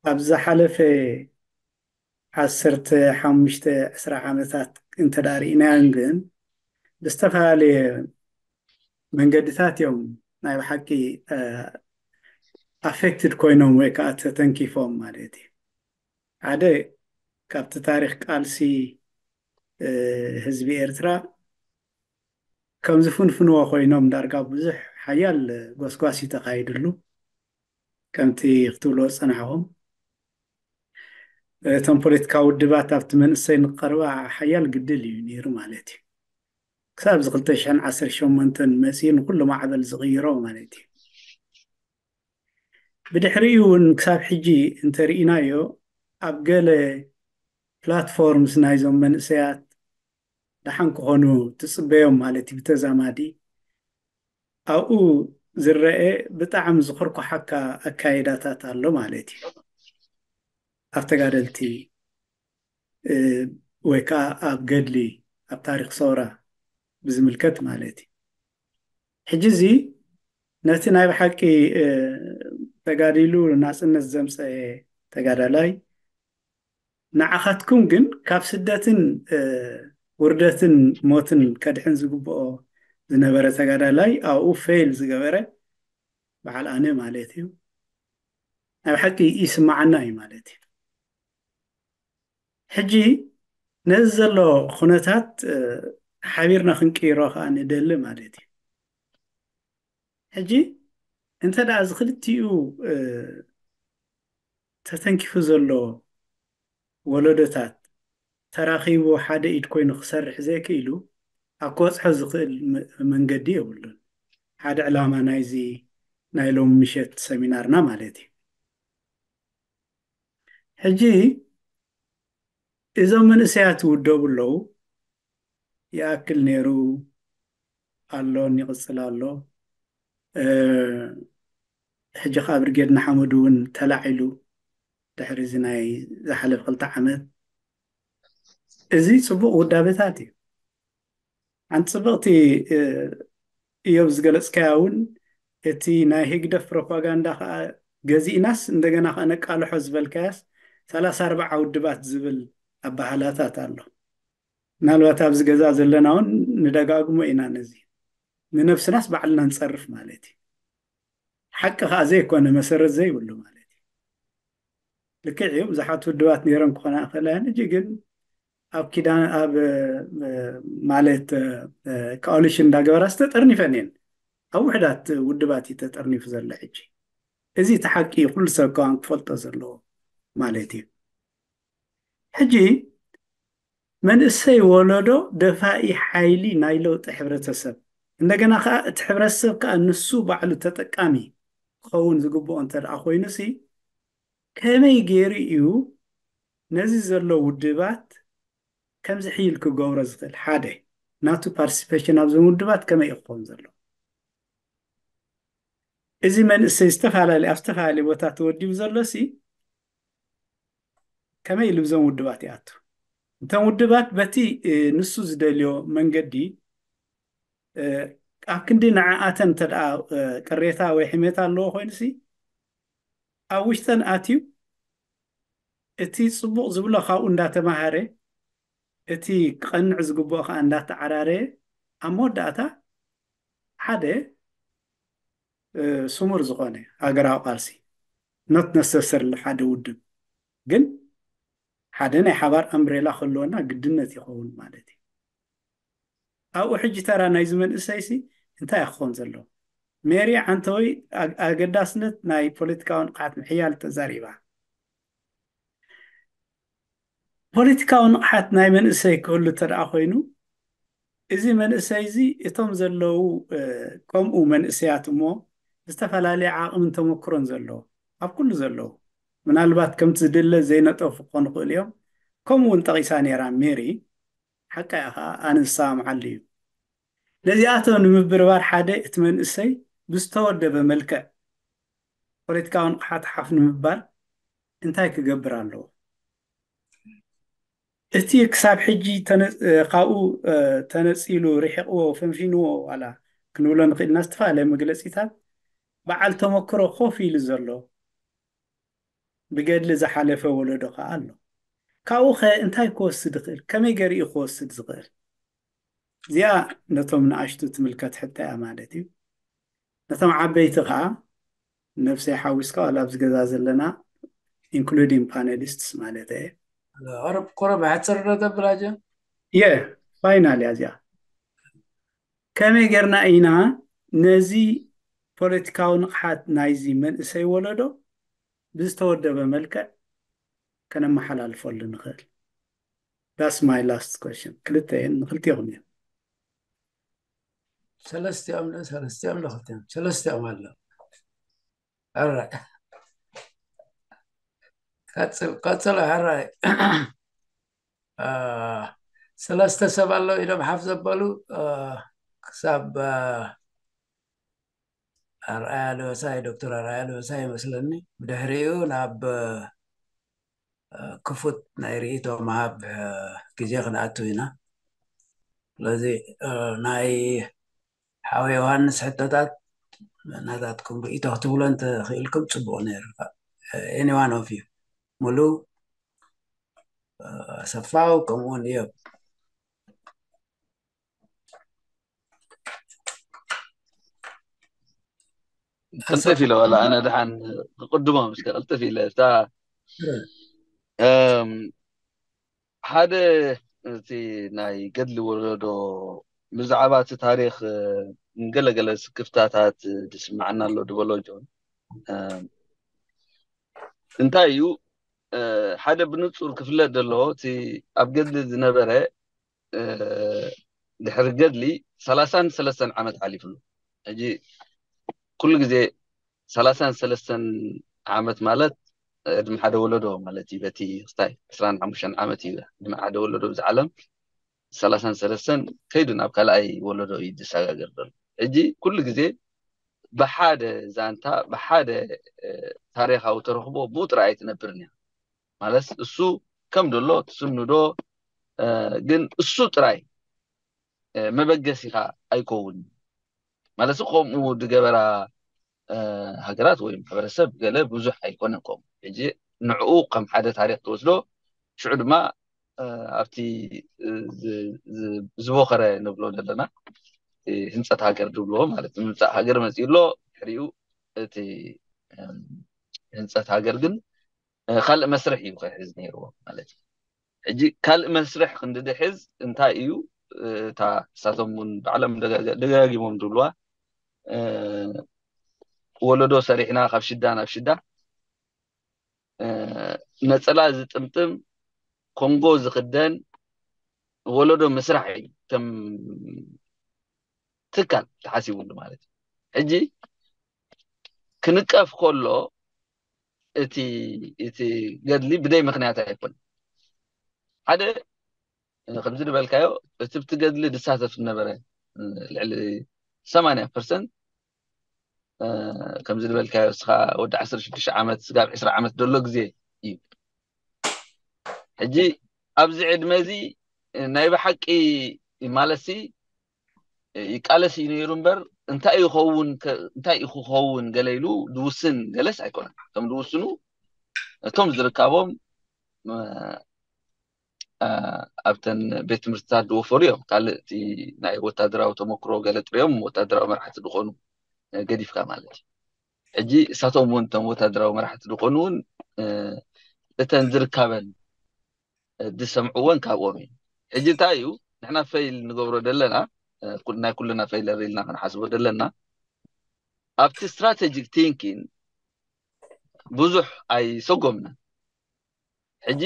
ኣብ ዝሓለፈ ዓሰርተ ሓሙሽተ ዕስራ ዓመታት እንተዳርኢናዮም ግን ብዝተፈላለየ መንገድታት እዮም ናይ ብሓቂ ኣፌክትድ ኮይኖም ወይ ከዓ ተተንኪፎም ማለት እዩ። ሓደ ካብቲ ታሪክ ቃልሲ ህዝቢ ኤርትራ ከም ዝፍንፍንዎ ኮይኖም ዳርጋ ብዙሕ ሓያል ጎስጓስ እዩ ተኻይድሉ። ከምቲ ክትብሎ ዝጸናሕኹም እቶም ፖለቲካዊ ውድባት ኣብቲ መንእሰይ ንቀርባ ሓያል ግድል እዩ ነይሩ ማለት እዩ። ክሳብ እዚ ክልተ ሽሕን ዓሰርተ ሸሞንተን መጺኡ ንኩሉ ማዕበል ዝቕይሮ ማለት እዩ። ብድሕሪኡ እውን ክሳብ ሕጂ እንተርኢናዮ ኣብ ገለ ፕላትፎርምስ ናይዞም መንእሰያት ደሓን ክኾኑ ትጽበዮም ማለት እዩ። ብተዛማዲ ኣብኡ ዝረአ ብጣዕሚ ዝኮርኮሓካ ኣካይዳታት ኣሎ ማለት እዩ። ኣብ ተጋደልቲ ወይ ከዓ ኣብ ገድሊ ኣብ ታሪክ ሰውራ ብዝምልከት ማለት እዩ። ሕጂ እዚ ነቲ ናይ ብሓቂ ተጋዲሉ ናፅነት ዘምፀአ ተጋዳላይ ንዓኻትኩም ግን ካብ ስደትን ውርደትን ሞትን ከድሕን ዝግብኦ ዝነበረ ተጋዳላይ ኣብኡ ፌል ዝገበረ በዓል ኣነ ማለት እዩ። ናይ ብሓቂ ይስማዓና እዩ ማለት እዩ። ሕጂ ነዚ ዘሎ ኩነታት ሓቢርና ክንቅይሮ ከዓ ንደሊ ማለት እዩ። ሕጂ እንተ ደኣ እዚ ክልቲኡ ተተንኪፉ ዘሎ ወለዶታት ተራኺቡ ሓደ ኢድ ኮይኑ ክሰርሕ ዘይክኢሉ ኣብ ክበፅሖ ዝኽእል መንገዲ የብሉን። ሓደ ዕላማ ናይዚ ናይ ሎም ምሸት ሰሚናርና ማለት እዩ። ሕጂ እዞም መንእሰያት ይውደቡ ኣለዉ። ይኣክል ነይሩ፣ ኣሎን ይቕጽል ኣሎ። ሕጂ ከዓ ብርጌድ ንሓመዱ እውን ተላዒሉ ድሕሪ እዚ ናይ ዝሓለፈ ክልተ ዓመት። እዚ ጽቡቕ ውዳበታት እዩ። ሓንቲ ጽብቕቲ እዮብ ዝገለጽካያ እውን እቲ ናይ ህግደፍ ፕሮፓጋንዳ ከዓ ገዚእናስ እንደገና ከዓ ነቃልሖ ዝበልካያስ ሰላሳ ኣርባዓ ውድባት ዝብል ኣባህላታት ኣሎ። ምናልባት ኣብዚ ገዛ ዘለና እውን ንደጋግሞ ኢና ነዚ። ንነብስናስ ባዕልና ንጸርፍ ማለት እዩ። ሓቂ ከዓ ዘይኮነ መሰረት ዘይብሉ ማለት እዩ። ልክዕ እዩ፣ ብዙሓት ውድባት ነይረን ክኾና ይኽእላ እየን። ሕጂ ግን ኣብ ኪዳን ኣብ ማለት ኮኣሊሽን እንዳገበራ ዝተጠርኒፈን እየን። ኣብ ውሕዳት ውድባት እዩ ተጠርኒፉ ዘሎ ሕጂ። እዚ እቲ ሓቂ እዩ፣ ኩሉ ሰብ ከዋን ክፈልጦ ዘለዎ ማለት እዩ። ሕጂ መንእሰይ ወለዶ ደፋኢ ሓይሊ ናይ ለውጢ ሕብረተሰብ፣ እንደገና ከዓ እቲ ሕብረተሰብ ከዓ ንሱ ባዕሉ ተጠቃሚ ክኸውን ዝግብኦ እንተ ደኣ ኮይኑሲ ከመይ ገይሩ እዩ ነዚ ዘሎ ውድባት ከምዚ ሕይል ክገብሮ ዝኽእል? ሓደ ናቱ ፓርቲሲፔሽን ኣብዞም ውድባት ከመይ እዩ ክኸውን ዘሎ? እዚ መንእሰይ ዝተፈላለዩ ኣብ ዝተፈላለዩ ቦታ ተወዲቡ ዘሎ ሲ ከመይ ኢሉ ብዞም ውድባት ይኣቱ? እቶም ውድባት በቲ ንሱ ዝደልዮ መንገዲ ኣብ ክንዲ ንዓኣተን እንተ ደኣ ቅሬታ ወይ ሕሜታ ኣለዎ ኮይኑሲ ኣብ ውሽጠን ኣትዩ እቲ ጽቡቕ ዝብሎ ካብኡ እንዳተማሃረ እቲ ክቐንዕ ዝግብኦ ከዓ እንዳተዓራረየ ኣብ መወዳእታ ሓደ ስሙር ዝኾነ ሃገራዊ ቃልሲ not necessarily ሓደ ውድብ ግን ሓደ ናይ ሓባር ኣምብሬላ ክህልወና ግድነት ይኸውን ማለት እዩ። ኣብኡ ሕጂ ተራ ናይዚ መንእሰይሲ እንታይ ክኾን ዘለዎ? ሜሪ ዓንተወይ ኣገዳስነት ናይ ፖለቲካዊ ንቕሓት ምሕያል ተዛሪባ። ፖለቲካዊ ንቕሓት ናይ መንእሰይ ክህሉ እንተ ደኣ ኮይኑ እዚ መንእሰይ እዚ እቶም ዘለዉ ከምኡ መንእሰያት እሞ ዝተፈላለየ ዓቕምን ተመክሮን ዘለዎ ኣብ ኩሉ ዘለዉ ምናልባት ከምቲ ዝድለ ዘይነጠፉ ክኾኑ ይኽእሉ እዮም። ከምኡ እውን ጠቒሳ ነይራ ሜሪ። ሓቃ እያ ከዓ ኣነ ዝሰማምዓሉ እዩ። ነዚኣቶም ንምብርባር ሓደ እቲ መንእሰይ ብዝተወደበ መልክዕ ፖለቲካዊ ንቕሓት ሓፍ ንምባል እንታይ ክገብር ኣለዎ? እቲ ክሳብ ሕጂ ካብኡ ተነፂሉ ርሒቕዎ ፈንፊንዎ ዋላ ክንብሎ ንኽእልና ዝተፈላለየ መግለፂታት በዓል ተመክሮ ኮፍ ኢሉ ዘሎ ብገድሊ ዝሓለፈ ወለዶ ከዓ ኣሎ። ካብኡ ኸ እንታይ ክወስድ ይኽእል? ከመይ ገይሩ እዩ ክወስድ ዝኽእል? እዚኣ ነቶም ንኣሽቱ ትምልከት ሕቶ እያ ማለት እዩ። ነቶም ዓበይቲ ከዓ ነብሰይ ሓዊስካ ዋላ ኣብዚ ገዛ ዘለና including panelists ማለት እየ። ቁረብ ቁረብ ሓፅር ዶ ተብላጀ የ ፋይናል እያ እዚኣ። ከመይ ጌርና ኢና ነዚ ፖለቲካዊ ንቕሓት ናይዚ መንእሰይ ወለዶ ብዝተወደበ መልክዕ ከነመሓላልፈሉ ንኽእል? That's my last question። ክልተ እየን፣ ንክልቲኹም እየን። ሰለስቲኦም ዶ ሰለስቲኦም ዶ ክልቲኦም ሰለስቲኦም ኣሎ። ኣረ ቀጽል ቀጽል ኣረ ሰለስተ ሰብ ኣሎ ኢሎም ሓፍ ዘበሉ ክሳብ ኣርኣያ ለበሳይ ዶክተር ኣርኣያ ለበሳይ ይመስለኒ። ብድሕሪኡ ናብ ክፉት ናይ ርእይቶ ምሃብ ግዜ ክንኣቱ ኢና። ስለዚ ናይ ሓው ዮሃንስ ሕቶታት ናታትኩም ርእይቶ ክትብሎ እንተኽኢልኩም ጽቡቕ ነይሩ። Any one of you ሙሉ ኣሰፋው ከምኡውን እዮብ ቅልጥፍ ኢለ ዋላ ኣነ ድሓን ክቅድሞም እስከ ቅልጥፍ ኢለ እታ ሓደ እቲ ናይ ገድሊ ወለዶ ብዛዕባ እቲ ታሪክ ገለገለ ስክፍታታት ዝስማዓና ኣሎ ድበሎ ጆን እንታይ እዩ ሓደ ብንጹር ክፍለጥ ዘለዎ እቲ ኣብ ገድሊ ዝነበረ ድሕሪ ገድሊ ሰላሳን ሰለስተን ዓመት ሓሊፍሉ ሕጂ ኩሉ ግዜ ሰላሳን ሰለስተን ዓመት ማለት ዕድመ ሓደ ወለዶ ማለት እዩ በቲ ክስታይ ዕስራን ሓሙሽተን ዓመት እዩ ዕድመ ሓደ ወለዶ ብዚ ዓለም ሰላሳን ሰለስተን ከይዱ ናብ ካልኣይ ወለዶ እዩ ዝሰጋገር ዘሎ ሕጂ ኩሉ ግዜ ብሓደ ዛንታ ብሓደ ታሪካዊ ተረክቦ ብኡ ጥራይ ኣይትነብርን እያ ማለት እሱ ከም ደሎ ትስንዶ ግን እሱ ጥራይ መበገሲኻ ኣይከውን ማለት ከምኡ ዝገበራ ሃገራት ወይ ማሕበረሰብ ገለ ብዙሕ ኣይኮነን ከምኡ ሕጂ ንዕኡ ከም ሓደ ታሪክ ትወስዶ ሽዑ ድማ ኣብቲ ዝበኸረ ንብሎ ዘለና ህንፀት ሃገር ዝብልዎ ማለት ምምፃእ ሃገር መፅኡ ኣሎ ድሕሪኡ እቲ ህንፀት ሃገር ግን ካልእ መስርሕ እዩ ክሕዝ ነይርዎ ማለት እዩ ሕጂ ካልእ መስርሕ ክንዲ ድሕዝ እንታይ እዩ እታ እሳቶም እውን ባዕሎም ደጋጊሞም ዝብልዋ ወለዶ ሰሪሕና ካብ ሽዳ ናብ ሽዳ ነፀላ ዝጥምጥም ኮንጎ ዝክደን ወለዶ ምስራሕ እዩ ከም ትካል ተሓሲቡሉ ማለት እዩ ሕጂ ክንቀፍ ከሎ እቲ እቲ ገድሊ ብደይ ምክንያት ኣይኮን ሓደ ከምዚ ዝበልካዮ እቲ ብቲ ገድሊ ዝሳተፍ ዝነበረ ልዕሊ ሰማንያ ፐርሰንት ከምዚ ዝበልካዮ እስኻ ወዲ ዓሰርተ ሽዱሽተ ዓመት ስጋብ ዕስራ ዓመት ዘሎ ግዜ እዩ ሕጂ ኣብዚ ዕድመ እዚ ናይ ብሓቂ ማለትሲ ይቃለስ እዩ ነይሩ እምበር እንታይ ይኸውን እንታይ እዩ ክኸውን ገለ ኢሉ ዝውስን ገለስ ኣይኮነን ከም ዝውስኑ እቶም ዝርካቦም ኣብተን ቤት ትምህርትታት ዝወፈሩ እዮም ካልእ ናይ ወታደራዊ ተመክሮ ገለ ጥሪኦም ወታደራዊ መራሕቲ ዝኾኑ ገዲፍካ ማለት እዩ ሕጂ እሳቶም እውን እቶም ወታደራዊ መራሕቲ ዝኾኑ እውን እተን ዝርካበን ዝሰምዕዎን ካብኦም እዩ ሕጂ እንታይ እዩ ንሕና ፈይል ንገብሮ ዘለና ናይ ኩልና ፈይለር ኢልና ክንሓስቦ ዘለና ኣብቲ strategic thinking ብዙሕ ኣይሰጎምና ሕጂ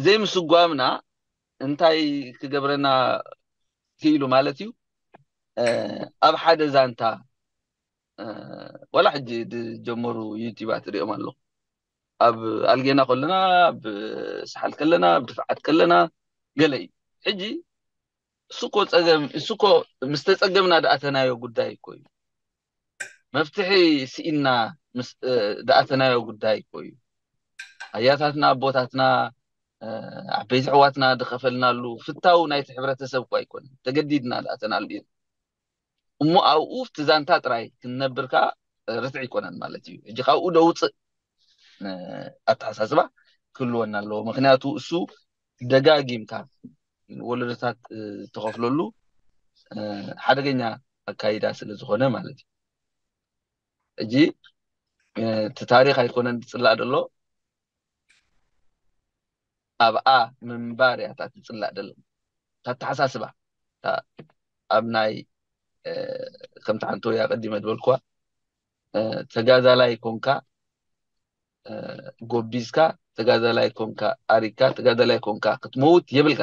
ዘይምስጓምና እንታይ ክገብረና ክኢሉ ማለት እዩ ኣብ ሓደ ዛንታ ወላ ሕጂ ዝጀመሩ ዩቲባት ሪኦም ኣለኹ ኣብ ኣልጌና ከለና ኣብ ሰሓል ከለና ኣብ ድፍዓት ከለና ገለ እዩ ሕጂ እሱኮ ፀገም እሱኮ ምስ ተፀገምና ድኣተናዮ ጉዳይ እኮ እዩ መፍትሒ ስኢና ምስ ድኣተናዮ ጉዳይ እኮ እዩ ኣያታትና ኣቦታትና ዓበይቲ ኣሕዋትና ዝኸፈልናሉ ፍታው ናይቲ ሕብረተሰብ እኮ ኣይኮነን ተገዲድና ድኣተናሉ እዩ እሞ ኣብኡ እቲ ዛንታ ጥራይ ክንነብር ከዓ ርትዕ ኣይኮነን ማለት እዩ። ሕጂ ካብኡ ደውፅእ ኣተሓሳስባ ክህልወና ኣለዎ። ምክንያቱ እሱ ደጋጊምካ ወለዶታት ተኸፍለሉ ሓደገኛ ኣካይዳ ስለ ዝኾነ ማለት እዩ። ሕጂ እቲ ታሪኽ ኣይኮነን ዝፅላእ ዘሎ፣ ኣብኣ ምንባር እያ እታ ትፅላእ ደላ። እታ ኣተሓሳስባ ኣብ ናይ ከምቲ ሓንቲ ወይ ኣቀዲመ ዝበልኩዋ ተጋዛላይ ኮንካ ጎቢዝካ፣ ተጋዛላይ ኮንካ ኣሪካ፣ ተጋዛላይ ኮንካ ክትመውት የብልካ።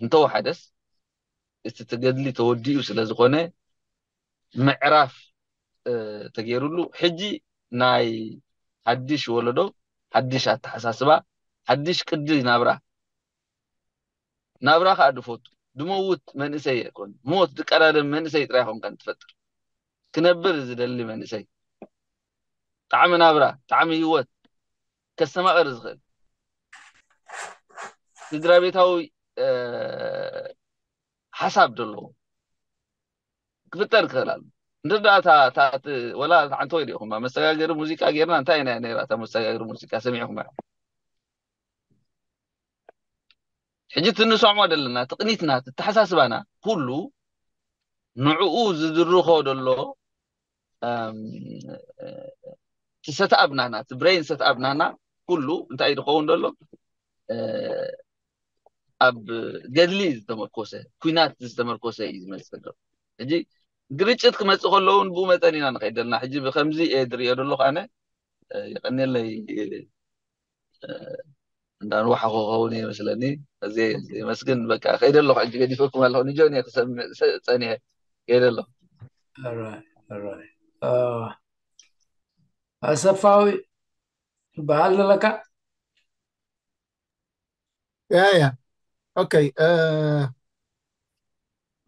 እንተወሓደስ እቲ ትገድሊ ተወዲኡ ስለ ዝኾነ ምዕራፍ ተገይሩሉ፣ ሕጂ ናይ ሓድሽ ወለዶ ሓድሽ ኣተሓሳስባ፣ ሓድሽ ቅዲ ናብራ፣ ናብራ ከዓ ድፈቱ፣ ድመውት መንእሰይ ኣይኮን፣ ሞት ድቀዳደም መንእሰይ ጥራይ ኾንካ እንትፈጥር፣ ክነብር ዝደሊ መንእሰይ፣ ጣዕሚ ናብራ፣ ጣዕሚ ህይወት ከስተማቐር ዝኽእል፣ ስድራ ቤታዊ ሓሳብ ዘለዎ ክፍጠር ክኽእል ኣሎ። እንድዳ ወላ ሓንቲ ወይ ዲኹም መሰጋገሪ ሙዚቃ ጌርና እንታይ ናይ ነራ እታ መሰጋገሪ ሙዚቃ ሰሚዕኹም? ሕጂ ትንሰዕሞ ዘለና ትቕኒትና፣ ትተሓሳስባና ኩሉ ንዕኡ ዝድርኾ ደሎ እቲ ሰትኣብ ናና፣ እቲ ብሬን ሰትኣብ ናና ኩሉ እንታይ ዝኸውን ደሎ ኣብ ገድሊ ዝተመርኮሰ፣ ኩናት ዝተመርኮሰ እዩ ዝመፅእ ዘሎ። ሕጂ ግርጭት ክመፅእ ከለውን ብኡ መጠን ኢና ንኸይድ ዘለና። ሕጂ ብከምዚ እየ ዝሪኦ ዘለኹ ኣነ። ይቐኒለይ። እንዳንዋሓኹ ክኸውን እየ መስለኒ። እዚ መስግን በቃ ከይደ ኣለኹ። ሕጂ ገዲፈኩም ኣለኹ። ንጆን እየ ክሰምዕ ጸኒሐ። ከይደ ኣለኹ። ኣሰፋዊ በዓል ዘለካ? ያ ያ ኦኬ።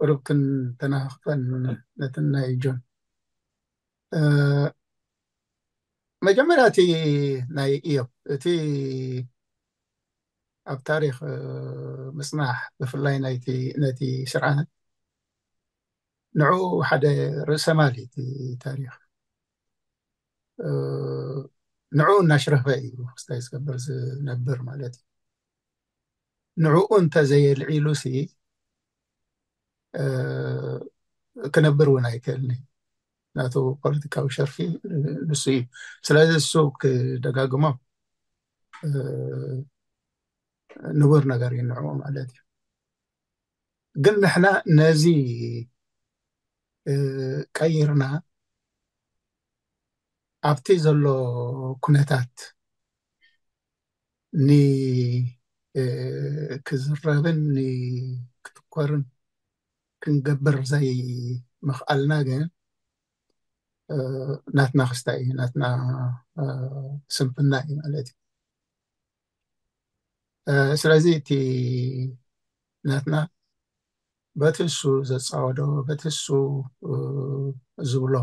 ቁሩብ ክንተናኽፈን ነቲ ናይ ጆን። መጀመርያ እቲ ናይ እዮብ፣ እቲ ኣብ ታሪኽ ምጽናሕ፣ ብፍላይ ናይቲ ነቲ ስርዓት ንዕኡ ሓደ ርእሰ ማል እቲ ታሪኽ። ንዕኡ እናሽረፈ እዩ ክስታይ ዝገብር ዝነብር ማለት እዩ። ንዕኡ እንተዘየልዒሉ ሲ ክነብር እውን ኣይክእልን እዩ። ናቱ ፖለቲካዊ ሸርፊ ንሱ እዩ። ስለዚ እሱ ክደጋግሞ ንቡር ነገር እዩ ንዕኡ ማለት እዩ። ግን ንሕና ነዚ ቀይርና ኣብቲ ዘሎ ኩነታት ን ክዝረብን ክትኮርን ክንገብር ዘይምኽኣልና ግን ናትና ክስታይ እዩ፣ ናትና ስንፍና እዩ ማለት እዩ። ስለዚ እቲ ናትና በቲ እሱ ዘፃወዶ በቲ እሱ ዝብሎ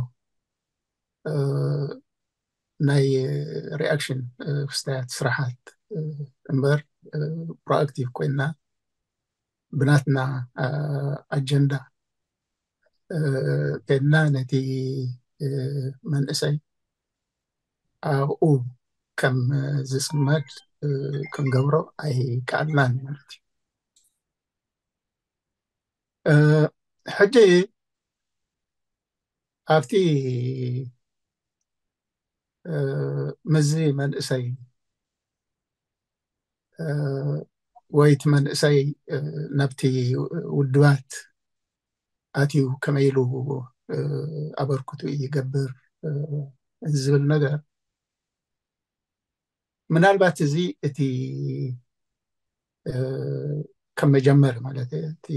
ናይ ሪኣክሽን ክስታያት ስራሓት እምበር ፕሮኣክቲቭ ኮይና ብናትና ኣጀንዳ ከድና ነቲ መንእሰይ ኣብኡ ከም ዝፅመድ ክንገብሮ ኣይከኣልናን ማለት እዩ። ሕጂ ኣብቲ ምዚ መንእሰይ ወይ እቲ መንእሰይ ናብቲ ውድባት ኣትዩ ከመይ ኢሉ ኣበርክቱ ይገብር ዝብል ነገር ምናልባት እዚ እቲ ከም መጀመሪ ማለት እቲ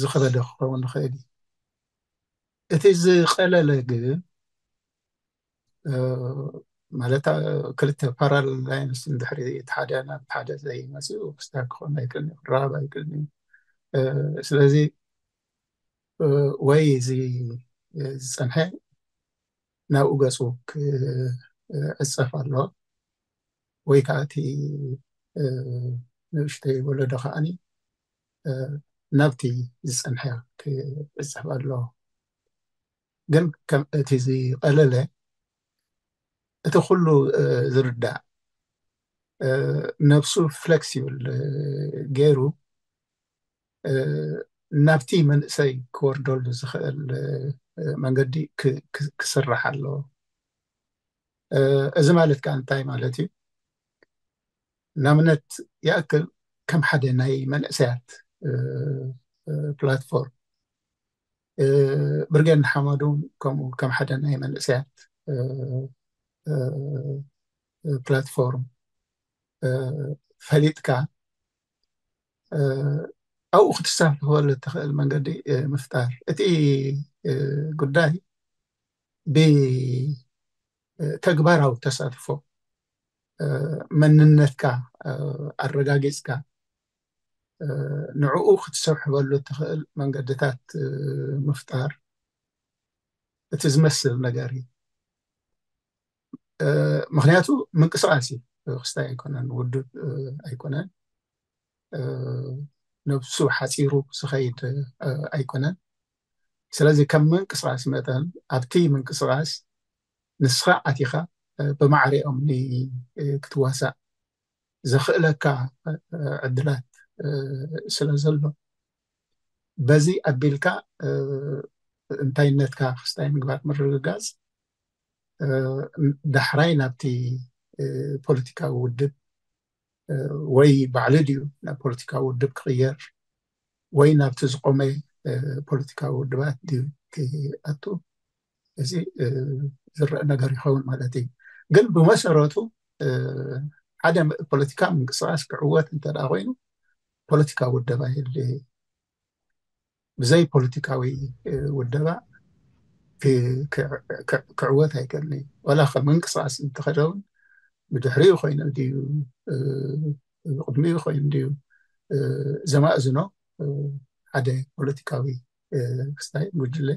ዝኸበደ ክኸውን ይኽእል እዩ። እቲ ዝቀለለ ግን ማለት ክልተ ፓራል ላይንስ እንድሕሪ እቲ ሓደ ናብ ሓደ ዘይመፅኡ ክስታይ ክኸውን ኣይክእልን እዩ፣ ክረኸብ ኣይክእልን እዩ። ስለዚ ወይ እዚ ዝፀንሐ ናብኡ ገፁ ክዕፀፍ ኣለዎ ወይ ከዓ እቲ ንእሽተይ ወለዶ ከዓኒ ናብቲ ዝፀንሐ ክዕፀፍ ኣለዎ። ግን ከም እቲ ዝቐለለ እቲ ኩሉ ዝርዳእ ነብሱ ፍለክሲብል ገይሩ ናብቲ መንእሰይ ክወርደሉ ዝኽእል መንገዲ ክስራሕ ኣለዎ። እዚ ማለት ከዓ እንታይ ማለት እዩ? ናምነት ይኣክል ከም ሓደ ናይ መንእሰያት ፕላትፎርም ብርጌድ ንሓመዱ ከምኡ ከም ሓደ ናይ መንእሰያት ፕላትፎርም ፈሊጥካ ኣብኡ ክትሳተፈሉ እትኽእል መንገዲ ምፍጣር። እቲ ጉዳይ ብተግባራዊ ተሳትፎ መንነትካ ኣረጋጊፅካ ንዕኡ ክትሰብሕበሉ እትኽእል መንገድታት ምፍጣር እቲ ዝመስል ነገር እዩ። ምክንያቱ ምንቅስቃስ እዩ። ክስታይ ኣይኮነን፣ ውድብ ኣይኮነን፣ ነብሱ ሓፂሩ ዝኸይድ ኣይኮነን። ስለዚ ከም ምንቅስቃስ መጠን ኣብቲ ምንቅስቃስ ንስኻ ኣቲኻ ብማዕሪኦም ክትዋሳእ ዘኽእለካ ዕድላት ስለ ዘሎ በዚ ኣቢልካ እንታይነትካ ክስታይ ምግባር ምርግጋፅ ዳሕራይ ናብቲ ፖለቲካዊ ውድብ ወይ ባዕሉ ድዩ ናብ ፖለቲካዊ ውድብ ክቕየር ወይ ናብቲ ዝቆመ ፖለቲካዊ ውድባት ድዩ ክኣቱ፣ እዚ ዝረአ ነገር ይኸውን ማለት እዩ። ግን ብመሰረቱ ሓደ ፖለቲካ ምንቅስቃስ ክዕወት እንተ ደኣ ኮይኑ ፖለቲካዊ ውደባ የድልዮ። ብዘይ ፖለቲካዊ ውደባ ክዕወት ኣይክእልን እዩ። ዋላ ከም ምንቅስቃስ እንተኸደ እውን ብድሕሪኡ ኮይኑ ድዩ ብቅድሚኡ ኮይኑ ድዩ ዘማእዝኖ ሓደ ፖለቲካዊ ክስታይ ጉጅለ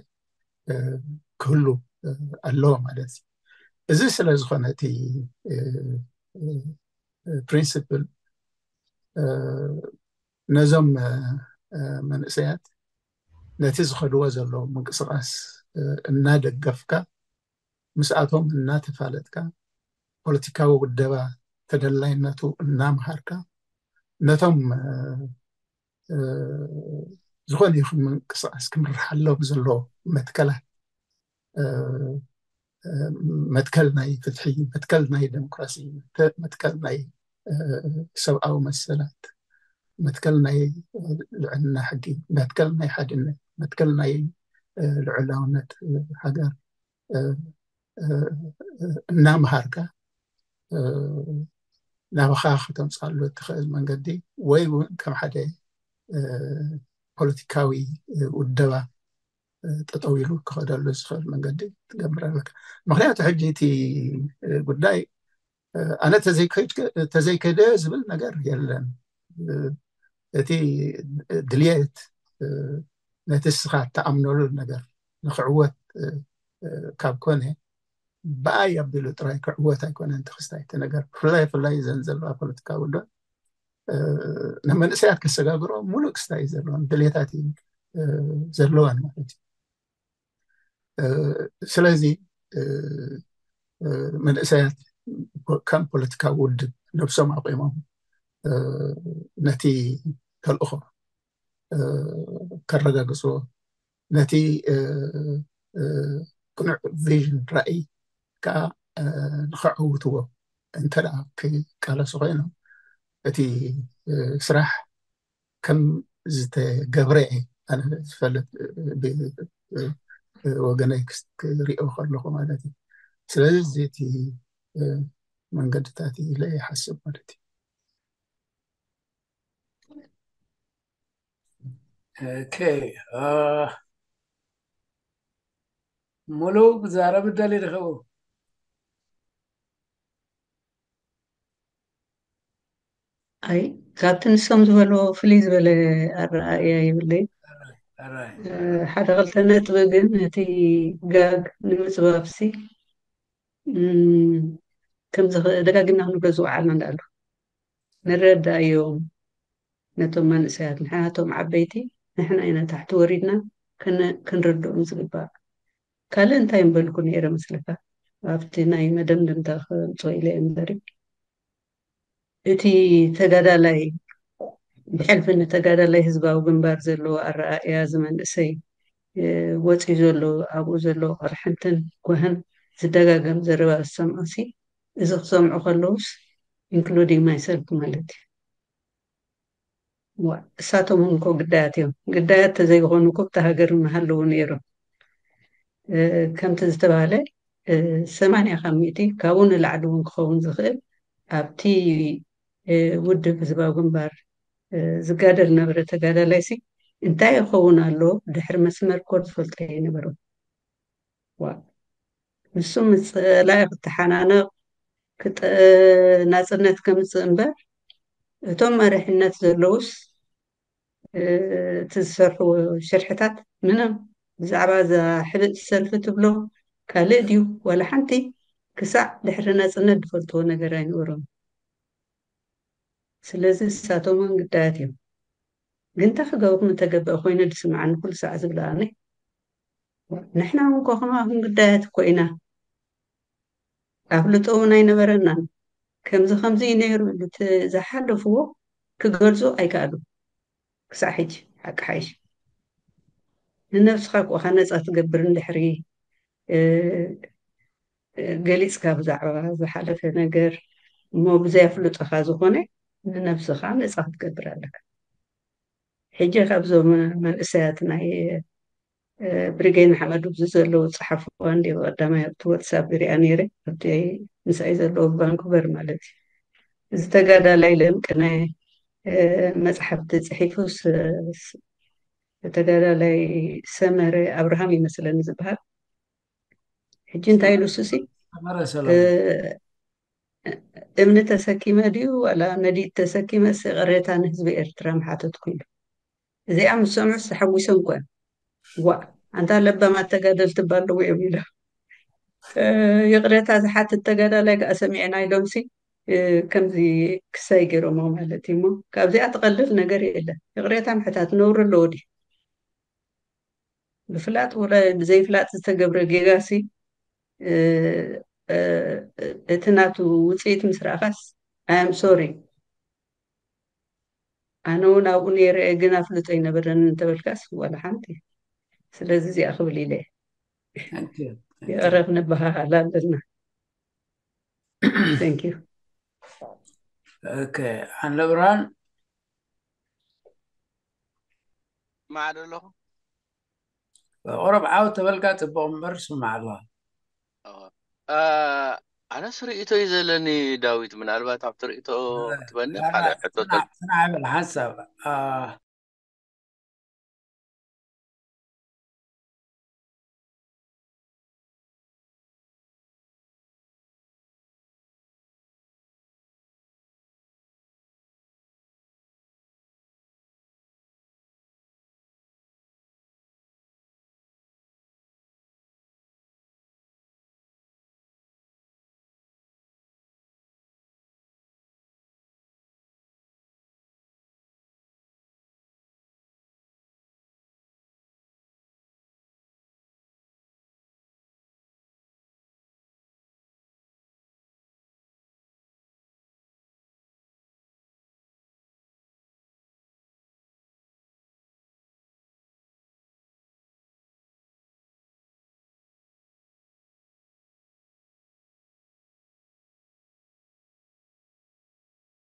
ክህሉ ኣለዎ ማለት እዩ። እዚ ስለ ዝኾነ እቲ ፕሪንስፕል ነዞም መንእሰያት ነቲ ዝኸድዎ ዘለዉ ምንቅስቃስ እናደገፍካ ምስኣቶም እናተፋለጥካ ፖለቲካዊ ውደባ ተደላይነቱ እናምሃርካ ነቶም ዝኾነ ይኹን ምንቅስቃስ ክምርሓሎም ዘለዎ መትከላት መትከል ናይ ፍትሒ፣ መትከል ናይ ዴሞክራሲ፣ መትከል ናይ ሰብኣዊ መሰላት፣ መትከል ናይ ልዕልና ሕጊ፣ መትከል ናይ ሓድነት፣ መትከል ናይ ልዑላውነት ሃገር እናምሃርካ ናባኻ ከተምፅኣሉ እትኽእል መንገዲ ወይ እውን ከም ሓደ ፖለቲካዊ ውደባ ጠጠው ኢሉ ክኸደሉ ዝኽእል መንገዲ ትገብር ኣለካ። ምክንያቱ ሕጂ እቲ ጉዳይ ኣነ ተዘይከደ ዝብል ነገር የለን። እቲ ድልየት ነቲ እስኻ እተኣምነሉ ነገር ንክዕወት ካብ ኮነ ብኣይ ኣቢሉ ጥራይ ክዕወት ኣይኮነን ተክስታይ እቲ ነገር። ብፍላይ ብፍላይ እዘን ዘለዋ ፖለቲካዊ ውድባት ንመንእሰያት ከሰጋግሮ ሙሉእ ክስታይ እዩ ዘለወን ድሌታት እዩ ዘለወን ማለት እዩ። ስለዚ መንእሰያት ከም ፖለቲካዊ ውድብ ነብሶም ኣቂሞም ነቲ ተልእኾ ከረጋግፅዎ ነቲ ቅኑዕ ቪዥን ራእይ ከዓ ንኸዕውትዎ እንተ ደኣ ክቃለሱ ኮይኖም እቲ ስራሕ ከም ዝተገብረ እየ ኣነ ዝፈልጥ ብወገነይ ክሪኦ ከለኹ ማለት እዩ። ስለዚ እቲ መንገድታት ኢለ ይሓስብ ማለት እዩ። ኦኬ ሙሉ ክዛረብ ደሊ ድኸው ኣይ ካብቲ ንሶም ዝበልዎ ፍልይ ዝበለ ኣረኣእያ የብለይ ሓደ ክልተ ነጥቢ ግን ነቲ ጋግ ንምፅባብሲ ከምዚ ደጋጊምና ክንብሎ ዝወዓልና እንዳኣሉ ንረዳእዮም ነቶም መንእሰያት ንሕናቶም ዓበይቲ ንሕና ኢና ታሕቲ ወሪድና ክንርድኦም ዝግባእ ካልእ እንታይ ምበልኩ ነይረ መስለካ? ኣብቲ ናይ መደምደምታ ከምፅኦ ኢለ እየ እምበር፣ እቲ ተጋዳላይ ብሕልፊ ንተጋዳላይ ህዝባዊ ግንባር ዘለዎ ኣረኣእያ፣ እዚ መንእሰይ ወፂኡ ዘሎ፣ ኣብኡ ዘሎ ቅርሕንትን ጓህን ዝደጋገም ዘረባ ዝሰምዖ ሲ፣ እዚ ክሰምዑ ከለውስ፣ including myself ማለት እዩ። እሳቶም እውን እኮ ግዳያት እዮም። ግዳያት ተዘይኮኑ እኮ ኣብታ ሃገር ምሃለዉ ነይሮም። ከምቲ ዝተባሃለ ሰማንያ ካብ ሚእቲ ካብኡ ንላዕሊ እውን ክኸውን ዝኽእል ኣብቲ ውድብ ህዝባዊ ግንባር ዝጋደል ነበረ ተጋዳላይ ሲ እንታይ ይኸውን ኣሎ? ድሕሪ መስመር እኮ ዝፈልጦ ኣይነበሮም። ዋ፣ ንሱ ምስ ጸላኢ ክተሓናነቕ፣ ክጠ-፣ ናጽነት ከምጽእ እምበር፣ እቶም መሪሕነት ዘለውስ፣ እ፣ እቲ ዝሰርሕዎ ሽርሕታት ምንም ብዛዕባ እዛ ሕብእቲ ሰልፊ ትብሎ ካልእ ድዩ ዋላ ሓንቲ ክሳዕ ድሕሪ ናጽነት ዝፈልጥዎ ነገር ኣይነበሮም። ስለዚ ንሳቶም እውን ግዳያት እዮም። ግን እንታይ ክገብሩ ምተገበአ ኮይኑ ዝስምዓኒ ኩሉ ሳዕ ዝብለኣኒ፣ ንሕና እውን እኮ ከማኹም ግዳያት እኮ ኢና። ኣፍልጦ እውን ኣይነበረናን። ከምዚ ከምዚ እዩ ነይሩ ኢሉ እቲ ዝሓለፍዎ ክገልጹ ኣይከኣሉ። ክሳዕ ሕጂ ሓቂ ሓይሽ ንነብስኻ እኮ ኢኻ ነጻ ትገብር እንድሕሪ፣ እ፣ እ፣ ገሊጽካ ብዛዕባ ዝሓለፈ ነገር እሞ ብዘይ ኣፍልጦኻ ዝኾነ ንነብስኻ ነጻ ክትገብር ኣለካ። ሕጂ ካብዞም መንእሰያት ናይ፣ እ፣ ብሪጌድ ንሓመዱ ኣብዚ ዘለዉ ጸሓፍዋ እንዲ ቀዳማይ ኣብቲ ዋትሳፕ ይሪኣ ነይረ፣ ኣብቲ ምሳይ ዘለዉ ቫንኩቨር ማለት እዩ። እዚ ተጋዳላይ ለምቅነ፣ እ፣ መጽሓፍቲ ጽሒፉስ፣ እ፣ ስ-፣ ተጋዳላይ ሰመረ ኣብርሃም ይመስለኒ ዝበሃል። ሕጂ እንታይ ኢሉ እሱሲ፣ ሰመረ ሰለሙን። እ፣ እምኒ ተሰኪመ ድዩ ዋላ ነዲድ ተሰኪመስ ይቕሬታ ንህዝቢ ኤርትራ ምሓተትኩ ኢሉ። እዚኣ ምስ ሰምዑ ተሓጒሶም እኮ እዮም። ዋ፣ ኣንታ ለባማት ተጋደልቲ እባ ኣለዉ እዮም ኢሎም። እ፣ ይቕሬታ ዝሓትት ተጋዳላይ ከኣ ሰሚዕና ኢሎምሲ፣ እ፣ ከምዚ ክሳይ ገይሮሞ ማለት እዩ። እሞ ካብዚኣ ትቐልል ነገር የለን። ይቕሬታ ምሕታት ነውሪ ኣለዎ ድዩ? ብፍላጥ ወላ ብዘይፍላጥ ዝተገብረ ጌጋሲ፣ እ፣ እ፣ እቲ ናቱ ውጽኢት ምስ ረኣኻስ፣ I am sorry፣ ኣነ እውን ኣብኡ ነይረ እየ፣ ግን ኣፍልጦ ኣይነበረንን እንተበልካስ ዋላ ሓንቲ። ስለዚ እዚኣ ክብል ኢለ እየ። Thank you. Thank you. ይቕረ ክንበሃሃል ኣለና። Thank you. Okay. ኣንለ ብርሃን? ማዕዶ ኣለኹ። ቁረብ ዓው ተበልካ ጽቡቕ እምበር ስማዕ ኣለዋ። ኦ፣ አ፣ ኣነስ ርእይቶ እዩ ዘለኒ ዳዊት፣ ምናልባት ኣብቲ ርእይቶ ክትበኒ ያ፣ ካልእ ሕቶ ጽናዕ፣ ተል-፣ ጽናዕ በል ሓንሳብ። አ፣